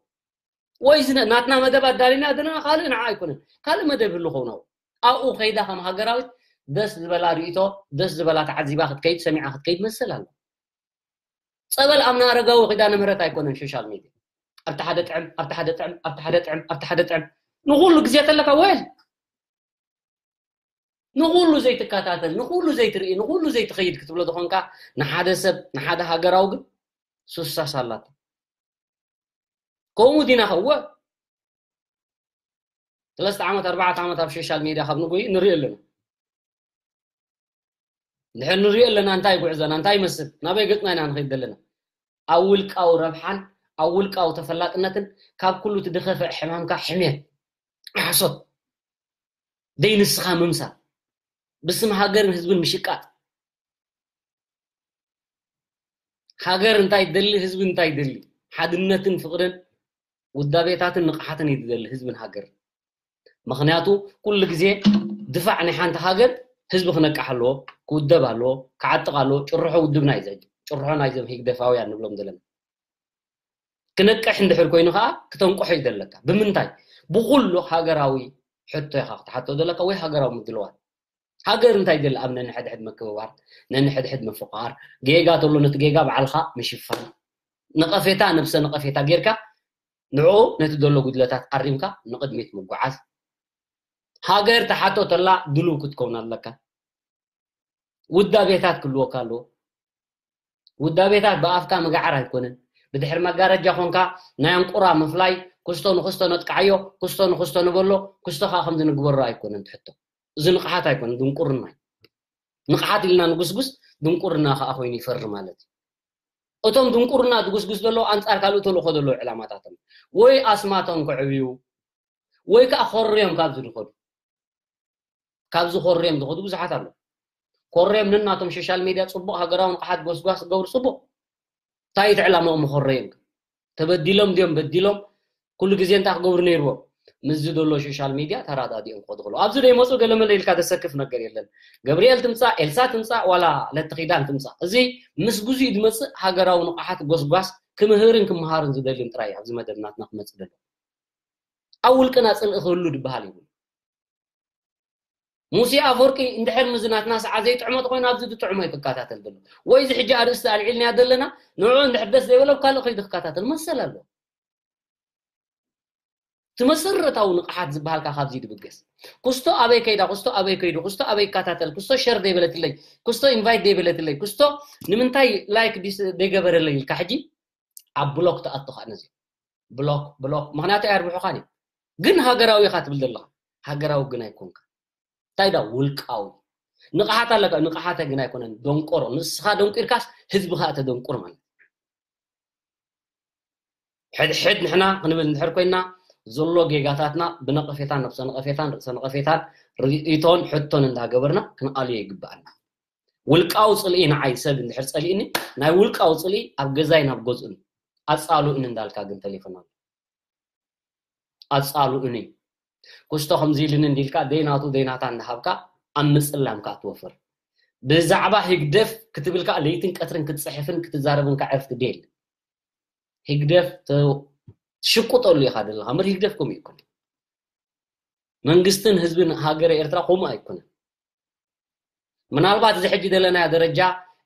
ወይ ዝነ-፣ ናትና መደብ ኣዳሊና ዘለና ካልእ ንዓ ኣይኮነን፣ ካልእ መደብ ህሉ ኸውን ኣብኡ። ኣብኡ ከይዳ ከም ሃገራዊት ደስ ዝበላ ርእይቶ፣ ደስ ዝበላ ተዓዚባ ክትከይድ፣ ሰሚዓ ክትከይድ መሰል ኣሎ። ጸበል ኣምና ኣረጋዊ ኪዳነ ምህረት ኣይኮነን ሶሻል ሚድያ። ኣብቲ ሓደ ጥዕም፣ ኣብቲ ሓደ ጥዕም፣ ኣብቲ ሓደ ጥዕም፣ ኣብቲ ሓደ ጥዕም። ንኹሉ ግዜ ተለካ ወይ ንኹሉ ዘይትከታተል፣ ንኹሉ ዘይትርኢ፣ ንኹሉ ዘይትኸይድ ክትብሎ ዝኾንካ ንሓደ ሰብ፣ ንሓደ ሃገራዊ ግን ሱሳስ ኣላቶ። ከምኡ ዲና ኸወ ሰለስተ ዓመት፣ ኣርባዕተ ዓመት ኣብ ሶሻል ሚድያ ካብ ንጉይ ንሪኦ ኣለና። እንድሕር ንሪኦ ኣለና እንታይ ጉዕዞና፣ እንታይ ይመስል፣ ናበይ ገጽና ኢና ንኸይድ ዘለና? ኣብ ውልቃዊ ረብሓን ኣብ ውልቃዊ ተፈላጥነትን ካብ ኩሉ እቲ ድኸፍዕ ሕማምካ ሕሜት፣ ሓሶት፣ ደይ ንስኻ ምምሳል፣ ብስም ሃገርን ህዝብን ምሽቃጥ። ሃገር እንታይ ትደሊ፣ ህዝቢ እንታይ ትደሊ? ሓድነትን ፍቕርን ውዳቤታትን ንቕሓትን እዩ ዝደሊ ህዝብን ሃገርን። ምኽንያቱ ኩሉ ግዜ ድፋዕ ናይ ሓንቲ ሃገር ህዝቢ ክነቅሕ ኣለዎ፣ ክውደብ ኣለዎ፣ ክዓጥቕ ኣለዎ። ጭርሖ ውድብና እዩ ዘ-፣ ጭርሖ ናይዞም ህግደፋውያን ንብሎም ዘለና። ክነቅሕ እንድሕር ኮይኑ ከዓ ክተንቅሖ እዩ ዘለካ። ብምንታይ? ብኩሉ ሃገራዊ ሕቶ ኢኻ ክትሓቶ ዘለካ ወይ ሃገራዊ ምድልዋል። ሃገር እንታይ ደሊ? ኣብ ነንሕድሕድ ምክብባር፣ ነንሕድሕድ ምፍቃር፣ ጌጋ ተሎ ነቲ ጌጋ ባዕልኻ ምሽፋን፣ ነቐፌታ፣ ነብሰ ነቐፌታ ጌርካ ንዕኡ ነቲ ዘሎ ጉድለታት ኣሪምካ ንቕድሚት ምጉዓዝ። ሃገር ትሓቶ ተላ ድሉው ክትከውን ኣለካ። ውዳቤታት ክህልወካ ኣለዎ። ውዳቤታት ብኣፍካ ምግዓር ኣይኮነን። ብድሕሪ መጋረጃ ኮንካ ናይ ኣንቁራ ምፍላይ፣ ክስቶ ንክስቶ ነጥቅዓዮ፣ ክስቶ ንክስቶ ንበሎ፣ ክስቶ ከዓ ከምዚ ንግበሮ ኣይኮነን ትሕቶ። እዚ ንቕሓት ኣይኮነን፣ ድንቁርና እዩ። ንቕሓት ኢልና ንጉስጉስ፣ ድንቁርና ከዓ ኮይኑ ይፈሪ ማለት እዩ። እቶም ድንቁርና ዝጉስጉስ ዘለዉ ኣንጻር ካልእ ተልእኾ ዘለዉ ዕላማታቶም ወይ ኣስማቶም ከዕብዩ ወይ ከዓ ኮርዮም ካብዚ ዝኸዱ፣ ካብዚ ኮርዮም ዝኸዱ ብዙሓት ኣለዉ። ኮርዮም ነናቶም ሶሻል ሜድያ ጽቡቕ ሃገራዊ ንቕሓት ጎስጓስ ዝገብሩ ጽቡቕ። እንታይ እቲ ዕላማኦም ኮርዮም? ተበዲሎም ድዮም በዲሎም? ኩሉ ግዜ እንታይ ክገብሩ ነይርዎም? ምስዚ ዘሎ ሶሻል ሚድያ ተራዳዲኦም ክኸዱ ከለዉ ኣብዚ ዘይመፁ ገለመለ ኢልካ ዘሰክፍ ነገር የለን። ገብርኤል ትምፃእ፣ ኤልሳ ትምፃእ፣ ዋላ ለትኺዳን ትምፃእ፣ እዚ ምስ ግዜኡ ዝመፅእ ሃገራዊ ንቕሓት ጎስጓስ ክምህርን ክመሃርን ዝደልን ጥራይ ኣብዚ መደብ ናትና ክመፅእ ዘሎ። ኣብ ውልቅና ፅልኢ ክህሉ ዝበሃል የብሉ። ሙሴ ኣፈወርቂ እንድሕር ምዚ ናትና ሰዓት ዘይጥዕሞ ተኮይኑ ኣብዚ ዝጥዕሞ እዩ ክከታተል ዘሎ። ወይ እዚ ሕጂ ኣርእስቲ ኣልዒልናያ ዘለና ንዕኡ እንድሕር ደስ ዘይበሎ ኣብ ካልእ ከይዱ ክከታተል መሰል ኣሎ። እቲ መሰረታዊ ንቕሓት ዝበሃልካ ካብዚ ድብገስ። ኩስቶ ኣበይ ከይዳ፣ ኩስቶ ኣበይ ከይዱ፣ ኩስቶ ኣበይ ይከታተል፣ ኩስቶ ሸር ደይበለትለይ፣ ኩስቶ ኢንቫይት ደይበለትለይ፣ ኩስቶ ንምንታይ ላይክ ዲስ ደይገበረለይ ኢልካ ሕጂ ኣብ ብሎክ ትኣቱ ከዓ ነዚ ብሎክ ብሎክ ምክንያቱ ኣየርብሑኻን እዩ። ግን ሃገራዊ ኢኻ ትብል ዘለኻ፣ ሃገራዊ ግን ኣይኮንካ። እንታይ ዳ ውልቃዊ ንቕሓት ኣለካ፣ ንቕሓተ ግን ኣይኮነን። ደንቆሮ ንስኻ ደንቂርካስ ህዝቢ ከዓ ተደንቁር ማለት እዩ። ሕድሕድ ንሕና ክንብል እንድሕር ኮይና ዘሎ ጌጋታትና ብነቐፌታን ነብሰ ነቐፌታን ርእሰ ነቐፌታን ርእይቶን ሕቶን እንዳገበርና ክንኣልዮ ይግብኣና። ውልቃዊ ፅልኢ ንዓይ ሰብ እንድሕር ፀሊእኒ ናይ ውልቃዊ ፅልኢ ኣብ ገዛይ ናብ ገዝኡን ኣፃልኡን እንዳልካ ግን ተሌፎን ኣሎ ኣፃልኡኒ ኩስቶ ከምዚ ኢልኒ እንዲልካ ደይናቱ ደይናታ እንዳሃብካ ኣብ ምፅላምካ ትወፍር ብዛዕባ ህግደፍ ክትብል ከዓ ለይትን ቀትርን ክትፅሕፍን ክትዛረብን ከዓ ዕርፍቲ ደየለ ህግደፍ ሽቁጠሉ ኢኻ ዘለኻ ምር ህግደፍ ከምኡ ይኮነ መንግስትን ህዝብን ሃገረ ኤርትራ ከምኡ ኣይኮነን ምናልባት እዚ ሕጂ ዘለናዮ ደረጃ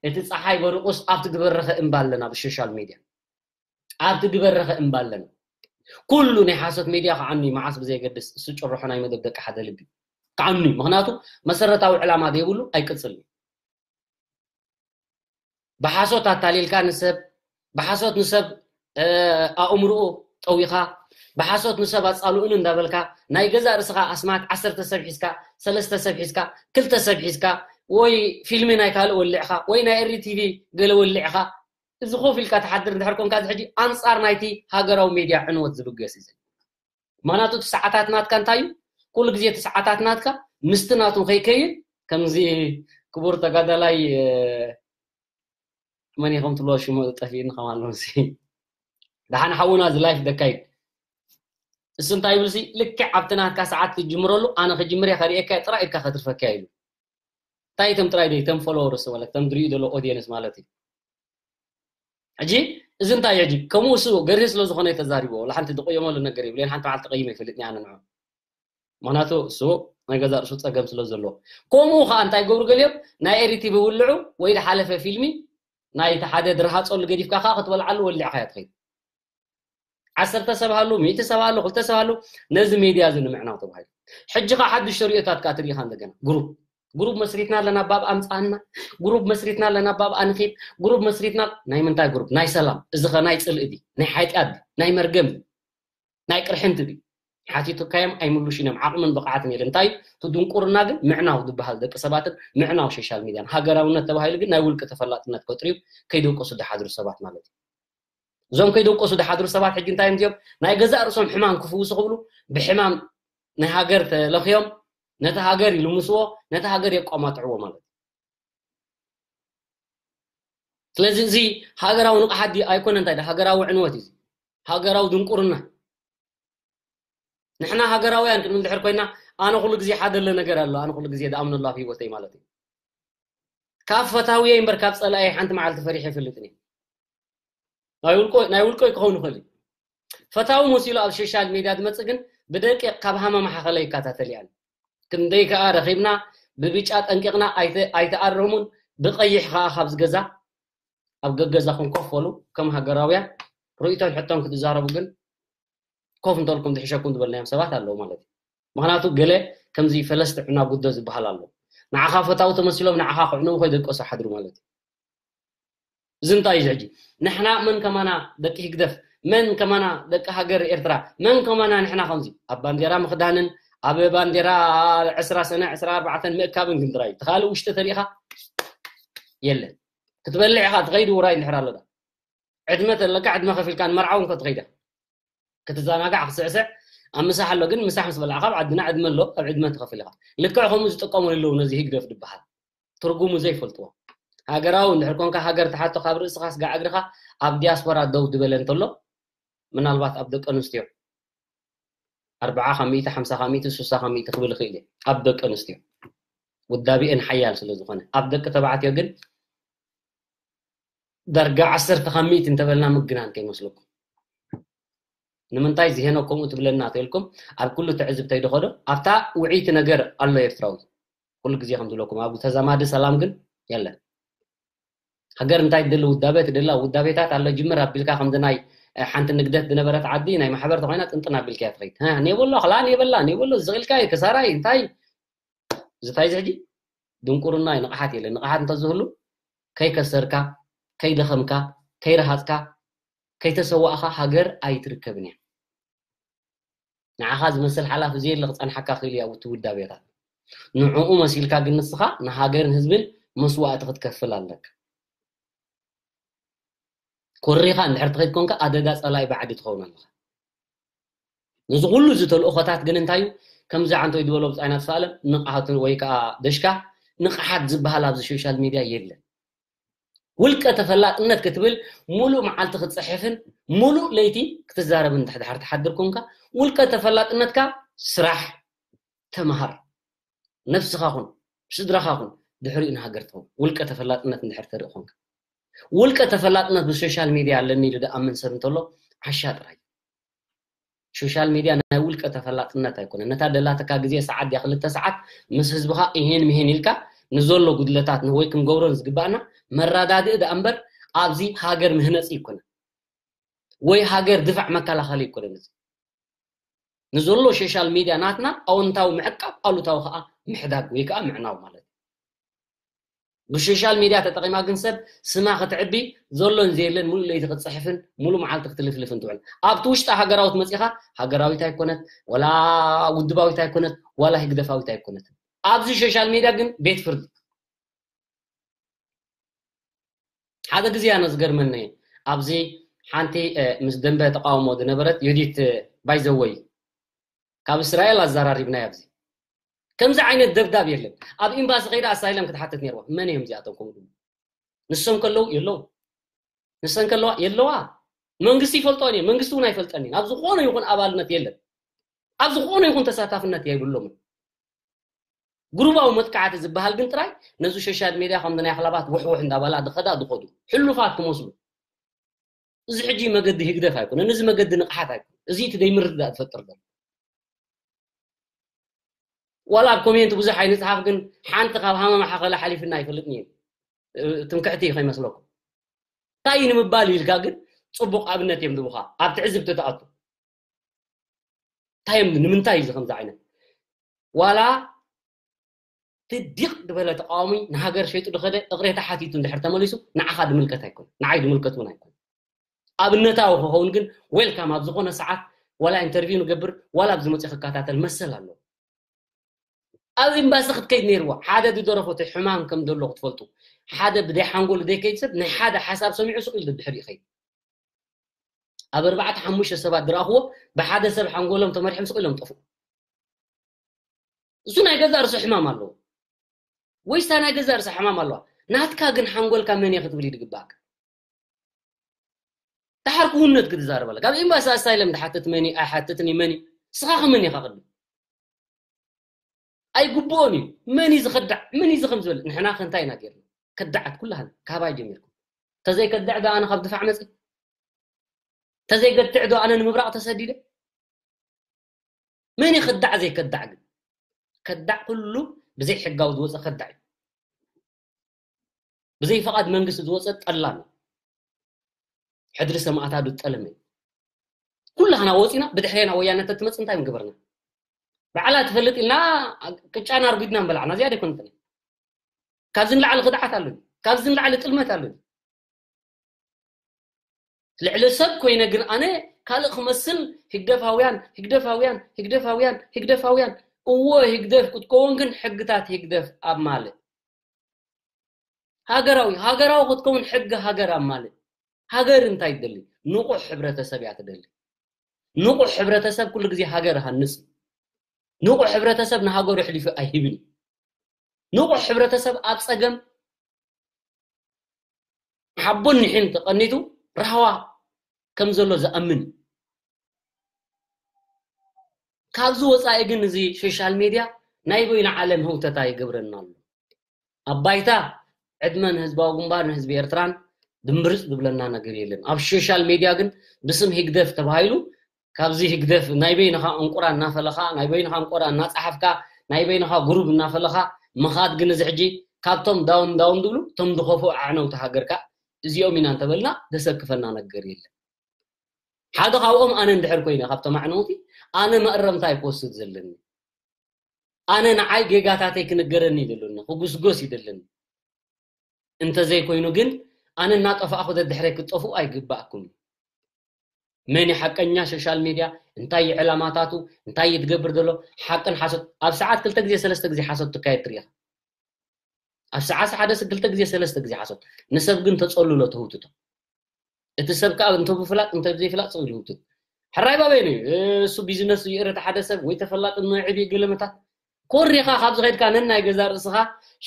እቲ ፀሓይ በርቁስ ኣብቲ ዝበረኸ እምባ ኣለና ብሶሻል ሚድያ ኣብቲ ዝበረኸ እምባ ኣለና ኩሉ ናይ ሓሶት ሚድያ ከዓኑ መዓስ ብዘየገድስ እሱ ጭርሖ ናይ መደብ ደቂ ሓደ ልቢ ከዓኑ ምክንያቱ መሰረታዊ ዕላማ ዘይብሉ ኣይቅፅል ብሓሶት ኣታሊልካ ንሰብ ብሓሶት ንሰብ ኣእምርኡ ጠዊኻ ብሓሶት ንሰብ ኣፃልኡን እንዳበልካ ናይ ገዛእ ርእስኻ ኣስማት ዓሰርተ ሰብ ሒዝካ ሰለስተ ሰብ ሒዝካ ክልተ ሰብ ሒዝካ ወይ ፊልሚ ናይ ካልእ ወሊዕኻ ወይ ናይ ኤሪ ቲቪ ገለ ወሊዕኻ እዚ ኮፍ ኢልካ ትሓድር እንድሕር ኮንካ እዚ ሕጂ ኣንፃር ናይቲ ሃገራዊ ሜድያ ዕንወት ዝብገስ እዩ ምክንያቱ እቲ ሰዓታት ናትካ እንታይ እዩ ኩሉ ግዜ እቲ ሰዓታት ናትካ ምስቲ ናቱ ከይከይድ ከምዚ ክቡር ተጋዳላይ መን ኢኹም ትብሎ ሽሙ ጠፊእኒ ከም ኣሎ ምስ ደሓን ሓውና እዚ ላይፍ ደካይድ እሱ እንታይ ይብል ሲ ልክዕ ኣብቲ ናትካ ሰዓት ትጅምረሉ ኣነ ክጅምር እየ ከርእየካ ጥራይ ኢድካ ከትርፈካ ኢሉ እንታይ እቶም ጥራይ ደይ ተም ፎሎወርስ ማለት ተም ድሪኡ ዘሎ ኦዲየንስ ማለት እዩ ሕጂ እዚ እንታይ ሕጂ ከምኡ እሱ ገርህ ስለ ዝኾነ ተዛሪቦ ወላ ሓንቲ ዝቆየመሉ ነገር ይብለን ሓንቲ መዓልቲ ቀይመ ይፈልጥኒ ኣነ ንዑ ምክንያቱ እሱ ናይ ገዛ ርእሱ ፀገም ስለ ዘለዎ ከምኡ ከዓ እንታይ ገብሩ ገሊኦም ናይ ኤሪቲ ብውልዑ ወይ ዝሓለፈ ፊልሚ ናይ ሓደ ድርሃፀሉ ገዲፍካ ከዓ ክትበልዓሉ ወሊዕካ እያ ትኸይድ ዓሰርተ ሰብ ሃሉ ሚእቲ ሰብ ሃሉ ክልተ ሰብ ሃሉ ነዚ ሜድያ እዚ ንምዕናው ተባሂሉ ሕጂ ከዓ ሓዱሽ ሸሪኦታት ከዓ ትሪኢኻ እንደገና ግሩፕ ግሩፕ መስሪትና ኣለና ባብ ኣምፃና ግሩፕ መስሪትና ኣለና ባብ ኣንኺድ ግሩፕ መስሪትና ናይ ምንታይ ግሩፕ ናይ ሰላም እዚ ኸ ናይ ፅልኢ ድዩ ናይ ሓጢኣት ድዩ ናይ መርገም ድዩ ናይ ቅርሕንቲ ድዩ ሓቲትካዮም ኣይምሉሽን እዮም ዓቕምን ብቕዓትን የለ እንታይ እዩ እቲ ድንቁርና ግን ምዕናው ዝበሃል ደቂ ሰባትን ምዕናው ሶሻል ሚድያን ሃገራውነት ተባሂሉ ግን ናይ ውልቂ ተፈላጥነት ፈጥርዩ ከይደቀሱ ዝሓድሩ ሰባት ማለት እዩ እዞም ከይደቀሱ ዝሓድሩ ሰባት ሕጂ እንታይ እዮም እዚኦም ናይ ገዛእ ርእሶም ሕማም ክፍውሱ ክብሉ ብሕማም ናይ ሃገር ተለኽዮም ነቲ ሃገር ይልምስዎ ነቲ ሃገር የቋማጥዕዎ ማለት እዩ ስለዚ እዚ ሃገራዊ ንቕሓት ድዩ ኣይኮነ እንታይ ሃገራዊ ዕንወት እዩ ሃገራዊ ድንቁርና ንሕና ሃገራውያን ክንብል ድሕር ኮይና ኣነ ኩሉ ግዜ ሓደ ለ ነገር ኣሎ ኣነ ኩሉ ግዜ ዝኣምነሉ ኣብ ህይወተይ ማለት እዩ ካብ ፈታውየ እምበር ካብ ፀላእየ ሓንቲ መዓልቲ ፈሪሐ ይፈልጥን እየ ናይ ውልቆይ ክኸውን ይኽእል እዩ ፈታዊ መሲሉ ኣብ ሶሻል ሜድያ ዝመፅእ ግን ብደቂቕ ካብ ሃመማ ሓኸለ ይከታተል እያን ክንደይ ከዓ ረኺብና ብብጫ ጠንቂቕና ኣይተኣረሙን ብቐይሕ ከዓ ካብዚ ገዛ ኣብ ገገዛኹም ኮፍ በሉ ከም ሃገራውያን ርእይቶን ሕቶን ክትዛረቡ ግን ኮፍ እንተልኩም ዝሕሸኩም ዝበልናዮም ሰባት ኣለዉ ማለት እዩ ምክንያቱ ገለ ከምዚ ፈለስቲ ዕናጉዶ ዝበሃል ኣሎ ንዓኻ ፈታዊ ተመሲሎም ንዓኻ ክዕንዉ ከይደቀሱ ሓድሩ ማለት እዩ እዚ እንታይ እዩ ሕጂ ንሕና መን ከማና ደቂ ህግደፍ መን ከማና ደቂ ሃገር ኤርትራ መን ከማና ንሕና ከምዚ ኣብ ባንዴራ ምኽዳንን ኣብ ባንዴራ ዕስራ ሰነ ዕስራ ኣርባዕተን ምእካብን ግን ጥራይ ተኻሊ ውሽጢ ተሪኢኻ የለን ክትበልዕ ኢኻ ትኸይድ ውራይ እንድሕር ኣሎ ዕድመ ተለካ ዕድመ ከፊልካ ንመርዓውን ክትኸይዳ ክትዘናጋዕ ክስዕስዕ ኣብ ምሳሕ ኣሎ ግን ምሳሕ ምስ በላዕካ ኣብ ዓድና ዕድመ ኣሎ ኣብ ዕድመ ትኸፍል ኢኻ ልክዕ ከምኡ ዝጥቀሙ ኣለዉ ነዚ ህግደፍ ዝበሃል ትርጉሙ ዘይፈልጥዎ ሃገራዊ እንድሕር ኮንካ ሃገር ትሓቶ ካብ ርእስኻ ስጋዕ እግርኻ ኣብ ዲያስፖራ ደው ዝበለ እንተሎ ምናልባት ኣብ ደቂ ኣንስትዮ ኣርብዓ ካብ ሚእቲ፣ ሓምሳ ካብ ሚእቲ፣ ስሳ ካብ ሚእቲ ክብል ይኽእል እየ ኣብ ደቂ ኣንስትዮ፣ ውዳቤአን ሓያል ስለ ዝኾነ። ኣብ ደቂ ተባዕትዮ ግን ዳርጋ ዓሰርተ ካብ ሚእቲ እንተበልና ምግናን ከይመስለኩም። ንምንታይ ዝሄኖ ከምኡ ትብለና ተልኩም? ኣብ ኩሉ ትዕዝብተይ ደኸዶ ኣብታ ውዕይቲ ነገር ኣሎ ኤርትራዊ። ኩሉ ግዜ ከም ዝብለኩም፣ ኣብ ተዛማዲ ሰላም ግን የለን። ሃገር እንታይ ትደሊ? ውዳቤ ትደላ? ውዳቤታት ኣሎ ጅምር ኣቢልካ፣ ከምዚ ናይ ሓንቲ ንግደት ዝነበረት ዓዲ ናይ ማሕበር ተኾይና ጥንጥን ኣቢልካ እያ ትኸይድ። ኔበሎ ክላ ኔበላ ኔበሎ ዝቕልካ እዩ፣ ክሳራ እዩ፣ እንታይ ዝታይ ዝሕጂ ድንቁርና እዩ። ንቕሓት የለን። ንቕሓት እንተዝህሉ ከይከሰርካ፣ ከይደኸምካ፣ ከይረሃፅካ፣ ከይተሰዋእኻ ሃገር ኣይትርከብን እያ። ንዓኻ ዝመስል ሓላፊ ዘየለ ክፀንሓካ ክእል እያ ውቲ ውዳቤታት። ንዕኡ መሲልካ ግን ንስኻ ንሃገርን ህዝብን መስዋእቲ ክትከፍል ኣለካ። ኮሪኻ እንድሕር ትኸይድ ኮንካ ኣደጋ ጸላኢ ባዕዲ ትኸውን ኣለኻ። ነዚ ኩሉ እዚ ተልእኾታት ግን እንታይ እዩ? ከምዚ ዓንቶይ ዝበሎ ብጻይና ተስፋለም ንቕሓት ወይ ከዓ ደሽካ ንቕሓት ዝበሃል ኣብዚ ሶሻል ሚድያ የለን። ውልቀ ተፈላጥነት ክትብል ሙሉእ መዓልቲ ክትጽሕፍን ሙሉእ ለይቲ ክትዛረብን እንድሕር ትሓድር ኮንካ ውልቀ ተፈላጥነትካ ስራሕ፣ ተምሃር፣ ነብስኻ ኩን፣ ስድራኻ ኩን፣ ድሕሪኡ ንሃገር ትኸውን። ውልቀ ተፈላጥነት እንድሕር ተርኢ ኮንካ። ውልቀ ተፈላጥነት ብሶሻል ሚድያ ኣለኒ ኢሉ ዝኣምን ሰብ እንተሎ ዓሻ ጥራይ። ሶሻል ሚድያ ናይ ውልቀ ተፈላጥነት ኣይኮነን። ነታ ደላትካ ግዜ ሰዓት ድያ ክልተ ሰዓት ምስ ህዝብኻ ይሄን ምሄን ኢልካ ንዘሎ ጉድለታት ን-፣ ወይ ክንገብሮን ዝግባእና መረዳድኢ ደኣ እምበር ኣብዚ ሃገር ምህነፂ ኣይኮነን። ወይ ሃገር ድፋዕ መከላኸሊ ኣይኮነን። እዚ ንዘሎ ሶሻል ሚድያ ናትና ኣወንታዊ ምዕቃብ፣ ኣሉታዊ ከዓ ምሕዳግ ወይ ከዓ ምዕናው ማለት እዩ። ብሶሻል ሚድያ ተጠቒማ ግን ሰብ ስማ ክትዕቢ ዘሎን ዘየለን ሙሉእ ለይቲ ክትፅሕፍን ሙሉእ መዓልቲ ክትልፍልፍን ትውዕል። ኣብቲ ውሽጢ ሃገራዊት መፂኻ ሃገራዊት ኣይኮነት፣ ዋላ ውድባዊት ኣይኮነት፣ ዋላ ህግደፋዊት ኣይኮነት። ኣብዚ ሶሻል ሚድያ ግን ቤት ፍርዲ። ሓደ ግዜ ኣነ ዝገርመኒ ኣብዚ ሓንቲ፣ እ፣ ምስ ደንበ ተቃውሞ ዝነበረት ዮዲት፣ እ፣ ባይዘወይ ካብ እስራኤል ኣዘራሪብናያ ኣብዚ። ከምዚ ዓይነት ደብዳብ የለን። ኣብ ኤምባሲ ከይዳ ኣሳይለም ክትሓትት ነይርዋ። መን እዮም እዚኣቶም ከምኡ ድሞ? ንሶም ከለዉ የለዉ። ንሰን ከለዋ የለዋ። መንግስቲ ይፈልጦን እየ፣ መንግስቲ እውን ኣይፈልጠን እዩ። ኣብ ዝኾነ ይኹን ኣባልነት የለን። ኣብ ዝኾነ ይኹን ተሳታፍነት የብሎምን። ግሩባዊ መጥቃዕቲ ዝበሃል ግን ጥራይ ነዚ ሶሻል ሚድያ ከምዚ ናይ ኣኽላባት ውሕውሕ እንዳበላ ዝኸዳ ዝኸዱ ሕሉፋት ክመስሉ። እዚ ሕጂ መገዲ ህግደፍ ኣይኮነን፣ እዚ መገዲ ንቕሓት ኣይኮነን። እዚ እቲ ዘይምርድዳእ ዝፈጥር ዘሎ። ዋላ ኣብ ኮሜንት ብዙሕ ኣይንጽሓፍ፣ ግን ሓንቲ ካብ ሃመማ ሓኸላ ሓሊፍና ኣይፈልጥን እየ። እ፣ ትምክሕቲ እዩ ከይመስለኩም። እንታይ እዩ ንምባል ኢልካ ግን ጽቡቕ ኣብነት እዮም ዝህቡኻ። ኣብ ትዕዝብቲ ትኣቱ። እንታይ እዮም፣ ንምንታይ እዩ እዚ ከምዚ ዓይነት? ዋላ እቲ ዲቕ ዝበለ ተቃዋሚ ንሃገር ሸይጡ ዝኸደ እቕሬታ ሓቲቱ እንድሕር ተመሊሱ ንዓኻ ድምልከት ኣይኮን፣ ንዓይ ድምልከት እውን ኣይኮን። ኣብነታዊ ክኸውን ግን ዌልካም ኣብ ዝኾነ ሰዓት ዋላ ኢንተርቪው ንገብር ዋላ ኣብዚ መፅኡ ክከታተል መሰል ኣለዎ። ኣብ ኤምባሲ ክትከይድ ነይርዋ። ሓደ ዝደረፎ እቲ ሕማም ከም ዘሎ ክትፈልጡ። ሓደ ብደይ ሓንጎሉ ዘይከይድ ሰብ ናይ ሓደ ሓሳብ ሰሚዑ ስቕ ኢሉ ድሕሪ ይኸይድ። ኣብ ኣርባዕተ ሓሙሽተ ሰባት ዝረኣኽዎ ብሓደ ሰብ ሓንጎሎም ተመሪሖም ስቕ ኢሎም ጠፍኡ። እሱ ናይ ገዛእ ርእሱ ሕማም ኣለዎ። ወይስ እታ ናይ ገዛእ ርእሳ ሕማም ኣለዋ? ናትካ ግን ሓንጎልካ መን እየ ክትብል እዩ ዝግባእካ። ደሓር ክውነት ክትዛረብ ኣለካ። ኣብ ኤምባሲ ኣሳይለም ዝሓትት መን እዩ? ኣይሓትትን እዩ መን እዩ? ንስኻ ከ መን ኢኻ ቅድም? ኣይግብኦን እዩ። መን እዩ ዝኸዳዕ? መን እዩ እዚ ከም ዝበለ? ንሕና ከ እንታይ ኢና ጌርና? ከዳዓት ኩላህና ካባይ ጀሚርኩም። ተዘይከድዕ ዶ ኣነ ካብ ድፋዕ መፅእ? ተዘይገድዕ ዶ ኣነ ንምብራቕ ተሰዲደ? መን እዩ ከዳዕ ዘይከዳዕ ግን? ከዳዕ ኩሉ ብዘይ ሕጋዊ ዝወፀ ከዳዕ እዩ። ብዘይ ፈቓድ መንግስቲ ዝወፀ ጠላም እዩ። ሕድሪ ሰማእታቱ ዝጠለመ እዩ። ኩላህና ወፂና ብድሕሬና ወያነ ተትመፅ እንታይ ምገበርና? ባዕላ ትፈልጥ ኢልና ቅጫና ኣርጉድና ምበላዕና፣ እዚኣ ደይኮነት። ካብዚ ንላዕሊ ክድዓት ኣሎ? ካብዚ ንላዕሊ ጥልመት ኣሎ? ልዕሊ ሰብ ኮይነ ግን ኣነ ካልእ ክመስል ህግደፋውያን፣ ህግደፋውያን፣ ህግደፋውያን፣ ህግደፋውያን። እወ ህግደፍ ክትከውን ግን ሕግታት ህግደፍ ኣብ ማልእ። ሃገራዊ፣ ሃገራዊ ክትከውን ሕጊ ሃገር ኣብ ማልእ። ሃገር እንታይ ትደሊ? ንቑሕ ሕብረተሰብ እያ ትደሊ። ንቑሕ ሕብረተሰብ ኩሉ ግዜ ሃገር ሃንጽ። ንቑሕ ሕብረተሰብ ንሃገሩ ኣሕሊፉ ኣይህብን። ንቑሕ ሕብረተሰብ ኣብ ጸገም ሓቦን ኒሕን ተቐኒቱ ራህዋ ከም ዘሎ ዝኣምን። ካብዚ ወፃኢ ግን እዚ ሶሻል ሜድያ ናይ በይኑ ዓለም ህውተታ ይገብረና ኣሎ። ኣብ ባይታ ዕድመ ንህዝባዊ ግንባር ንህዝቢ ኤርትራን ድምብርፅ ዝብለና ነገር የለን። ኣብ ሶሻል ሜድያ ግን ብስም ህግደፍ ተባሂሉ ካብዚ ህግደፍ ናይ በይንኻ እንቁራ እናፈለኻ ናይ በይንኻ እንቁራ እናፀሓፍካ ናይ በይንኻ ጉሩብ እናፈለኻ ምኻድ ግን እዚ ሕጂ ካብቶም ዳውን ዳውን ዝብሉ እቶም ዝኸፍኡ ኣዕነውቲ ሃገርካ እዚኦም ኢና እንተበልና ዘሰክፈና ነገር የለን። ሓደ ካብኦም ኣነ እንድሕር ኮይነ ካብቶም ኣዕነውቲ ኣነ መእረምታ ኣይክወስድ ዘለኒ። ኣነ ንዓይ ጌጋታተይ ክንገረኒ ይደለኒ ክጉስጎስ ይደለኒ። እንተዘይኮይኑ ግን ኣነ እናጠፋእኹ ደድሕረይ ክትጠፍኡ ኣይግባእኩም። መን ሓቀኛ ሶሻል ሜድያ እንታይ እዩ ዕላማታቱ እንታይ እዩ ትገብር ዘሎ ሓቅን ሓሶት ኣብ ሰዓት ክልተ ግዜ ሰለስተ ግዜ ሓሶት ትካየድ ትሪኢኻ። ኣብ ሰዓት ሓደ ክልተ ግዜ ሰለስተ ግዜ ሓሶት ንሰብ ግን ተፀልሎ ተህውትቶ። እቲ ሰብ ከዓ እንተ ብፍላጥ እንተ ዘይፍላጥ ሰው ይህውትት። ሕራይ ባበይኑ እዩ እሱ ቢዝነስ ይእረት ሓደ ሰብ ወይ ተፈላጥነት ዕብይ ገለመታት ኮሪኻ ካብ ዝኸድካ ነናይ ገዛ ርእስኻ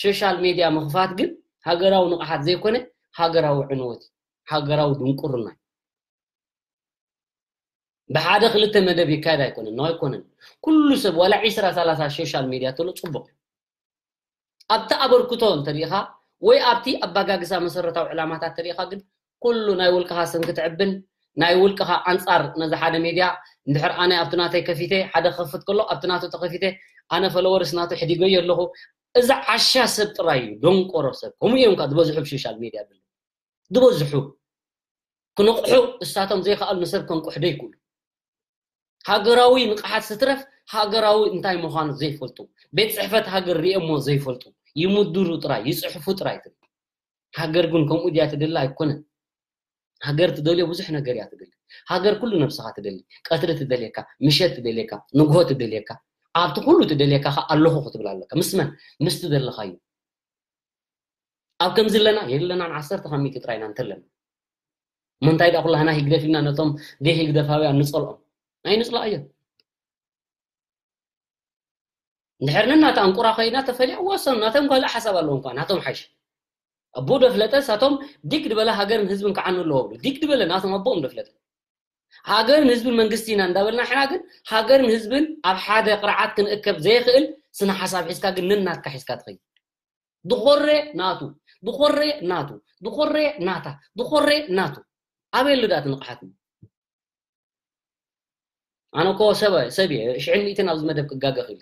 ሶሻል ሜድያ ምኽፋት ግን ሃገራዊ ንቕሓት ዘይኮነ ሃገራዊ ዕንወት ሃገራዊ ድንቁርና እዩ። ብሓደ ክልተ መደብ ይካየድ ኣይኮነን ነው ኣይኮነን። ኩሉ ሰብ ዋላ ዒስራ ሰላሳ ሶሻል ሜድያ ተሎ ፅቡቕ ኣብቲ ኣበርክቶ እንተሪኢኻ ወይ ኣብቲ ኣባጋግሳ መሰረታዊ ዕላማታት ተሪኢኻ ግን ኩሉ ናይ ውልቅኻ ስም ክትዕብን ናይ ውልቅኻ ኣንፃር ነዚ ሓደ ሜድያ እንድሕር ኣነ ኣብቲ ናተይ ከፊተ ሓደ ክኸፍት ከሎ ኣብቲ ናቱ ተኸፊተ ኣነ ፈለወርስ ናቱ ሕዲገዮ ኣለኹ። እዚ ዓሻ ሰብ ጥራይ እዩ ደንቆሮ ሰብ ከምኡ እዮም ከዓ ዝበዝሑ ኣብ ሶሻል ሜድያ ዘለዉ ዝበዝሑ ክነቕሑ እሳቶም ዘይከኣሉ ንሰብ ከንቁሕ ደይክእሉ ሃገራዊ ንቕሓት ስትረፍ ሃገራዊ እንታይ ምዃኑ ዘይፈልጡ ቤት ፅሕፈት ሃገር ሪኦሞ ዘይፈልጡ ይምድሩ ጥራይ ይፅሕፉ ጥራይ ትብል። ሃገር ግን ከምኡ ድያ ትደሊ ኣይኮነን። ሃገር ትደልዮ ብዙሕ ነገር እያ ትደሊ። ሃገር ኩሉ ነብስኻ ትደሊ። ቀትሪ ትደልየካ፣ ምሸት ትደልየካ፣ ንግሆ ትደልየካ፣ ኣብቲ ኩሉ ትደልየካ ከ ኣለኹ ክትብል ኣለካ። ምስ መን? ምስ ትደለኻዮ። ኣብ ከምዚ ኣለና የለናን ዓሰርተ ካብ ሚእቲ ጥራይና እንተለና እሞ እንታይ ደኣ ኩላህና ህግደፍ ኢልና ነቶም ዘይህግደፋውያን ንጸልኦም ኣይንጽላእዮ። እንድሕር ነናታ እንቁራ ኮይና ተፈልያ ወሰኑ ናቶም ካልእ ሓሳብ ኣለዎም እኳ ናቶም ሓይሽ ኣቦ ደፍለጠ ሳቶም ዲግ ድበለ ሃገርን ህዝብን ክዓኑ ኣለዎ ብሉ ዲግ ድበለ ናቶም ኣቦኦም ደፍለጠ ሃገርን ህዝብን መንግስቲ ኢና እንዳበልና ሕና ግን ሃገርን ህዝብን ኣብ ሓደ ቅርዓት ክንእከብ ዘይኽእል ስነ ሓሳብ ሒዝካ ግን ነናትካ ሒዝካ ትኸይድ ድኾሬ ናቱ ድኾሬ ናቱ ድኾሬ ናታ ድኾሬ ናቱ ኣበይ ኣሎ ዳኣ ንቕሓት ኣነ እኮ ሰብ ሰብ እየ ሽዕን ሚእትን ኣብዚ መደብ ክጋገ ክእል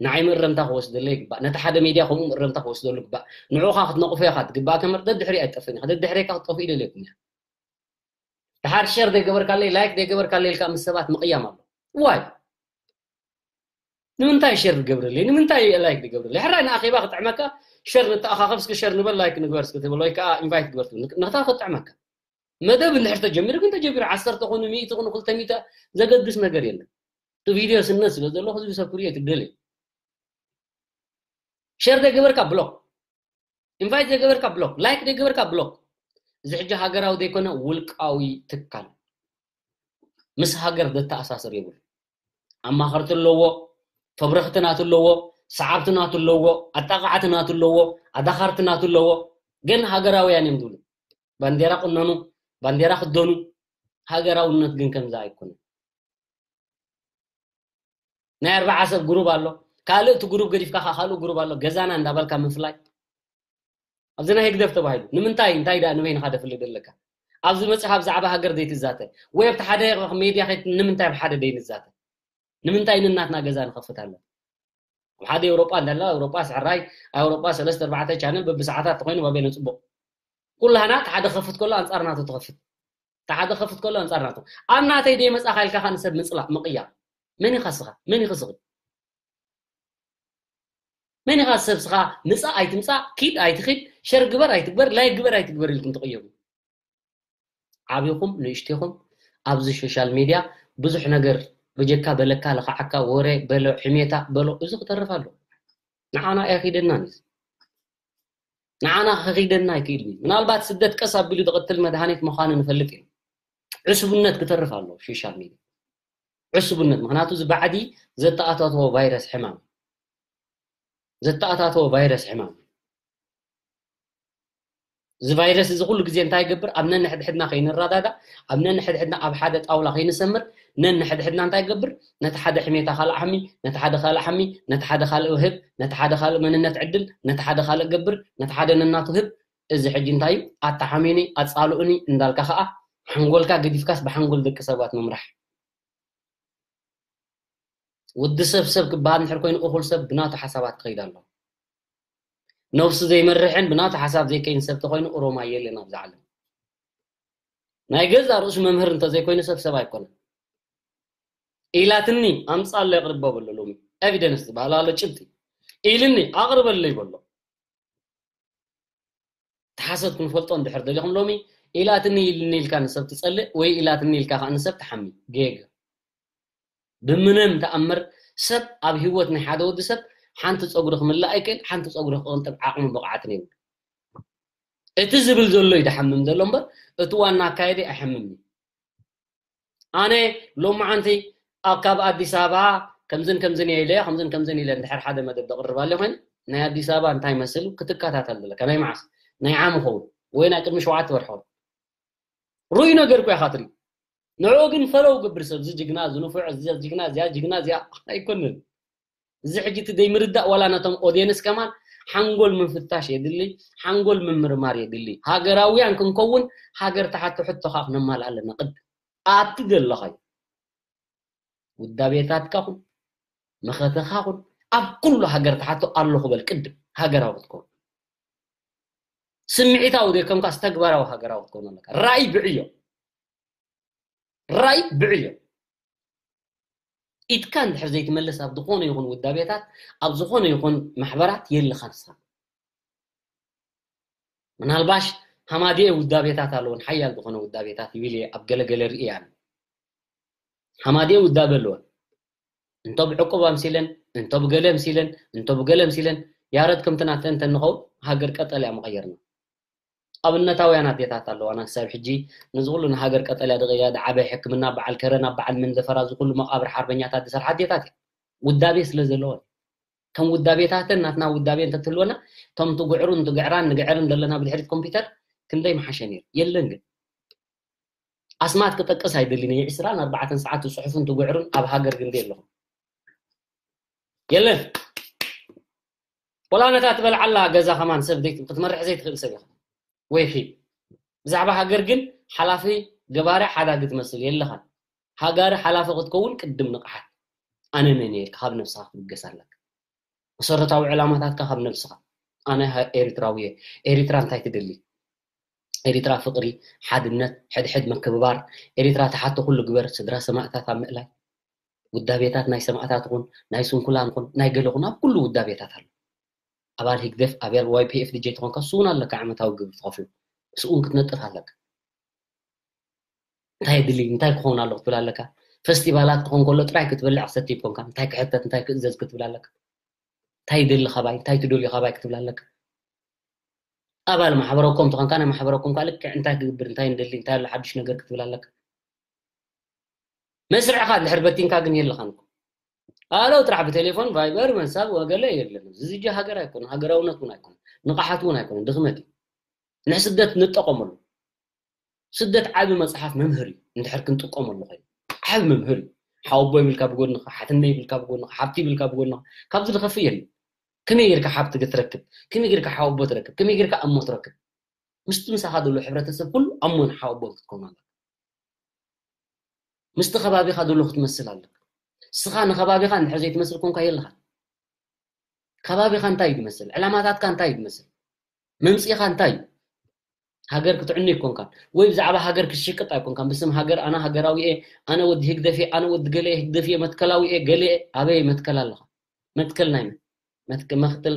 ንዓይ ምእረምታ ክወስደለ ይግባእ ነቲ ሓደ ሜድያ ከምኡ ምእረምታ ክወስደሉ ይግባእ ንዑኻ ክትነቕፎ ኢኻ ትግባእ ከመር ደድሕሪ ኣይትጠፍእን ኢኻ ደድሕሬካ ክትጠፍኡ ይደልየኩም እያ ድሓር ሸር ዘይገበርካለይ ላይክ ዘይገበርካለይ ኢልካ ምስ ሰባት ምቕያም ኣሎ ዋይ ንምንታይ ሸር ዝገብረለይ ንምንታይ ላይክ ዝገብረለይ ሕራይ ንኣኼባ ክጥዕመካ ሸር ንተኣኻኸብ እስኪ ሸር ንበል ላይክ ንግበር እስኪ ትብል ወይ ከዓ ኢንቫይት ግበር ትብል ንክታ ክጥዕመካ መደብ እንድሕር ተጀሚሩ ግን ተጀሚሩ ዓሰርተ ኮኑ ሚእቲ ኮኑ ክልተ ሚእቲ ዘገድስ ነገር የለን እቲ ቪድዮ ስነት ስለ ዘለኹ ህዝቢ ሰብ ክሪኦ ትደልየ ሸር ዘይገበርካ ብሎክ ኢንቫይት ዘይገበርካ ብሎክ ላይክ ዘይገበርካ ብሎክ እዚ ሕጂ ሃገራዊ ዘይኮነ ውልቃዊ ትካል ምስ ሃገር ዘተኣሳስር የብሉ ኣማኸርቲ ኣለዎ ፈብረኽቲ ናቱ ኣለዎ ሰዓብቲ ናቱ ኣለዎ ኣጣቃዕቲ ናቱ ኣለዎ ኣዳኻርቲ ናቱ ኣለዎ ግን ሃገራውያን እዮም ዝብሉ ባንዴራ ቁነኑ ባንዴራ ክደኑ ሃገራውነት ግን ከምዛ ኣይኮነ ናይ ኣርባዓ ሰብ ግሩብ ኣሎ ካልእ እቲ ግሩብ ገዲፍካ ከዓ ካልእ ግሩብ ኣሎ ገዛና እንዳበልካ ምፍላይ ኣብዚ ናይ ህግደፍ ተባሂሉ ንምንታይ እንታይ ደኣ ንበይንኻ ደፍልጥ ኣለካ ኣብዚ መፅኻ ብዛዕባ ሃገር ዘይትዛተ ወይ ኣብቲ ሓደ ሜድያ ከይት ንምንታይ ኣብ ሓደ ደይንዛተ ንምንታይ ንናትና ገዛ ንኸፍት ኣለና ኣብ ሓደ ኤውሮጳ እንዳላ ኤውሮጳ ስሕራይ ኣውሮጳ ሰለስተ ኣርባዕተ ቻነል በብሰዓታት ተኮይኑ ባቤነ ጽቡቕ ኩላህና እቲ ሓደ ከፍት ከሎ ኣንጻር ናቱ ትኸፍት እቲ ሓደ ከፍት ከሎ ኣንጻር ናቱ ኣብ ናተይ ደይ መጻኻ ኢልካ ከ ንሰብ ምጽላእ ምቕያር መን ኢኻ ስኻ መን ኢኺ ስኺ መን ኢኻ ሰብ ስኻ ምጻእ ኣይትምጻእ ኪድ ኣይትኺድ ሸር ግበር ኣይትግበር ላይክ ግበር ኣይትግበር ኢልኩም ትቕየሩ ዓብኹም ንእሽቴኹም ኣብዚ ሶሻል ሜድያ ብዙሕ ነገር በጀካ በለካ ለኻዓካ ወረ በሎ ሕሜታ በሎ እዚ ክተርፍ ኣሎ ንዓና ኣያኺደናን እዩ ንዓና ከኺደና ኣይክእልን እዩ ምናልባት ስደት ቀስ ኣቢሉ ዝቕትል መድሃኒት ምዃኑ ንፈልጥ እዩ ዕስቡነት ክተርፍ ኣሎ ሶሻል ሜድያ ዕስቡነት ምክንያቱ እዚ ባዕዲ ዘተኣታተዎ ቫይረስ ሕማም ዘተኣታተዎ ቫይረስ ሕማም እዚ ቫይረስ እዚ ኩሉ ግዜ እንታይ ይገብር? ኣብ ነንሕድሕድና ከይንረዳዳእ፣ ኣብ ነንሕድሕድና ኣብ ሓደ ጣውላ ከይንሰምር፣ ነንሕድሕድና እንታይ ይገብር? ነቲ ሓደ ሕሜታ ካልእ ሓሚ፣ ነቲ ሓደ ካልእ ሓሚ፣ ነቲ ሓደ ካልእ ህብ፣ ነቲ ሓደ ካልእ መንነት ዕድል፣ ነቲ ሓደ ካልእ ገብር፣ ነቲ ሓደ ነናቱ ህብ። እዚ ሕጂ እንታይ እዩ? ኣተሓሚኒ፣ ኣጻልኡኒ እንዳልካ ከኣ ሓንጎልካ ገዲፍካስ ብሓንጎል ደቂ ሰባት ምምራሕ። ወዲ ሰብ ሰብ ክበሃል እንድሕር ኮይኑ እኹል ሰብ ብናቱ ሓሳባት ክኸይድ ኣለዎ። ነብሱ ዘይመርሕን ብናቱ ሓሳብ ዘይከይን ሰብ ተኾይኑ ኦሮማይ የለን ኣብዚ ዓለም። ናይ ገዛ ርእሱ መምህር እንተዘይኮይኑ ሰብ ሰብ ኣይኮነን። ኢላትኒ ኣምጻሎ የቕርቦ በሎ ሎሚ ኤቪደንስ ዝበሃል ኣሎ ጭብጢ ኢልኒ ኣቕርበለይ በሎ። ተሓሰት ክንፈልጦ እንድሕር ደሊኹም ሎሚ ኢላትኒ ኢልኒ ኢልካ ንሰብ ትጸልእ ወይ ኢላትኒ ኢልካ ከዓ ንሰብ ትሓሚ ጌግ ብምንም ተኣምር ሰብ ኣብ ህይወት ናይ ሓደ ወዲ ሰብ ሓንቲ ፀጉሪ ክምላእ ኣይክእል ሓንቲ ፀጉሪ ክቕንጥብ ዓቕሚ ብቕዓትን የብሉ እቲ ዝብል ዘሎ እዩ ድሓምም ዘሎ እምበር እቲ ዋና ኣካየዲ ኣይሓምም እዩ ኣነ ሎማዓንቲ ኣብ ካብ ኣዲስ ኣበባ ከምዝን ከምዝን እየ ኢለ ከምዝን ከምዝን ኢለ እንድሕር ሓደ መደብ ደቕርብ ኣለ ኮይኑ ናይ ኣዲስ ኣበባ እንታይ መስሉ ክትከታተል ዘለካ ናይ መዓስ ናይ ዓም ኸውን ወይ ናይ ቅድሚ ሸውዓተ ወርሒ ኸውን ሩይ ነገር እኮ ኢኻ ትርኢ ንዕኡ ግን ፈለው ግብር ሰብ እዚ ጅግና እዚ ንፉዕ እዚ ጅግና እዚኣ ጅግና እዚኣ ኣይኮንን እዚ ሕጂ እቲ ዘይምርዳእ ዋላ ነቶም ኦድየንስ ከማን ሓንጎል ምፍታሽ የድሊ ሓንጎል ምምርማር የድሊ ሃገራውያን ክንከውን ሃገር ተሓቲ ሕቶኻ ክነማልእ ኣለና ቅድም ኣብቲ ዘለኻዮ ውዳቤታትካ ኹን መኸተኻ ኹን ኣብ ኩሉ ሃገር ተሓቶ ኣለኹ በል ቅድም ሃገራዊ ክትከውን ስምዒታዊ ዘይኮንካስ ተግባራዊ ሃገራዊ ክትከውን ኣለካ ራእይ ብዕዮ ራእይ ብዕዮ ኢድካ እንድሕር ዘይትመልስ ኣብ ዝኾነ ይኹን ውዳቤታት ኣብ ዝኾነ ይኹን ማሕበራት የለኻን ንስኻ ምናልባሽ ሃማድኤ ውዳቤታት ኣለዎን ሓያል ዝኾነ ውዳቤታት ይብል እየ ኣብ ገለገለ ርኢ ኣነ ሃማድኤ ውዳቤ ኣለዎን እንቶ ብዕቁብ ኣምሲለን እንቶ ብገለ ኣምሲለን እንቶ ብገለ ኣምሲለን ያረድ ከምቲ ናተን እንተንኸውን ሃገር ቀጠል እያ መቐየርና ኣብነታውያን ኣዴታት ኣለዋና ክሳብ ሕጂ ነዚ ኩሉ ንሃገር ቀጠልያ ደቂያ ዝዓበየ ሕክምና በዓል ከረን ኣብ በዓል መንደፈራ እዚ ኩሉ መቃብር ሓርበኛታት ዝሰርሓ ኣዴታት እያ ውዳቤ ስለ ዘለወን ከም ውዳቤታተን ናትና ውዳቤ እንተትህልወና እቶም ትጉዕሩን ትግዕራን ንግዕርን ዘለና ብድሕሪት ኮምፒውተር ክንደይ ምሓሸ ነይሩ የለን ግን ኣስማት ክጠቅስ ኣይደልን እየ ዕስራን ኣርባዕተን ሰዓት ትፅሕፉን ትጉዕሩን ኣብ ሃገር ግን ኣለኹም የለን ወላ ነታ ትበልዓላ ገዛ ከማን ሰብ ክትመርሕ ዘይትኽእል ሰብ ኢኻ ወይ ኺ ብዛዕባ ሃገር ግን ሓላፊ ገባሪ ሓዳጊ ትመስል የለኻን ሃጋሪ ሓላፊ ክትከውን ቅድም ንቕሓት ኣነ መን እየ ኢልካ ካብ ነብስኻ ክትብገስ ኣለካ መሰረታዊ ዕላማታትካ ካብ ነብስኻ ኣነ ኤሪትራዊ እየ ኤሪትራ እንታይ ትደሊ ኤሪትራ ፍቕሪ ሓድነት ሕድሕድ ምክብባር ኤሪትራ ተሓቶ ኩሉ ግበር ስድራ ሰማእታት ኣብ ምእላይ ውዳቤታት ናይ ሰማእታት ኹን ናይ ስንኩላን ኹን ናይ ገለ ኹን ኣብ ኩሉ ውዳቤታት ኣሎ ኣባል ህግደፍ ኣባል ዋይፒኤፍ ድጀ ተኾንካ ስውን ኣለካ ዓመታዊ ግብር ትኸፍሉ ስውን ክትነጥፍ ኣለካ እንታይ ድሊ እንታይ ክኸውን ኣሎ ክትብል ኣለካ ፈስቲቫላት ክኾን ከሎ ጥራይ ክትበልዕ ክሰቲ ይኮንካ እንታይ ክሕተት እንታይ ክእዘዝ ክትብል ኣለካ እንታይ ይደሊ ካባይ እንታይ ትደልዩ ካባይ ክትብል ኣለካ ኣባል ማሕበረኮም ተኾንካ ናይ ማሕበረኮም ከዓ ልክዕ እንታይ ክግብር እንታይ ንደሊ እንታይ ኣሎ ሓዱሽ ነገር ክትብል ኣለካ መስርዕኻ እንድሕር በቲንካ ግን የለኻን እኮ ኣለው ጥራሕ ብቴሌፎን ቫይበር መሳብ ወገለ የለን እዚ ጂ ሃገር ኣይኮነ ሃገራውነት እውን ኣይኮነ ንቕሓት እውን ኣይኮነ ድኽመት እዩ ንስደት ንጠቐመሉ ስደት ዓቢ መጽሓፍ መምህር እዩ እንድሕር ክንጥቀመሉ ኮይኑ ዓቢ መምህር እዩ ሓወቦ ይብልካ ብጎንኻ ሓትነ ይብልካ ብጎንኻ ሓብቲ ይብልካ ብጎንኻ ካብዚ ዝኸፍእ የለን ከመይ ጌርካ ሓብቲ ክትረክብ ከመይ ጌርካ ሓወቦ ትረክብ ከመይ ጌርካ እሞ ትረክብ ምስቲ ምሳኻ ዘሎ ሕብረተሰብ ኩሉ ኣሞን ሓወቦን ክትከውን ኣለካ ምስቲ ከባቢኻ ዘሎ ክትመስል ኣለካ ስኻ ንከባቢኻ እንድሕር ዘይትመስል ኮንካ የለኻ ከባቢኻ እንታይ እዩ ዝመስል ዕላማታትካ እንታይ እዩ ዝመስል መምፅኢኻ እንታይ እዩ ሃገር ክትዕኑ ይኮንካን ወይ ብዛዕባ ሃገር ክትሽቅጥ ኣይኮንካን ብስም ሃገር ኣነ ሃገራዊ እየ ኣነ ወዲ ህግደፍ እየ ኣነ ወዲ ገለ እየ ህግደፍ እየ መትከላዊ እየ ገለ እየ ኣበይ መትከል ኣለኻ መትከል ናይ መን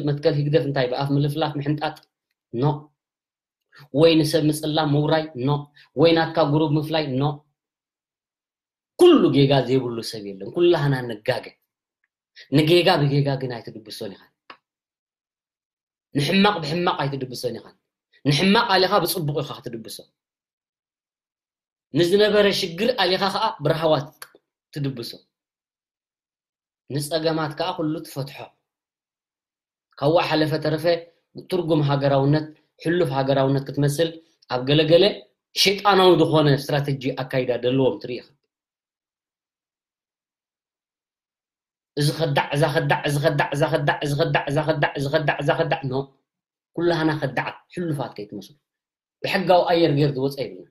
መትከል ህግደፍ እንታይ ብኣፍ ምልፍላፍ ምሕንጣጥ ኖ ወይ ንሰብ ምጽላም ምውራይ ኖ ወይ ናትካ ጉሩብ ምፍላይ ኖ ኩሉ ጌጋ ዘይብሉ ሰብ የለን ኩላህና ንጋገ ንጌጋ ብጌጋ ግን ኣይትድብሶን ኢኻ ንሕማቕ ብሕማቕ ኣይትድብሶን ኢኻ ንሕማቕ ኣሊኻ ብጽቡቕ ኢኻ ክትድብሶ ንዝነበረ ሽግር ኣሊኻ ኸኣ ብረሃዋ ትድብሶ ንጸገማት ከኣ ኩሉ ትፈትሖ ካብኡ ሓለፈ ተረፈ ትርጉም ሃገራውነት ሕሉፍ ሃገራውነት ክትመስል ኣብ ገለገለ ሸይጣናዊ ዝኾነ ስትራተጂ ኣካይዳ ደለዎም ትርኢ ኢኻ። እዚ ከዳዕ እዛ ከዳዕ እዚ ከዳዕ እዛ ከዳዕ እዚ ከዳዕ እዛ ከዳዕ እዚ ከዳዕ እዛ ከዳዕ ኖ ኩላህና ከዳዓት ሕሉፋት ከይትመስሉ። ብሕጋዊ ኣየር ገይር ዝወፀ የብልና።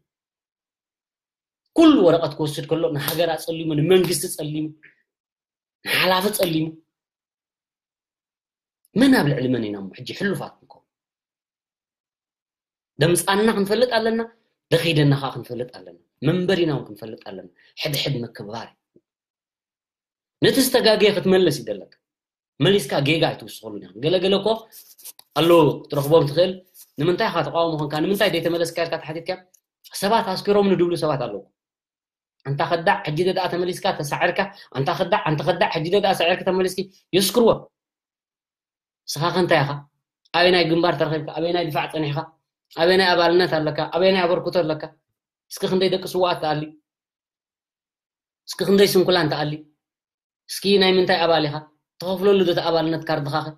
ኩሉ ወረቐት ክወስድ ከሎ ንሃገር ኣፀሊሙ ንመንግስቲ ፀሊሙ ንሓላፊ ፀሊሙ መን ኣብ ልዕሊ መን ኢና እሞ ሕጂ ሕሉፋት ንከው ደምፃና ክንፈልጥ ኣለና። ደኺደና ከዓ ክንፈልጥ ኣለና። መንበሪና እውን ክንፈልጥ ኣለና። ሕድሕድ ምክብባር እዩ። ነቲ ዝተጋገየ ክትመለስ ይደለካ። መሊስካ ጌጋ ኣይትውስኸሉን ኢኻ። ገለገለ እኮ ኣሎ ክትረኽቦም ትኽእል። ንምንታይ ኢኻ ተቃውሞ ኾንካ ንምንታይ ዘይተመለስካ ኢልካ ተሓቲትካ ሰባት ኣስኪሮም ንድብሉ ሰባት ኣለዉ። ኣንታ ከዳዕ ሕጂ ደኣ ተመሊስካ ተሳዕርካ ኣንታ ከዳዕ ኣንታ ከዳዕ ሕጂ ደኣ ሳዕርካ ተመሊስኪ የስክርዎ። ስኻ ከንታይ ኢኻ? ኣበይ ናይ ግንባር ተረኺብካ ኣበይ ናይ ድፋዕ ጸኒሕካ ኣበይ ናይ ኣባልነት ኣለካ ኣበይ ናይ ኣበርክቶ ኣለካ? እስኪ ክንደይ ደቂ ስዋኣት ተኣሊ እስኪ ክንደይ ስንኩላን ተኣሊ እስኪ ናይ ምንታይ ኣባል ኢኻ? ተኸፍለሉ ዶ ኣባልነት ካርድኻ ከ?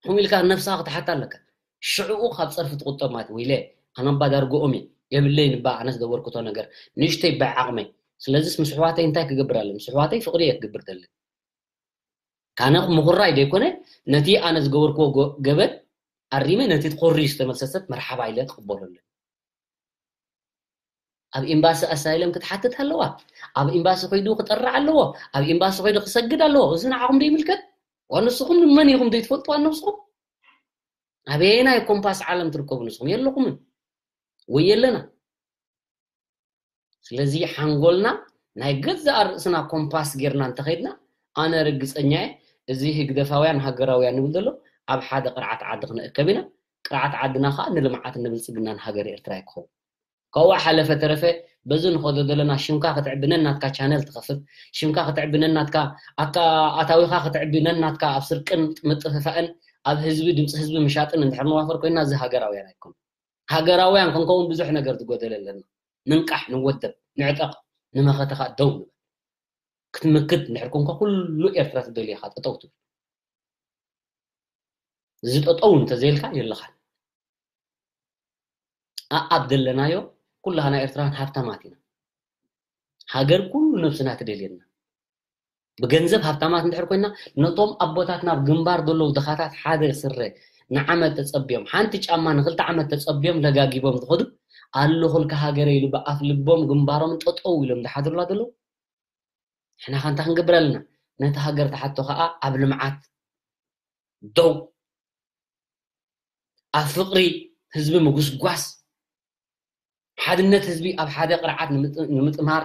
ከምኡ ኢልካ ነብስኻ ክትሓታ ኣለካ። ሽዕኡ ካብ ጸርፊ ትቁጠብ ማለት ወይለ ኣነ እባ ዳርግኦም እየ የብለይን እባ ኣነስ ዘበርክቶ ነገር ንእሽተይ ብዓቕመይ። ስለዚስ ምስ ኣሕዋተይ እንታይ ክገብር ኣለኒ? ምስ ኣሕዋተይ ፍቕሪ እየ ክገብር ደሊ። ካነ ምኹራይ ዘይኮነ ነቲ ኣነ ዝገበርክዎ ገበን ኣሪመ ነቲ ኮርዩ ዝተመልሰ ሰብ መርሓባ ኢለ ክቕበሎ ኣለኒ። ኣብ ኤምባሲ ኣሳይለም ክትሓትት ኣለዋ። ኣብ ኤምባሲ ኮይዱ ክጠርዕ ኣለዎ። ኣብ ኤምባሲ ኮይዱ ክሰግድ ኣለዎ። እዚ ንዓኹም ዘይምልከት ዋንስኹም ንመን ኢኹም ዘይትፈልጡ ዋንስኹም ኣበየናይ ኮምፓስ ዓለም ትርከቡ ንስኹም የለኹምን ወይ የለና። ስለዚ ሓንጎልና ናይ ገዛእ ርእስና ኮምፓስ ጌርና እንተኸይድና ኣነ ርግፀኛ እየ እዚ ህግደፋውያን ሃገራውያን ንብል ዘሎ ኣብ ሓደ ቅርዓት ዓዲ ክንእከብ ኢና። ቅርዓት ዓድና ከዓ ንልምዓት ንብልፅግናን ሃገር ኤርትራ ይክኸውን። ካብኡ ሓለፈ ተረፈ በዚ ንኸዶ ዘለና ሽምካ ክትዕቢ ነናትካ ቻነል ትኸፍት ሽምካ ክትዕቢ ነናትካ ኣታዊኻ ክትዕቢ ነናትካ ኣብ ስርቅን ምጥፍፋእን ኣብ ህዝቢ ድምፂ ህዝቢ ምሻጥን እንድሕር ንዋፈር ኮይና እዚ ሃገራውያን ኣይኮኑ። ሃገራውያን ክንከውን ብዙሕ ነገር ዝጎደለ ኣለና። ንንቃሕ ንወደብ ንዕጠቕ ንመኸተኻ ደው ንበል። ክትምክት እንድሕር ኮንካ ኩሉ ኤርትራ ትደልየኻ ጠጠው ትብል። እዚ ጠጠው እንተዘይልካ የለኻን። ኣኣብ ዘለናዮ ኩላህና ኤርትራውያን ሃብታማት ኢና። ሃገር ኩሉ ነብስና ትደልየና። ብገንዘብ ሃብታማት እንድሕር ኮይና ነቶም ኣቦታትና ኣብ ግንባር ዘለዉ ድኻታት ሓደ ስረ ንዓመት ተጸብዮም ሓንቲ ጫማ ንክልተ ዓመት ተጸብዮም ለጋጊቦም ዝኸዱ ኣለኹልካ ሃገረ ኢሉ ብኣፍ ልቦም ግንባሮም ጠጠው ኢሎም ዝሓድሩላ ዘለዉ ንሕና ከ እንታይ ክንገብር ኣለና? ነቲ ሃገር ትሓቶ ከዓ ኣብ ልምዓት ደው ኣብ ፍቕሪ ህዝቢ ምጉስጓስ ሓድነት ህዝቢ ኣብ ሓደ ቅርዓት ንምጥማር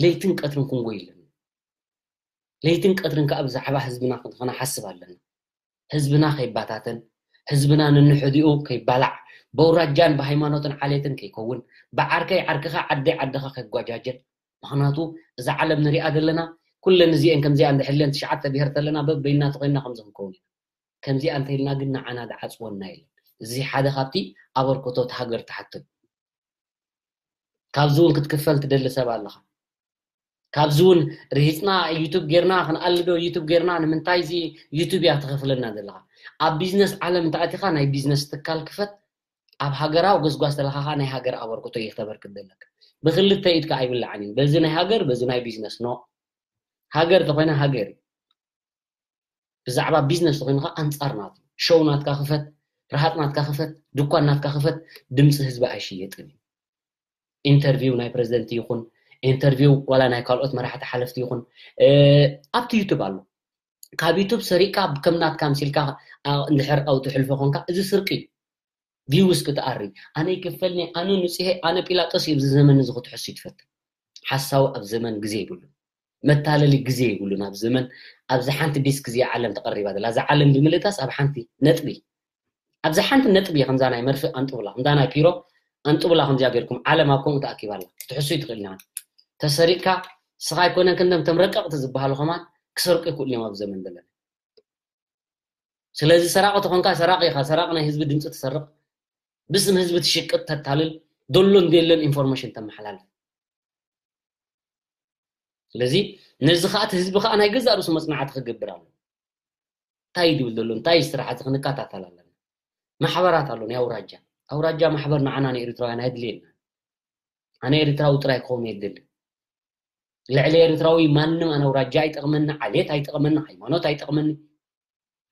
ለይትን ቀትርን ክንጎይ ኣለና። ለይትን ቀትርን ከዓ ብዛዕባ ህዝብና ክንሓስብ ኣለና። ህዝብና ከይባታተን ህዝብና ንንሕዲኡ ከይባላዕ በውራጃን ብሃይማኖትን ዓሌትን ከይከውን ብዓርከይ ዓርክኻ ዓደይ ዓድኻ ከይጓጃጀል ምኽንያቱ እዛ ዓለም ንሪኣ ዘለና ኩለን እዚአን ከምዚኣ እንድሕለን ትሽዓተ ብሄር ተለና በበይና ተኮይንና ከምዚ ክንከውን ኢና ከምዚኣ እንተኢልና ግን ንዓና ዝዓፅወና የለን እዚ ሓደ ካብቲ ኣበርክቶት ሃገር ትሓትት ካብዚ እውን ክትክፈል ትደሊ ሰብ ኣለኻ ካብዚ እውን ርሂፅና ዩቱብ ጌርና ክንኣልዶ ዩቱብ ጌርና ንምንታይ እዚ ዩቱብ እያ ትኸፍለና ዘለኻ ኣብ ቢዝነስ ዓለም እንተኣቲኻ ናይ ቢዝነስ ትካል ክፈት ኣብ ሃገራዊ ጎስጓስ ተለኻ ከዓ ናይ ሃገር ኣበርክቶ እዩ ክተበርክት ዘለካ ብክልተ ኢድካ ኣይብላዕን እዩ በዚ ናይ ሃገር በዚ ናይ ቢዝነስ ኖ ሃገር ተኮይና ሃገር እዩ ብዛዕባ ቢዝነስ ተኮይኑ ከዓ ኣንፃር ናቱ ሾው ናትካ ክፈት ረሃፅ ናትካ ክፈት ድኳን ናትካ ክፈት ድምፂ ህዝቢ ኣይሽየጥን እዩ ኢንተርቪው ናይ ፕረዚደንት ይኹን ኢንተርቪው ዋላ ናይ ካልኦት መራሕቲ ሓለፍቲ ይኹን ኣብቲ ዩቱብ ኣሎ ካብ ዩቱብ ሰሪቅካ ከም ናትካ ምሲልካ እንድሕር ኣውቲ ሕልፎ ኮንካ እዚ ስርቂ እዩ ቪውስ ክትኣሪ ኣነ ይክፈልኒ ኣነ ንፅሄ ኣነ ጲላጦስ እዩ ኣብዚ ዘመን እዚ ክትሕሱ ይትፈትን ሓሳዊ ኣብ ዘመን ግዜ ይብሉ መታለሊ ግዜ ይብሉን ኣብ ዘመን ኣብዚ ሓንቲ ዲስክ እዚኣ ዓለም ተቐሪባ ዘላ እዛ ዓለም ብምልእታስ ኣብ ሓንቲ ነጥቢ ኣብዚ ሓንቲ ነጥቢ ከምዛ ናይ መርፍእ ኣንጥቡላ እንዳ ናይ ፒሮ ኣንጥቡላ ከምዚኣ ገርኩም ዓለም ኣብ ከምኡ ተኣኪባ ኣላ ክትሕሱ ይትኽእል ኢና ተሰሪቅካ ስኻ ኣይኮነን ክንደም ተም ረቀቕቲ ዝበሃሉ ከማን ክሰርቁ ይክእሉ እዮም ኣብ ዘመን ዘለና ስለዚ ሰራቂ ተኾንካ ሰራቂ ኢኻ ሰራቂ ናይ ህዝቢ ድምፂ ትሰርቅ ብስም ህዝቢ ትሽቅጥ ተታልል ደሎን ደሎን ኢንፎርሜሽን ተመሓላልፍ ስለዚ ነዚ ከዓ እቲ ህዝቢ ከዓ ናይ ገዛእ ርእሱ መፅናዕቲ ክገብር ኣሎ እንታይ ድብል ዘሎ እንታይ ስራሕ እዚ ክንከታተል ኣለና። ማሕበራት ኣሎ ናይ ኣውራጃ ኣውራጃ ማሕበር ንዓና ንኤርትራውያን ኣይድልየና። ኣነ ኤርትራዊ ጥራይ ክኸውን የድሊ። ልዕሊ ኤርትራዊ ማንም ኣነ ኣውራጃ ኣይጠቕመኒ፣ ዓሌት ኣይጠቕመኒ፣ ሃይማኖት ኣይጠቕመኒ።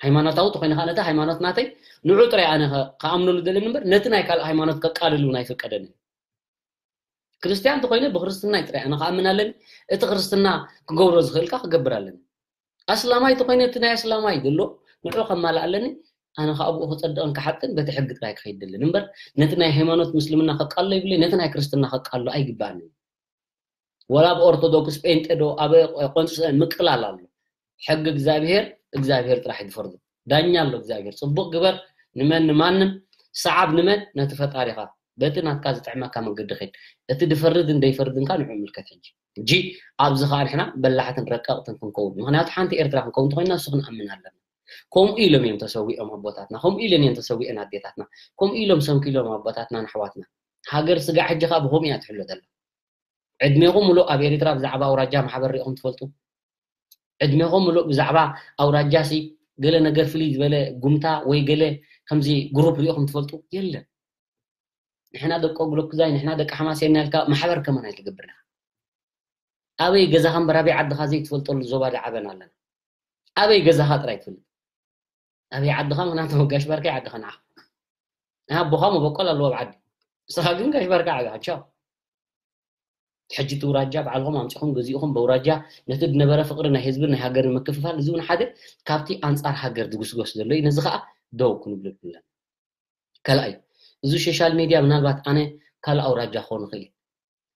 ሃይማኖታዊ ተኮይነ ከዓ ነቲ ሃይማኖት ናተይ ንዑ ጥራይ ኣነ ከኣምነሉ ደለኒ እምበር ነቲ ናይ ካልእ ሃይማኖት ከቃልል እውን ኣይፈቀደንን። ክርስትያን ተኮይነ ብክርስትናይ ጥራይ ኣነ ክኣምን ኣለኒ። እቲ ክርስትና ክገብሮ ዝኽእልካ ክገብር ኣለኒ። ኣስላማይ ተኮይነ እቲ ናይ ኣስላማይ ዘሎ ንዑ ከማልእ ኣለኒ። ኣነ ከዓ ብኡ ክፀድቕን ክሓጥን በቲ ሕጊ ጥራይ ክኸይድ ደለኒ እምበር ነቲ ናይ ሃይማኖት ምስልምና ከቃሎ ይብለ ነቲ ናይ ክርስትና ከቃሎ ኣይግባኣኒ። ወላ ኣብ ኦርቶዶክስ ጴንጤ ዶ ኣብ ቆንስን ምቅላል ኣሎ። ሕጊ እግዚኣብሔር እግዚኣብሔር ጥራሕ ይፈርዶ። ዳኛ ኣሎ እግዚኣብሔር። ፅቡቅ ግበር ንመን ንማንም ሰዓብ ንመን ነቲ ፈጣሪኻ በቲ ናትካ ዝጥዕመካ መገዲ ኸይድ። እቲ ድፈርድን ደይፈርድንካ ንዑ ምልከት ሕጂ። ሕጂ ኣብዚ ከዓ ንሕና በላሕትን ረቀቕትን ክንከውን ምክንያቱ ሓንቲ ኤርትራ ክንከውን እንተኮይንና እሱ ክንኣምን ኣለና። ከምኡ ኢሎም እዮም ተሰዊኦም ኣቦታትና፣ ከምኡ ኢለን እዮም ተሰዊአን ኣዴታትና፣ ከምኡ ኢሎም ሰንኪሎም ኣቦታትናን ኣሕዋትና። ሃገር ስጋዕ ሕጂ ከዓ ብከምኡ እያ ትሕሎ ዘላ። ዕድሜኹም ሙሉእ ኣብ ኤሪትራ ብዛዕባ ኣውራጃ ማሕበር ሪኢኹም ትፈልጡ? ዕድሜኹም ሙሉእ ብዛዕባ ኣውራጃ ሲ ገለ ነገር ፍልይ ዝበለ ጉምታ ወይ ገለ ከምዚ ግሩፕ ሪኢኹም ትፈልጡ? የለን። ንሕና ደቂ ኦግሎክዛይ ንሕና ደቂ ሓማሴን ኢልካ ማሕበር ከማን ኣይትገብርና። ኣበይ ገዛኻ እምበር ኣበይ ዓድኻ ዘይትፈልጠሉ ዞባ ዶ ዓበና ኣለና? ኣበይ ገዛኻ ጥራይ ትፈልጥ? ኣበይ ዓድኻ ምክንያቱ ጋሽ ባርካ ዓድኻ ንዓ ኣቦኻ መበቆል ኣለዎ ኣብ ዓዲ ንስኻ ግን ጋሽ ባርካ ዓብኻ ቻው። ሕጂ እቲ ውራጃ ባዕልኹም ኣምፂኹም ገዚእኹም በውራጃ ነቲ ዝነበረ ፍቅሪ ናይ ህዝብን ናይ ሃገርን ምክፍፋል እዚ እውን ሓደ ካብቲ ኣንፃር ሃገር ዝጉስጎስ ዘሎ እዩ ነዚ ከዓ ደው ክንብለሉ ኣለና። ካልኣይ እዚ ሶሻል ሚድያ ምናልባት ኣነ ካልእ ኣውራጃ ክኾን ይኽእል እዩ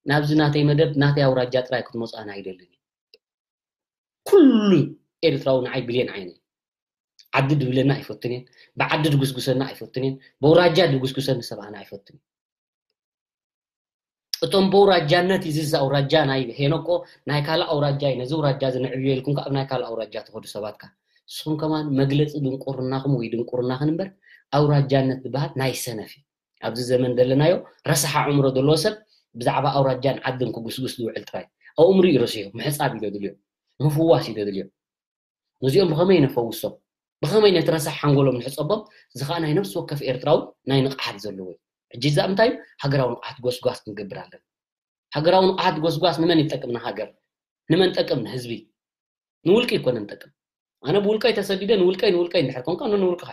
ናብዚ ናተይ መደብ ናተይ ኣውራጃ ጥራይ ክትመፁ ኣነ ኣይደልን እዩ። ኩሉ ኤርትራዊ ንዓይ ብሌን ዓይነ ዓዲ ድብለና ኣይፈቱን እየን። ብዓዲ ድጉስጉሰና ኣይፈቱን እየን። በውራጃ ድጉስጉሰኒ ሰብ ኣነ ኣይፈቱን እየን። እቶም በውራጃነት እዚ ኣውራጃ ናይ ሄኖኮ ናይ ካልእ ኣውራጃ እዩ ነዚ ኣውራጃ እዚ ንዕብዮ ኢልኩም ካብ ናይ ካልእ ኣውራጃ ትኸዱ ሰባት ከ ንስኹም ከማን መግለፂ ድንቁርናኹም ወይ ድንቁርናኽን እምበር ኣውራጃነት ዝበሃል ናይ ሰነፍ እዩ። ኣብዚ ዘመን ዘለናዮ ረሳሕ ኣእምሮ ዘለዎ ሰብ ብዛዕባ ኣውራጃን ዓድን ክጉስጉስ ዝውዕል ጥራይ ኣእምሩ እዩ ረሲሑ ምሕፃብ እዩ ዘድልዮ ምፍዋስ እዩ ዘድልዮ። ነዚኦም ብኸመይ ነፈውሶም ብኸመይ ነቲ ረሳሕ ሓንጎሎም ንሕፀቦም እዚ ከዓ ናይ ነብሲ ወከፍ ኤርትራዊ ናይ ንቕሓት ዘለዎ እዩ። ሕጂ እዛ እንታይ እዩ ሃገራዊ ንቕሓት ጎስጓስ ክንገብር ኣለና። ሃገራዊ ንቕሓት ጎስጓስ ንመን ይጠቅም ንሃገር ንመን ጠቅም ንህዝቢ ንውልቂ ይኮነን ጠቅም። ኣነ ብውልቀይ ተሰዲደ ንውልቀይ ንውልቀይ እንድሕር ኮንካ ንውልቅኻ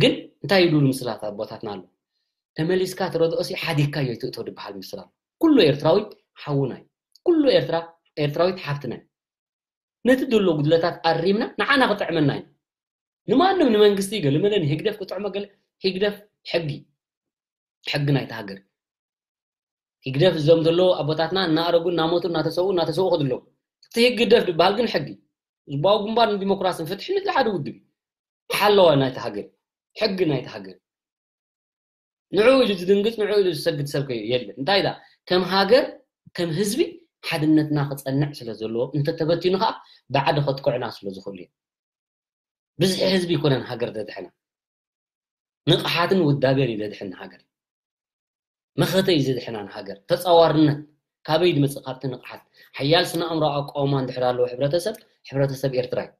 ግን እንታይ ይብሉ ምስላት ኣቦታትና ኣሎ ተመሊስካ ትረድኦ ሲ ሓዲግካ እዩ ትእቶ ዝበሃል ምስል ኣሎ። ኩሉ ኤርትራዊ ሓውና እዩ። ኩሉ ኤርትራ ኤርትራዊት ሓፍትና እዩ። ነቲ ዘሎ ጉድለታት ኣሪምና ንዓና ክጥዕመና እዩ። ንማንም ንመንግስቲ ገለመለ ንህግደፍ ክጥዕሞ ገለ ህግደፍ ሕጊ ሕጊ ናይቲ ሃገር ህግደፍ እዞም ዘለዉ ኣቦታትና እናኣረጉ እናሞቱ እናተሰውኡ እናተሰውኡ ከድለዉ እቲ ህግደፍ ዝበሃል ግን ሕጊ ህዝባዊ ግንባር ንዲሞክራስን ፍትሒ ንዚ ሓደ ውድብ ሓለዋ ናይቲ ሃገር ሕጊ ናይቲ ሃገር ንዕኡ ኢሉ ዝድንግፅ ንዕኡ ኢሉ ዝሰግድ ሰብ ከ የለን እንታይ ዳ ከም ሃገር ከም ህዝቢ ሓድነትና ክፀንዕ ስለ ዘለዎ እንተተበቲኑ ከዓ ብዓዲ ከጥቅዑና ስለ ዝኽእሉ እዮም ብዝሒ ህዝቢ ይኮነን ሃገር ዘድሕና ንቕሓትን ውዳቤን እዩ ዘድሕን ሃገር መኸተ እዩ ዘድሕና ንሃገር ተፃዋርነት ካበይ ድመፅእ ካብቲ ንቕሓት ሓያል ስነ ኣእምሮ ኣቃውማ እንድሕር ኣለዎ ሕብረተሰብ ሕብረተሰብ ኤርትራ እዩ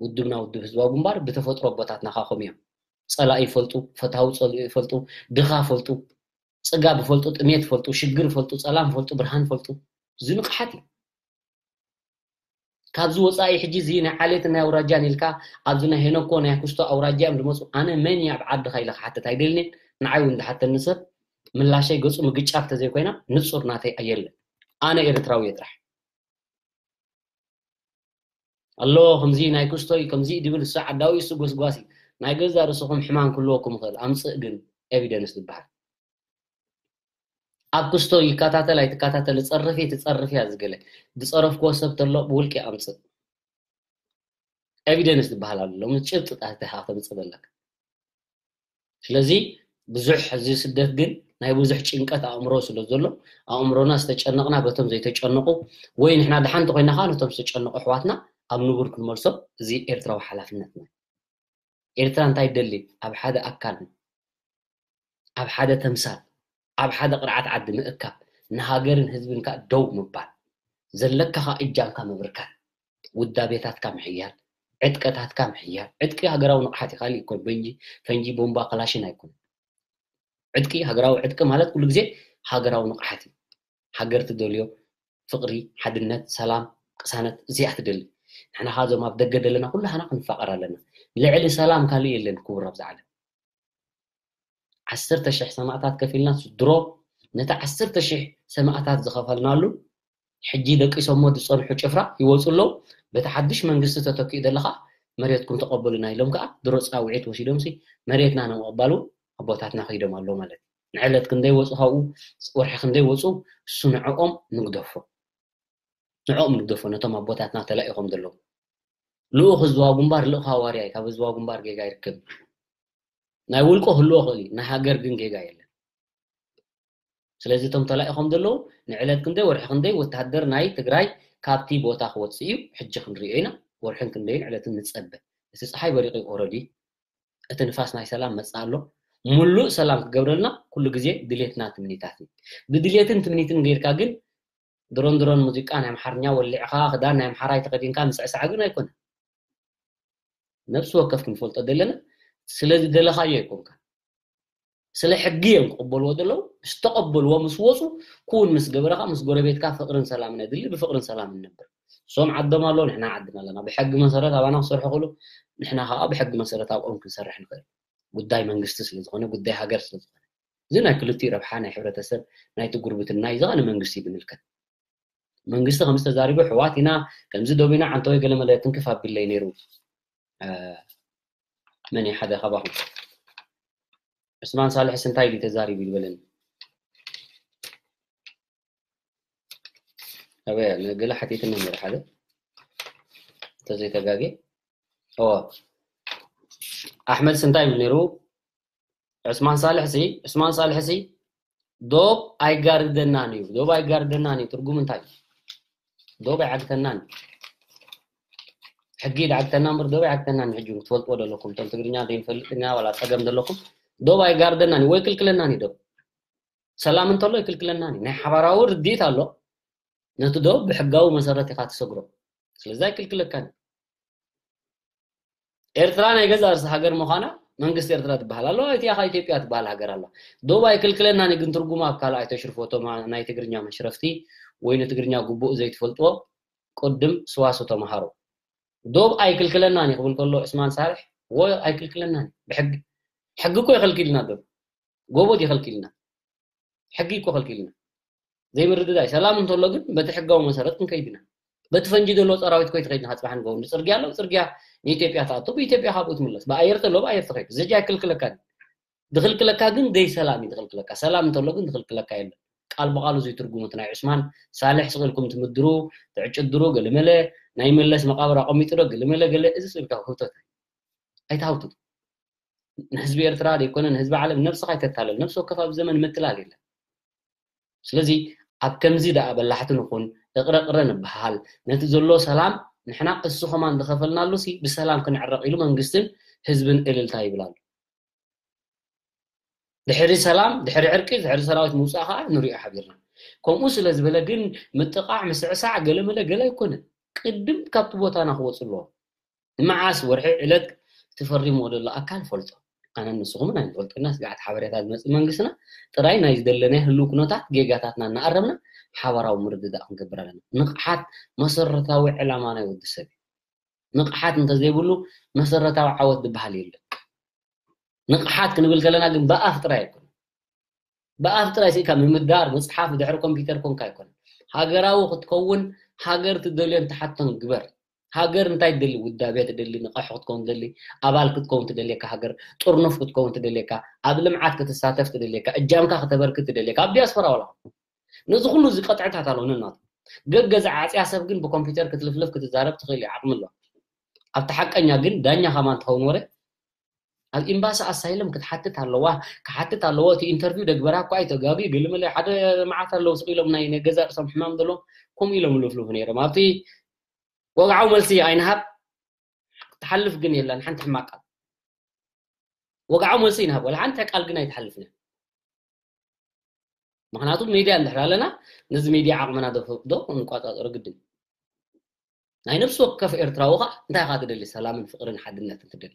ውድብና ውድብ ህዝባዊ ግንባር ብተፈጥሮ ኣቦታትና ካኹም እዮም ፀላኢ ይፈልጡ ፈታዊ ፀልኡ ይፈልጡ ድኻ ፈልጡ ፅጋብ ይፈልጡ ጥሜት ይፈልጡ ሽግር ይፈልጡ ፀላም ይፈልጡ ብርሃን ይፈልጡ እዚ ንቕሓት እዩ ካብዚ ወፃኢ ሕጂ እዚ ናይ ዓሌትን ናይ ኣውራጃን ኢልካ ኣብዚ ናይ ሄኖኮ ናይ ኩስቶ ኣውራጃ እዮም ዝመፁ ኣነ መን እየ ኣብ ዓድኻ ኢለ ክሓትት ኣይደልንን ንዓይ እውን ዝሓተኒ ሰብ ምላሸይ ገፁ ምግጫር ተዘይኮይና ንፁር ናተይ ኣየለን ኣነ ኤርትራዊ እየ ጥራሕ ኣሎ ከምዚ ናይ ኩስቶይ ከምዚ ድብል እሱ ዓዳዊ እሱ ጎስጓሲ ናይ ገዛ ርእስኹም ሕማም ክህልወኩም ይኽእል ኣምፅእ ግን ኤቪደንስ ዝበሃል ኣብ ክስቶ ይከታተል ኣይትከታተል ጸርፍ እየ ትጸርፍ እያ ዝገለ ዝጸረፍክዎ ሰብ ተሎ ብውልቂ ኣምጽእ ኤቪደንስ ዝበሃል ኣሎ ሎሚ ጭብጢ ጣትኻ ተምጽእ ዘለካ ስለዚ ብዙሕ እዚ ስደት ግን ናይ ብዙሕ ጭንቀት ኣእምሮ ስለ ዘሎ ኣእምሮና ዝተጨነቕና በቶም ዘይተጨነቑ ወይ ንሕና ደሓን እንተኮይና ከዓ ነቶም ዝተጨነቑ ኣሕዋትና ኣብ ንቡር ክንመልሶም እዚ ኤርትራዊ ሓላፍነትና ኤርትራ እንታይ ትደሊ ኣብ ሓደ ኣካል ኣብ ሓደ ተምሳል ኣብ ሓደ ቅርዓት ዓዲ ምእካብ ንሃገርን ህዝብን ከዓ ደው ምባል ዘለካ ከዓ እጃምካ ምብርካት ውዳቤታትካ ምሕያል ዕጥቀታትካ ምሕያል። ዕጥቂ ሃገራዊ ንቕሓት እዩ፣ ካልእ ይኮን፣ በንጂ፣ ፈንጂ፣ ቦምባ፣ ክላሽን ኣይኮን። ዕጥቂ፣ ሃገራዊ ዕጥቂ ማለት ኩሉ ግዜ ሃገራዊ ንቕሓት እዩ። ሃገር ትደልዮ ፍቕሪ፣ ሓድነት፣ ሰላም፣ ቅሳነት እዚኣ ትደሊ። ንሕና ኸዓ እዞም ኣብ ደገ ዘለና ኩላህና ክንፋቐር ኣለና። ልዕሊ ሰላም ካልእ የለን ክቡር ኣብዚ ዓለም። ዓሰርተ ሽሕ ሰማእታት ከፊልና ድሮ ነቲ ዓሰርተ ሽሕ ሰማእታት ዝኸፈልናሉ ሕጂ ደቂሶሞ ዝጸንሑ ጭፍራ ይወጹ ኣለዉ። በቲ ሓድሽ መንግስቲ ተተኪኡ ዘሎ ኸዓ መሬትኩም ተቐበሉና ኢሎም ከኣ ድሮ ጻውዒት ወሲዶምሲ መሬትና ንምቕባል እውን ኣቦታትና ከይዶም ኣለዉ ማለት እዩ። ንዕለት ክንደይ ወጹ ካብኡ ወርሒ ክንደይ ወጹ እሱ ንዕኦም ንግደፎ። ንዕኦም ንግደፎ ነቶም ኣቦታትና ተላኢኾም ዘለዉ። ልኡኽ ህዝባዊ ግንባር ልኡኽ ሃዋርያ እዩ። ካብ ህዝባዊ ግንባር ጌጋ ይርከብ። ናይ ውልቆ ክህልዎ ይኽእል እዩ፣ ናይ ሃገር ግን ጌጋ የለን። ስለዚ እቶም ተላኢኾም ዘለዉ ንዕለት ክንደይ ወርሒ ክንደይ ወታደር ናይ ትግራይ ካብቲ ቦታ ክወፅእ እዩ ሕጂ ክንሪኦ ኢና። ወርሕን ክንደይን ዕለትን ንፀበ። እቲ ፀሓይ በሪቑ ኦረዲ እቲ ንፋስ ናይ ሰላም መፅእ ኣሎ። ሙሉእ ሰላም ክገብረልና ኩሉ ግዜ ድሌትና ትምኒታት እዩ። ብድሌትን ትምኒትን ጌርካ ግን ድሮን ድሮን ሙዚቃ ናይ ኣምሓርኛ ወሊዕኻ ክዳን ናይ ኣምሓራይ ተኸዲንካ ምስዕሳዕ ግን ኣይኮነ። ነብሲ ወከፍ ክንፈልጦ ዘለና ስለ ዝደለኻዮ ኣይኮንካ። ስለ ሕጊ እዮም ክቕበልዎ ዘለዉ። ዝተቐበልዎ ምስ ወፁ ኩውን ምስ ገበረኻ ምስ ጎረቤትካ ፍቕርን ሰላምን ኣድሊ ብፍቕርን ሰላምን ነብር። እሶም ዓዶም ኣለዉ ንሕና ዓድና ኣለና። ብሕጊ መሰረት ኣባና ክሰርሑ ክእሉ ንሕና ከዓ ብሕጊ መሰረት ኣብኦም ክንሰርሕ ንኽእል። ጉዳይ መንግስቲ ስለ ዝኾነ ጉዳይ ሃገር ስለ ዝኾነ እዚ ናይ ክልቲኡ ረብሓ ናይ ሕብረተሰብ ናይቲ ጉርብትና እዩ። ዝቐነ መንግስቲ ዝምልከት መንግስቲ ከምዚ ተዛሪቡ ኣሕዋት ኢና ከምዚ ዶብ ኢና ዓንተወይ ገለመለ ትንክፍ ኣቢለይ ነይሩ። መን ሓደ ካባኹም ዑስማን ሳልሕስ እንታይ ኢሉ ተዛሪቡ ይበለኒ። ኣበያ ንገለ ሓቲትኒ ነይሩ ሓደ እንተዘይተጋጌ ኣዎ ኣሕመድ ስንታይ ይብል ነይሩ? ዑስማን ሳልሕ ሲ ዑስማን ሳልሕ ሲ ዶብ ኣይጋርደናን እዩ። ዶብ ኣይጋርደናን እዩ ትርጉም እንታይ? ዶብ ኣይዓግተናን ሕጊ ይዓግተና እምበር ዶብ ኣይዓግተናን። ሕጂ ክትፈልጥዎ ዘለኩም እቶም ትግርኛ ዘይንፈልጥ ኢና ዋላ ፀገም ዘለኩም ዶብ ኣይጋርደናን እዩ ወይ ክልክለናን እዩ። ዶብ ሰላም እንተሎ ይክልክለናን እዩ። ናይ ሓባራዊ ርድኢት ኣሎ። ነቲ ዶብ ብሕጋዊ መሰረት ኢኻ ትሰግሮ። ስለዚ ኣይክልክለካን እዩ። ኤርትራ ናይ ገዛ ርእሲ ሃገር ምዃና መንግስቲ ኤርትራ ትበሃል ኣለዋ። እቲኣ ኢትዮጵያ ትበሃል ሃገር ኣላ። ዶብ ኣይክልክለናን ግን ትርጉማ ኣብ ካልእ ኣይተሽርፎ። እቶም ናይ ትግርኛ መሽረፍቲ ወይ ንትግርኛ ግቡእ ዘይትፈልጥዎ ቅድም ስዋሱ ተምሃሮ። ዶብ ኣይክልክለናን ክብል ከሎ ዑስማን ሳልሕ ወ ኣይክልክለናን ብሕጊ ሕጊ እኮ ይኸልክልና ዶብ ጎቦ ይኸልክልና ሕጊ እኮ ከልኪልና ዘይምርድዳይ ሰላም እንተሎ ግን በቲ ሕጋዊ መሰረት ክንከይድ ኢና። በቲ ፈንጂ ዘሎ ሰራዊት ኮይ ትኸይድ ንካ ፅባሕ ንገው ንፅርግያ ኣለዉ ፅርግያ ንኢትዮጵያ ትኣቶ ብኢትዮጵያ ካብኡ ትምለስ ብኣየር ተሎ ብኣየር ትኸይድ ዘጃ ይክልክለካ ድኽልክለካ ግን ደይ ሰላም እዩ ዝኽልክለካ ሰላም እንተሎ ግን ዝኽልክለካ የለን። ቃል ብቃሉ እዚ ትርጉሙ እቲ ናይ ዑስማን ሳልሕ ስቕ ኢልኩም ትምድሩ ትዕጭድሩ ገለመለ ናይ መለስ መቃብር ኣቐሚጡ ዶ ገለመለ ገለ እዚ ስልካ ህውተት ኣይትሃውትቱ። ንህዝቢ ኤርትራ ዘይኮነ ንህዝቢ ዓለም ነብስኻ ኣይተታለል ነብሲ ወከፍ ኣብ ዘመን ምትላል የለን። ስለዚ ኣብ ከምዚ ደኣ በላሕቲ ንኹን እቕረቕረ ንበሃል ነቲ ዘሎ ሰላም ንሕና እሱ ከማን ዝኸፈልናሉ ሲ ብሰላም ክንዕረቕ ኢሉ መንግስትን ህዝብን እልልታ ይብል ኣሎ። ድሕሪ ሰላም ድሕሪ ዕርቂ ድሕሪ ሰራዊት ምውፃእ ከዓ ንሪኦ ሓቢርና። ከምኡ ስለ ዝበለ ግን ምጥቃዕ ምስዕሳዕ ገለመለ ገለ ኣይኮነን። ቅድም ካብቲ ቦታና ክወፁ ኣለዎ። ንመዓስ ወርሒ ዕለት እቲ ፈሪምዎ ዘሎ ኣካል ፈልጦ። ኣነን ንስኹምን ኣይንፈልጦና ስግዓት ሓበሬታ ዝመፅእ መንግስትና ጥራይ ናይ ዝደለናዮ ህልው ኩነታት ጌጋታትና እናኣረምና ሓባራዊ ምርድዳእ ክንገብር ኣለና። ንቕሓት መሰረታዊ ዕላማ ናይ ወዲ ሰብ እዩ። ንቕሓት እንተዘይብሉ መሰረታዊ ዓወት ዝበሃል የለን። ንቕሓት ክንብል ከለና ግን ብኣፍ ጥራይ ኣይኮነ ብኣፍ ጥራይ ስኢካ ምምዳር ምፅሓፍ ድሕሪ ኮምፒውተር ኮንካ ኣይኮነ ሃገራዊ ክትከውን ሃገር ትደልዮን ትሓቶን ግበር። ሃገር እንታይ ትደሊ ውዳቤ ትደሊ ንቐሑ ክትከውን ትደሊ ኣባል ክትከውን ትደልየካ ሃገር ጥርኑፍ ክትከውን ትደልየካ ኣብ ልምዓት ክትሳተፍ ትደልየካ እጃምካ ክተበርክት ትደልየካ ኣብ ዲያስፖራ ዋላ ነዚ ኩሉ እዚ ቀጥዕታት ኣለዎ ነናቱ ገገዛ ዓፅያ ሰብ ግን ብኮምፒውተር ክትልፍልፍ ክትዛረብ ትኽእል እዩ ዓቕሚ ኣለዋ። ኣብቲ ሓቀኛ ግን ዳኛ ከማን ትኸውን ወረ ኣብ ኤምባሲ ኣሳይለም ክትሓትት ኣለዋ። ክሓትት ኣለዎ እቲ ኢንተርቪው ደግበራ እኳ ኣይተጋግዩ ገለመለ ሓደ መዓት ኣለዉ ስቕ ኢሎም ናይ ናይ ገዛ ርእሶም ሕማም ዘለዎም ከምኡ ኢሎም ይልፍልፉ ነይሮም ኣብቲ ወግዓዊ መልሲ ኣይንሃብ። ትሓልፍ ግን የላን ሓንቲ ሕማቅ ቃል ወግዓዊ መልሲ ይንሃብ ዋላ ሓንቲ ቃል ግን ኣይትሓልፍን። ምክንያቱ ሚድያ እንድሕር ኣለና ነዚ ሚድያ ዓቕምና ዶ ክንቋፃፀሮ ግድን። ናይ ነፍሲ ወከፍ ኤርትራዊ ኸዓ እንታይ ኢኻ ትደሊ? ሰላምን ፍቕርን ሓድነትን ትደሊ።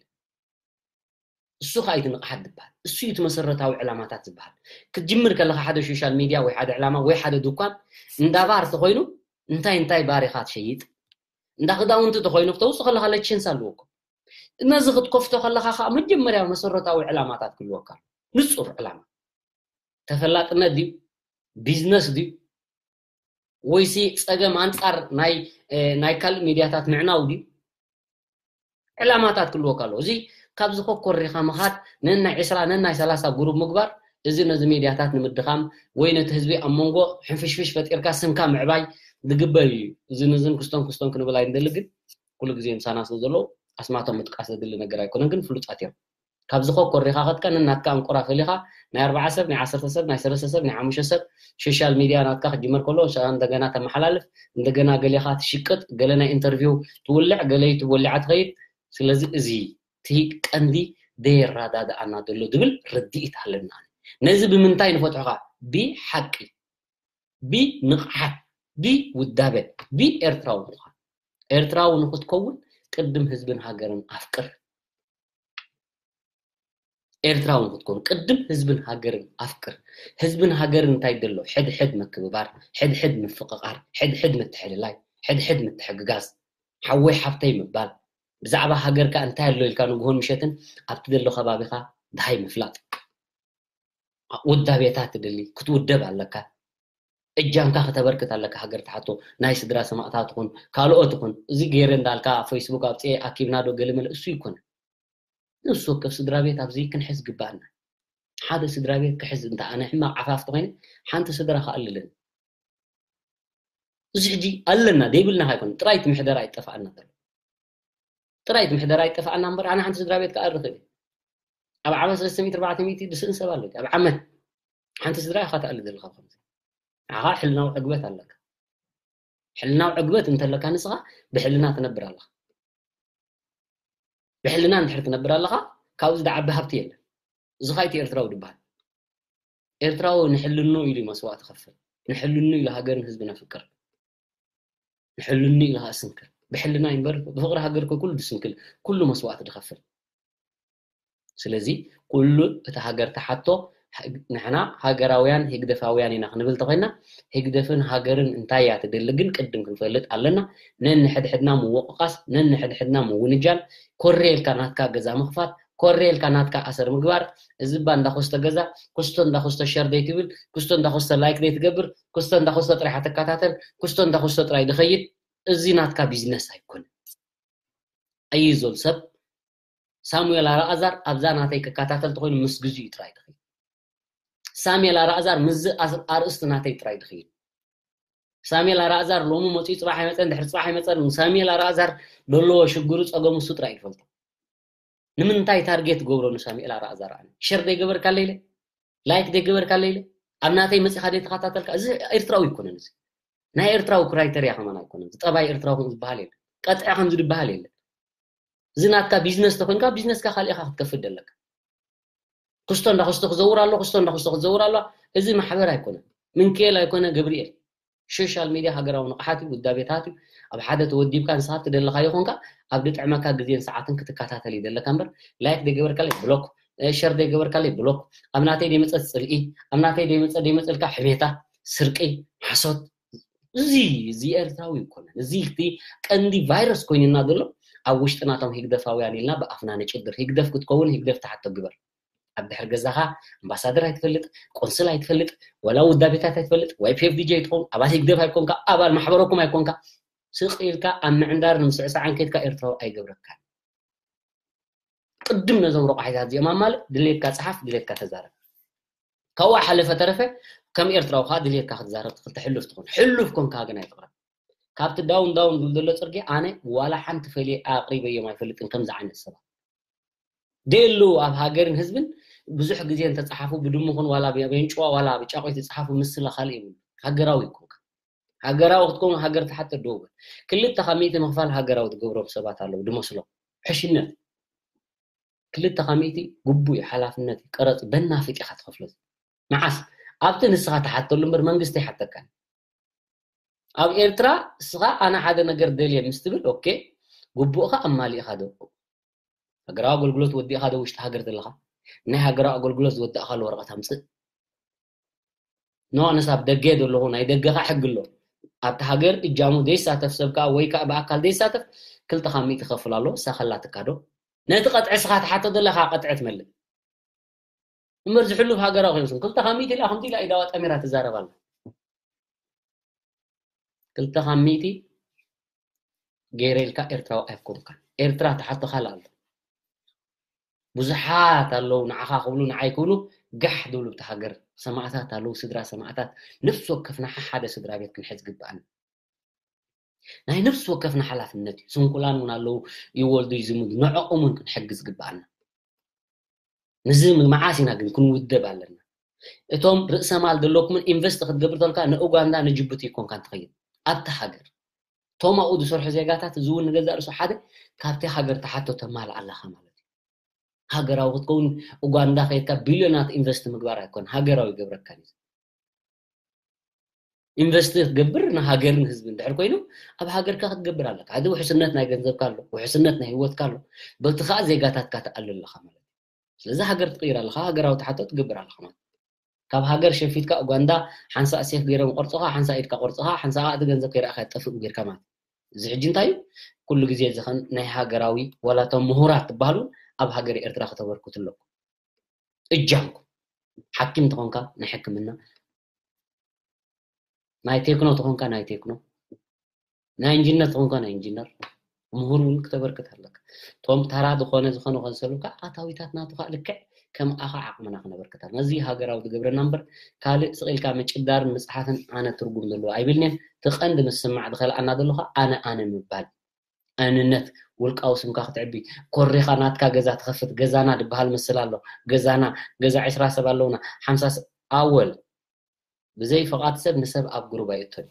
እሱ ኸዓ እዩ እቲ ንቕሓት ዝበሃል። እሱ እዩ እቲ መሰረታዊ ዕላማታት ዝበሃል። ክትጅምር ከለኻ ሓደ ሶሻል ሚድያ ወይ ሓደ ዕላማ ወይ ሓደ ድኳን እንዳ ባር ተኾይኑ እንታይ እንታይ ባር ኢኻ ትሸይጥ? እንዳ ክዳውንቲ ተኾይኑ ክተውፅእ ከለኻ ላይሰንስ ኣለዎ እኮ። ነዚ ክትከፍቶ ከለኻ ኸዓ መጀመርያ መሰረታዊ ዕላማታት ክህልወካ ኣሎ። ንፁር ዕላማ። ተፈላጥነት ድዩ? ቢዝነስ ድዩ? ወይሲ ፀገም ኣንፃር ናይ ናይ ካልእ ሚድያታት ምዕናው ድዩ? ዕላማታት ክህልወካ ኣለዎ። እዚ ካብዚ ኮኮሪኻ ምኻድ ነናይ ዕስራ ነናይ ሰላሳ ግሩብ ምግባር እዚ ነዚ ሚድያታት ንምድኻም ወይ ነቲ ህዝቢ ኣብ መንጎ ሕንፍሽፍሽ ፈጢርካ ስምካ ምዕባይ ዝግበር እዩ። እዚ ንዝን ክስቶን ክስቶን ክንብል ኣይንደሊ፣ ግን ኩሉ ግዜ ምሳና ስለ ዘለዉ ኣስማቶም ምጥቃስ ዘድሊ ነገር ኣይኮነን፣ ግን ፍሉጣት እዮም። ካብዚ ኮኮሪኻ ከትካ ነናትካ ኣንቁራ ፈሊኻ ናይ ኣርባዓ ሰብ ናይ ዓሰርተ ሰብ ናይ ሰለስተ ሰብ ናይ ሓሙሽተ ሰብ ሶሻል ሚድያ ናትካ ክጅመር ከሎ እንደገና ተመሓላልፍ፣ እንደገና ገሌኻ ትሽቅጥ፣ ገለ ናይ ኢንተርቪው ትውልዕ፣ ገለ ዩቱብ ወሊዓ ትኸይድ። ስለዚ እዚ እቲ ቀንዲ ደየረዳድኣና ዘሎ ዝብል ርድኢት ኣለና። ነዚ ብምንታይ ንፈትሖ ኸዓ? ብሓቂ፣ ብንቕሓት፣ ብውዳበ፣ ብኤርትራዊ ምዃን። ኤርትራዊ ንኽትከውን ቅድም ህዝብን ሃገርን ኣፍቅር። ኤርትራዊ ንኽትከውን ቅድም ህዝብን ሃገርን ኣፍቅር። ህዝብን ሃገርን እንታይ ደሎ? ሕድሕድ ምክብባር፣ ሕድሕድ ምፍቕቓር፣ ሕድሕድ ምትሕልላይ፣ ሕድሕድ ምትሕግጋዝ፣ ሓወይ ሓብተይ ምባል፣ ብዛዕባ ሃገርካ እንታይ ኣሎ ኢልካ ንግሆን ምሸትን ኣብቲ ዘሎ ከባቢኻ ድሃይ ምፍላጥ። ውዳቤታት ትደሊ፣ ክትውደብ ኣለካ። እጃምካ ከተበርክት ኣለካ። ሃገር ትሓቶ ናይ ስድራ ሰማእታት ትኹን ካልኦት ትኹን፣ እዚ ገይረ እንዳልካ ኣብ ፌስቡክ ኣውፅኤ ኣኪብና ዶ ገለ መለ፣ እሱ ይኮነ። ነፍሲ ወከፍ ስድራ ቤት ኣብዚ ክንሕዝ ግባኣና። ሓደ ስድራ ቤት ክሕዝ እንተ ኣነ ሕማቕ ዓፋፍ ተኾይነ ሓንቲ ስድራ ክኣልልን። እዚ ሕጂ ኣለና ደይብልና ኣይኮነ፣ ጥራይ እቲ ምሕደራ ኣይጠፋኣና ዘሎ። ጥራይ እቲ ምሕደራ ኣይጠፋኣና እምበር ኣነ ሓንቲ ስድራ ቤት ክኣሪ ክእል እየ። ኣብ ዓመት ሰለስተ ሚእቲ ኣርባዕተ ሚእቲ ድስእን ሰብ ኣሎ። ኣብ ዓመት ሓንቲ ስድራ ኢኻ ትኣሊ ዘለኻ። ከምዚ ንዓኻ ሕልናዊ ዕግበት ኣለካ። ሕልናዊ ዕግበት እንተለካ ንስኻ ብሕልና ትነብር ኣለኻ። ብሕልና እንድሕር ትነብር ኣለኻ፣ ካብዚ ዝዓቢ ሃብቲ የለን። እዚ ኸኣ እቲ ኤርትራዊ ዝበሃል። ኤርትራዊ ንሕልኑ ኢሉ እዩ መስዋእቲ ከፍል። ንሕልኑ ኢሉ ሃገርን ህዝብን ኣፍቅር። ንሕልኑ ኢሉ ኸኣ ስንክል። ብሕልና እምበር ብፍቕሪ ሃገር እኮ ኩሉ ድስንክል፣ ኩሉ መስዋእቲ ድኸፍል። ስለዚ ኩሉ እቲ ሃገር ተሓቶ ንሕና ሃገራውያን ህግደፋውያን ኢና ክንብል ተኾይና፣ ህግደፍን ሃገርን እንታይ እያ ትደሊ ግን ቅድም ክንፈልጥ ኣለና። ነንሕድሕድና ምውቕቓስ፣ ነንሕድሕድና ምውንጃል፣ ኮሬ ኢልካ ናትካ ገዛ ምኽፋት፣ ኮሬ ኢልካ ናትካ ኣሰር ምግባር፣ እዚ እባ እንዳኾስተ ገዛ፣ ኩስቶ እንዳኾስተ ሸር ደይትብል፣ ኩስቶ እንዳኾስተ ላይክ ደይትገብር፣ ኩስቶ እንዳኾስተ ጥራይ ትከታተል፣ ኩስቶ እንዳኾስተ ጥራይ ድኸይድ፣ እዚ ናትካ ቢዝነስ ኣይኮነን። ኣይዞል ሰብ ሳሙኤል ኣልኣዛር ኣብዛ ናተይ ክከታተል ተኾይኑ ምስ ግዜኡ ጥራይ ድኸይድ። ሳሙኤል ኣልኣዛር ምስዚ ኣስ-፣ ኣርእስቲ ናተይ ጥራይ ድኸይድ። ሳሙኤል ኣልኣዛር ሎሚ መፂኡ ፅባሕ ኣይመፀን፣ ድሕሪ ፅባሕ ኣይመፀን። ሳሙኤል ኣልኣዛር ዘለዎ ሽግሩ ፀገሙ እሱ ጥራይ ይፈልጦ። ንምንታይ ታርጌት ገብሮ ንሳሙኤል ኣልኣዛር? ኣነ ሸር ደይገበርካለይ ኢለ፣ ላይክ ደይገበርካለይ ኢለ፣ ኣብ ናተይ መፂኻ ደይተኸታተልካ፣ እዚ ኤርትራዊ ኣይኮነን። እዚ ናይ ኤርትራዊ ክራይተርያ ከማን ኣይኮነን። እዚ ጠባይ ኤርትራዊ ከም ዝበሃል የለን። ቀጥዒ ከም ዝድበሃል የለን። እዚ ናትካ ቢዝነስ ተኾይንካ ቢዝነስካ ካሊእኻ ክትከፍት ደለካ። ክስቶ እንዳክስቶ ክዘውር ኣሎ፣ ክስቶ እንዳክስቶ ክዘውር ኣሎ። እዚ ማሕበር ኣይኮነን። ምንክኤል ኣይኮነ ገብርኤል። ሶሻል ሚድያ ሃገራዊ ንቕሓት እዩ፣ ውዳቤታት እዩ። ኣብ ሓደ ተወዲብካ ንስኻ ትደለኻ ይኾንካ፣ ኣብ ድጥዕመካ ግዜን ሰዓትን ክትከታተል ይደለካ እምበር፣ ላይክ ደይገበርካለይ ብሎክ፣ እ፣ ሸር ደይገበርካለይ ብሎክ፣ ኣብ ናተይ ደይመጸት ጽልኢ፣ ኣብ ናተይ ደይመጸ ደይመጸልካ ሕሜታ፣ ስርቂ፣ ሓሶት፣ እዚ፣ እዚ ኤርትራዊ ኣይኮነን። እዚ እቲ ቀንዲ ቫይረስ ኮይኑና ዘሎ ኣብ ውሽጥና እቶም ህግደፋውያን ኢልና ብኣፍና ንጭድር። ህግደፍ ክትከውን ህግደፍ ትሓቶ ግበር። ኣብ ድሕሪ ገዛኻ ኣምባሳደር ኣይትፈልጥ፣ ቆንስል ኣይትፈልጥ፣ ወላ ውዳቤታት ኣይትፈልጥ፣ ዋይ ፒ ኤፍ ዲ ጀይ ኣይትኸውን፣ ኣባል ህግደፍ ኣይኮንካ፣ ኣባል ማሕበረኩም ኣይኮንካ። ስቕ ኢልካ ኣብ ምዕንዳር ንምስዕሳዕን ከይድካ ኤርትራዊ ኣይገብረካን። ቅድም ነዞም ረቋሒታት እዚኦም ኣማልእ፣ ድሌትካ ጸሓፍ፣ ድሌትካ ተዛረብ። ካብኡ ሓለፈ ተረፈ ከም ኤርትራዊ ከኣ ድሌትካ ክትዛረብ ትኽእል፣ ሕሉፍ ትኾን። ሕሉፍ ኮንካ ግን ኣይትቕረብ። ካብቲ ዳውን ዳውን ዝብል ዘሎ ጽርግያ ኣነ ዋላ ሓንቲ ፈልየ ኣቕሪበዮም ኣይፈልጥን ከምዚ ዓይነት ሰባት። ደየሉ ኣብ ሃገርን ህዝብን ብዙሕ ግዜ እንተጸሓፉ ብድሙኽን ዋላ ብየንጭዋ ዋላ ብጫቆይ ዝጸሓፉ ምስላ ካልእ የብሉ። ሃገራዊ ይኮንካ። ሃገራዊ ክትከውን ሃገር ትሓተ ደው በል። ክልተ ካብ ሚእቲ ምኽፋል ሃገራዊ ትገብሮም ሰባት ኣለዉ ድመስሎም። ሕሽነት። ክልተ ካብ ሚእቲ ግቡእ እዩ፣ ሓላፍነት እዩ፣ ቀረጽ በናፍጥ ኢኻ ትኸፍሎ። መዓስ? ኣብቲ ንስኻ ትሓተሉ እምበር መንግስቲ ኣይሓተካን። ኣብ ኤርትራ እስኻ ኣነ ሓደ ነገር ደልየ ምስ ትብል ኦኬ፣ ግቡእኻ ኣማሊእኻ ዶ? ሃገራዊ ኣገልግሎት ወዲእኻ ዶ ውሽጢ ሃገር ዘለኻ? ናይ ሃገራዊ ኣገልግሎት ዝወዳእካሉ ወረቐት ኣምጽእ። ኖ ኣነስ ኣብ ደገ ዘለኹ ናይ ደገኻ ሕጊ ኣሎ። ኣብቲ ሃገር እጃሙ ዘይሳተፍ ሰብ ከዓ ወይ ከዓ ብኣካል ዘይሳተፍ ክልተ ካብ ሚእቲ ክኸፍል ኣለዎ፣ እሳ ከላትካ ዶ? ነቲ ቀጥዒ እስኻ ትሓቶ ዘለኻ ቀጥዒ ትመልእ። እምበር ዝሕሉፍ ሃገራዊ ኮይኑ ክልተ ካብ ሚእቲ ኢላ ከምዚ ኢላ ኢዳዋ ጠሚራ ትዛረብ ኣላ። ክልተ ካብ ሚእቲ ገይረ ኢልካ ኤርትራዊ ኣይኮንካን። ኤርትራ ትሓቶ ካልእ ኣሎ። ብዙሓት ኣለዉ ንዓኻ ክብሉ ንዓይ ክብሉ ጋሕ ዝብሉ ብቲ ሃገር ሰማእታት ኣለዉ፣ ስድራ ሰማእታት። ነፍሲ ወከፍና ሓደ ስድራ ቤት ክንሕዝ ግብኣና። ናይ ነፍሲ ወከፍና ሓላፍነት እዩ። ስንኩላን እውን ኣለዉ፣ ይወልዱ ይዝምዱ፣ ንዕኦም እውን ክንሕግዝ ግብኣና። ንዚ መዓስ ኢና ግን ክንውደብ ኣለና? እቶም ርእሰ ማል ዘለኩምን ኢንቨስት ክትገብር ተልካ ንኡጋንዳ ንጅቡቲ ይኮንካን ትኸይድ ኣብቲ ሃገር። እቶም ኣብኡ ዝሰርሑ ዜጋታት እዚ እውን ንገዛእ ርእሱ ሓደ ካብቲ ሃገር ትሓቶ ተማልእ ኣለኻ ማለት እዩ። ሃገራዊ ክትከውን ኡጋንዳ ከይድካ ቢልዮናት ኢንቨስት ምግባር ኣይኮን ሃገራዊ ይገብረካ እዩ። ኢንቨስት ክትገብር ንሃገርን ህዝብን እንድሕር ኮይኑ ኣብ ሃገርካ ክትገብር ኣለካ። ሓደ ውሕስነት ናይ ገንዘብካ ኣሎ፣ ውሕስነት ናይ ህይወትካ ኣሎ። በቲ ከዓ ዜጋታትካ ትኣልል ኣለኻ ማለት እዩ። ስለዚ ሃገር ትቕይር ኣለኻ፣ ሃገራዊ ትሓቶ ትገብር ኣለኻ ማለት እዩ። ካብ ሃገር ሸፊትካ ኡጋንዳ ሓንሳእ ሴፍ ገይሮም ቆርፅኻ፣ ሓንሳእ ኢድካ ቆርፅኻ፣ ሓንሳእ እቲ ገንዘብ ከይረኣኻ ጠፍእ ጌርካ ማለት እዩ። እዚ ሕጂ እንታይ እዩ? ኩሉ ግዜ ዝኸን ናይ ሃገራዊ ዋላ እቶም ምሁራት ትበሃሉ ኣብ ሃገር ኤርትራ ከተበርክቱ ኣለኩም። እጃምኩም ሓኪም ተኾንካ ናይ ሕክምና፣ ናይ ቴክኖ ተኾንካ ናይ ቴክኖ፣ ናይ ኢንጂነር ተኾንካ ናይ ኢንጂነር፣ ምሁር እውን ክተበርክት ኣለካ። እቶም ተራ ዝኾነ ዝኾነ ከንሰሉካ ኣታዊታት ናቱ ከዓ ልክዕ ከም ኣኻ ዓቕምና ክነበርክት ኣለና። እዚ ሃገራዊ ዝገብረና እምበር ካልእ ስቕ ኢልካ ምጭዳርን ምፅሓፍን ኣነ ትርጉም ዘለዎ ኣይብልንየን። እቲ ቀንዲ ምስማዕ ዝኸልኣና ዘሎ ከዓ ኣነ ኣነ ምባል። ኣንነት ውልቃዊ ስምካ ክትዕቢ ኮሪኻ ናትካ ገዛ ትኸፍት ገዛና ዝበሃል ምስል ኣሎ። ገዛና ገዛ ዕስራ ሰብ ኣለውና ሓምሳ ሰብ ኣወል ብዘይ ፍቓድ ሰብ ንሰብ ኣብ ግሩብ ኣይእቶን።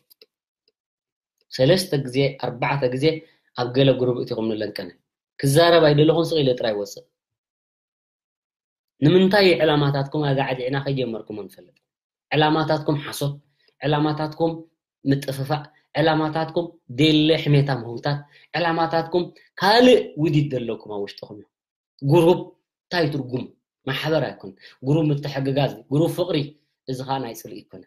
ሰለስተ ግዜ ኣርባዕተ ግዜ ኣብ ገለ ግሩብ እቲኹም ንለንቀነ ክዛረብ ኣይደለኹን ስቕ ኢለ ጥራይ ወፅእ። ንምንታይ ዕላማታትኩም ኣጋዕዲዕና ከይጀመርኩም ንፈልጥ። ዕላማታትኩም ሓሶት፣ ዕላማታትኩም ምጥፍፋእ፣ ዕላማታትኩም ደለ ሕሜታ ምህውታት፣ ዕላማታትኩም ካልእ ውዲት ዘለኩም ኣብ ውሽጥኹም እዩ። ግሩፕ እንታይ ትርጉም ማሕበር ኣይኮን። ግሩፕ ምትሕግጋዝ፣ ግሩፕ ፍቕሪ፣ እዚ ኸዓ ናይ ጽልኢ ኣይኮነ።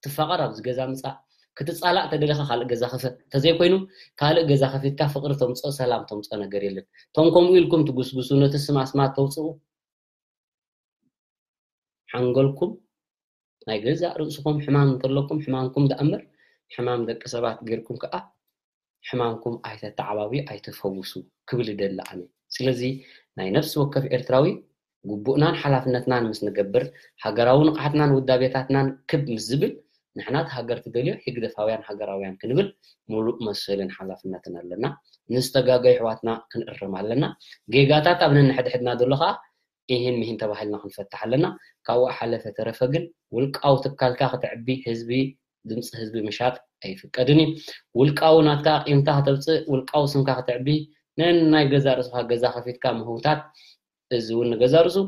ትፋቐር ኣብዚ ገዛ ምጻእ፣ ክትጻላእ ተደለኻ ካልእ ገዛ ክፈት። እንተዘይኮይኑ ካልእ ገዛ ከፊትካ ፍቕሪ ተምጽኦ ሰላም ተምጽኦ ነገር የለን። እቶም ከምኡ ኢልኩም ትጉስጉሱ ነቲ ስም ኣስማት ተውጽኡ ሓንጎልኩም ናይ ገዛእ ርእስኹም ሕማም እንተለኩም ሕማምኩም ደኣ እምበር ሕማም ደቂ ሰባት ጌርኩም ከኣ ሕማምኩም ኣይተተዓባብዩ ኣይተፈውሱ ክብል እደሊ ኣነ። ስለዚ ናይ ነፍሲ ወከፍ ኤርትራዊ ግቡእናን ሓላፍነትናን ምስ ንገብር ሃገራዊ ንቕሓትናን ውዳቤታትናን ክብ ምስ ዝብል ንሕና እቲ ሃገር ትደልዮ ህግደፋውያን ሃገራውያን ክንብል ሙሉእ መሰልን ሓላፍነትን ኣለና። ንዝተጋገዩ ኣሕዋትና ክንእርም ኣለና። ጌጋታት ኣብ ነንሕድሕድና ዘሎ ከኣ ኢሂን ሚሂን ተባሂልና ክንፈትሕ ኣለና። ካብኡ ሓለፈ ተረፈ ግን ውልቃዊ ትካልካ ክተዕቢ ህዝቢ ድምፂ ህዝቢ ምሻጥ ኣይፍቀድን እዩ። ውልቃዊ ናትካ ቂምታ ከተውፅእ ውልቃዊ ስምካ ክተዕቢ ነናይ ገዛ ርእስኻ ገዛ ከፊትካ ምህውታት እዚ እውን ንገዛ ርእሱ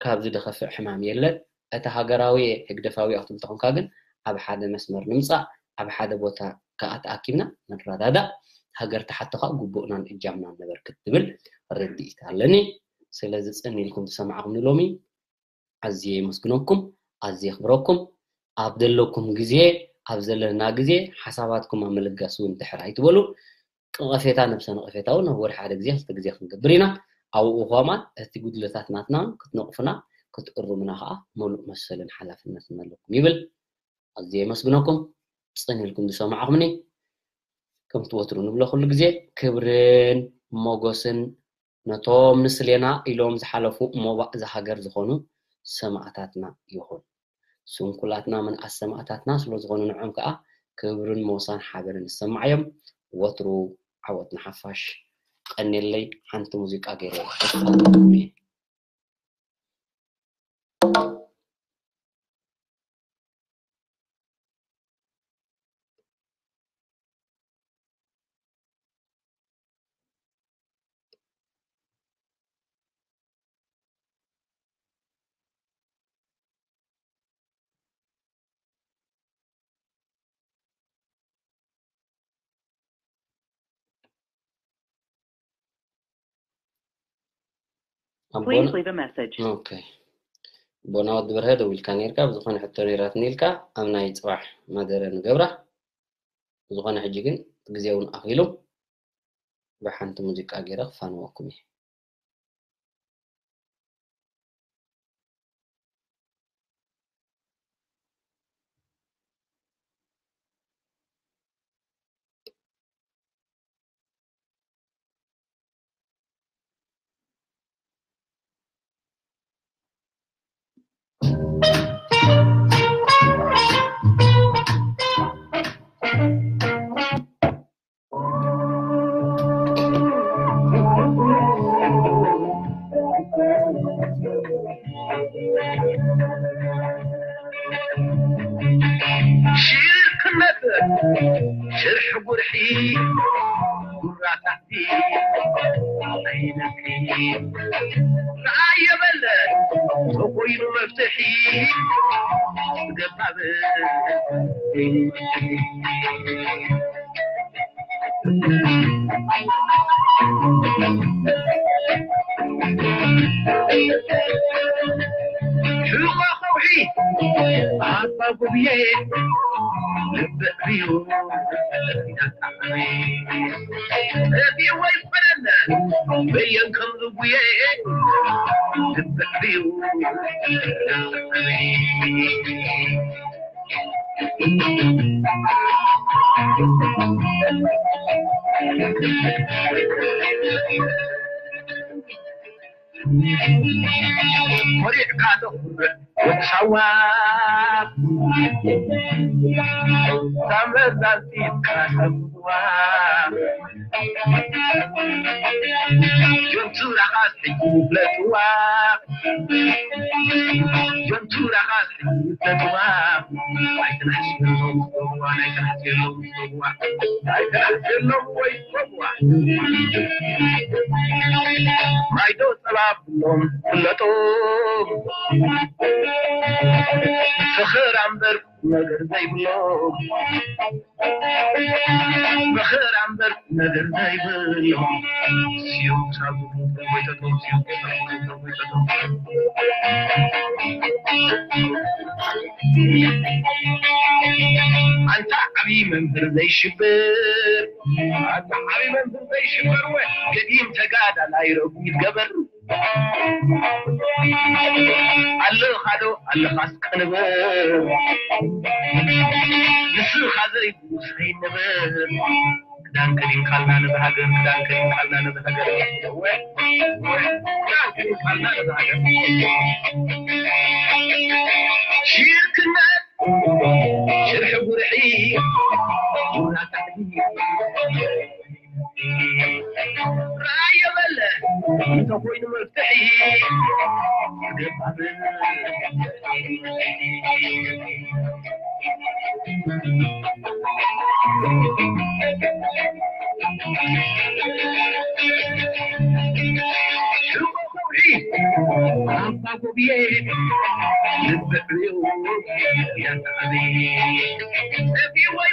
ካብዚ ደኸፍእ ሕማም የለን። እቲ ሃገራዊ ህግደፋዊ ክትብል ተኾንካ ግን ኣብ ሓደ መስመር ንምፃእ ኣብ ሓደ ቦታ ከዓ ተኣኪብና ንረዳዳእ ሃገር ተሓቶ ከዓ ግቡእናን እጃምናን ነበርክት ትብል ርድኢት ኣለኒ። ስለዚ ጽን ኢልኩም ዝሰማዕኹምኒ ሎሚ ኣዝየ የመስግነኩም፣ ኣዝየ የኽብረኩም። ኣብ ዘለኩም ግዜ ኣብ ዘለና ግዜ ሓሳባትኩም ኣብ ምልጋስ እውን ድሕር ኣይትበሉ። ነቐፌታ ነብሰ ነቐፌታ እውን ኣብ ወርሒ ሓደ ግዜ ክልተ ግዜ ክንገብር ኢና። ኣብኡ ከማን እቲ ጉድለታት ናትና ክትነቕፉና ክትእርሙና ከዓ ምሉእ መሰልን ሓላፍነትን ኣለኩም ይብል። ኣዝየ የመስግነኩም ጽን ኢልኩም ዝሰማዕኹምኒ። ከምቲ ወትሩ ንብሎ ኩሉ ግዜ ክብርን ሞጎስን ነቶም ንስሌና ኢሎም ዝሓለፉ ሞባእ እዛ ሃገር ዝኾኑ ሰማእታትና ይኹን። ስንኩላትና ምንኣስ ሰማእታትና ስለ ዝኾኑ ንዖም ከኣ ክብርን ሞሳን ሓበንን ይሰማዓዮም። ወትሩ ዓወት ንሓፋሽ። ቀንየለይ ሓንቲ ሙዚቃ ገይረ ኣቦና Please leave a message. ኦኬ። ኣቦና ወዲ በርሀ ደዊልካ ነይርካ፣ ብዝኾነ ሕቶ ነይራትኒ ኢልካ ኣብ ናይ ጽባሕ መደረ ንገብራ። ብዝኾነ ሕጂ ግን ግዜ እውን ኣኺሉ፣ ብሓንቲ ሙዚቃ ገይረ ክፋንወኩም እየ። ሽርክነት ሽርሒ ጉርሒ ጉራታቲ ኣይነኪ ራእየ በለ ተኮይኑ መፍትሒ ገባብ ሕቆ ከውሒ ኣባ ጉብየ ልብዕዩ እቲወይ ፈረነ በየን ከም ዝጉየ ልብዕዩ ኮሪዕካ ተኹርዕ ወዲ ሳዋ ሳመዛዚትካ ሰዋ ጆንቱራኻስ ሕጂ ይፍለጥዋ ጆንቱራኻስ ሕጂ ይፍለጥዋ ኣይትናሕስ የሎም ጸዋ ኣይትናሕስ የሎም ጸዋ ኣይትናሕስ የሎም ወይ ጸዋ ማይዶ ጸባ ብሎም ፍለጦም ፍኽር ኣምበር ነገር ዘይብሎም መኸራ እምበር ነገር ዘይብሎም ስዮም ሳዙ ወይተቶም ስዮም ወይተቶም ኣንታ ዓብዪ መምህር ዘይሽብር ኣንታ ዓብዪ መምህር ዘይሽበር ወ ገዲም ተጋዳላይ ረጉድ ገበር ኣለኻዶ ኣለኻስ ቅንብር ንስኻ ዘይብሉ ሰይንብር ክዳን ከዲንካልና ነዚ ሃገር ክዳን ከዲንካልና ነዚ ሃገር ክዳን ከዲንካልና ነዚ ሃገር ሽርክነት ሽርሒ ጉርሒ ቡና ካሕዲ ራእየ በለ እንተኮይኑ መፍትሒ ገባብ ሽጎ ከውሒ ኣባ ጎብየ ልብዕዮ ያተዓበየ ሰፊ ወይ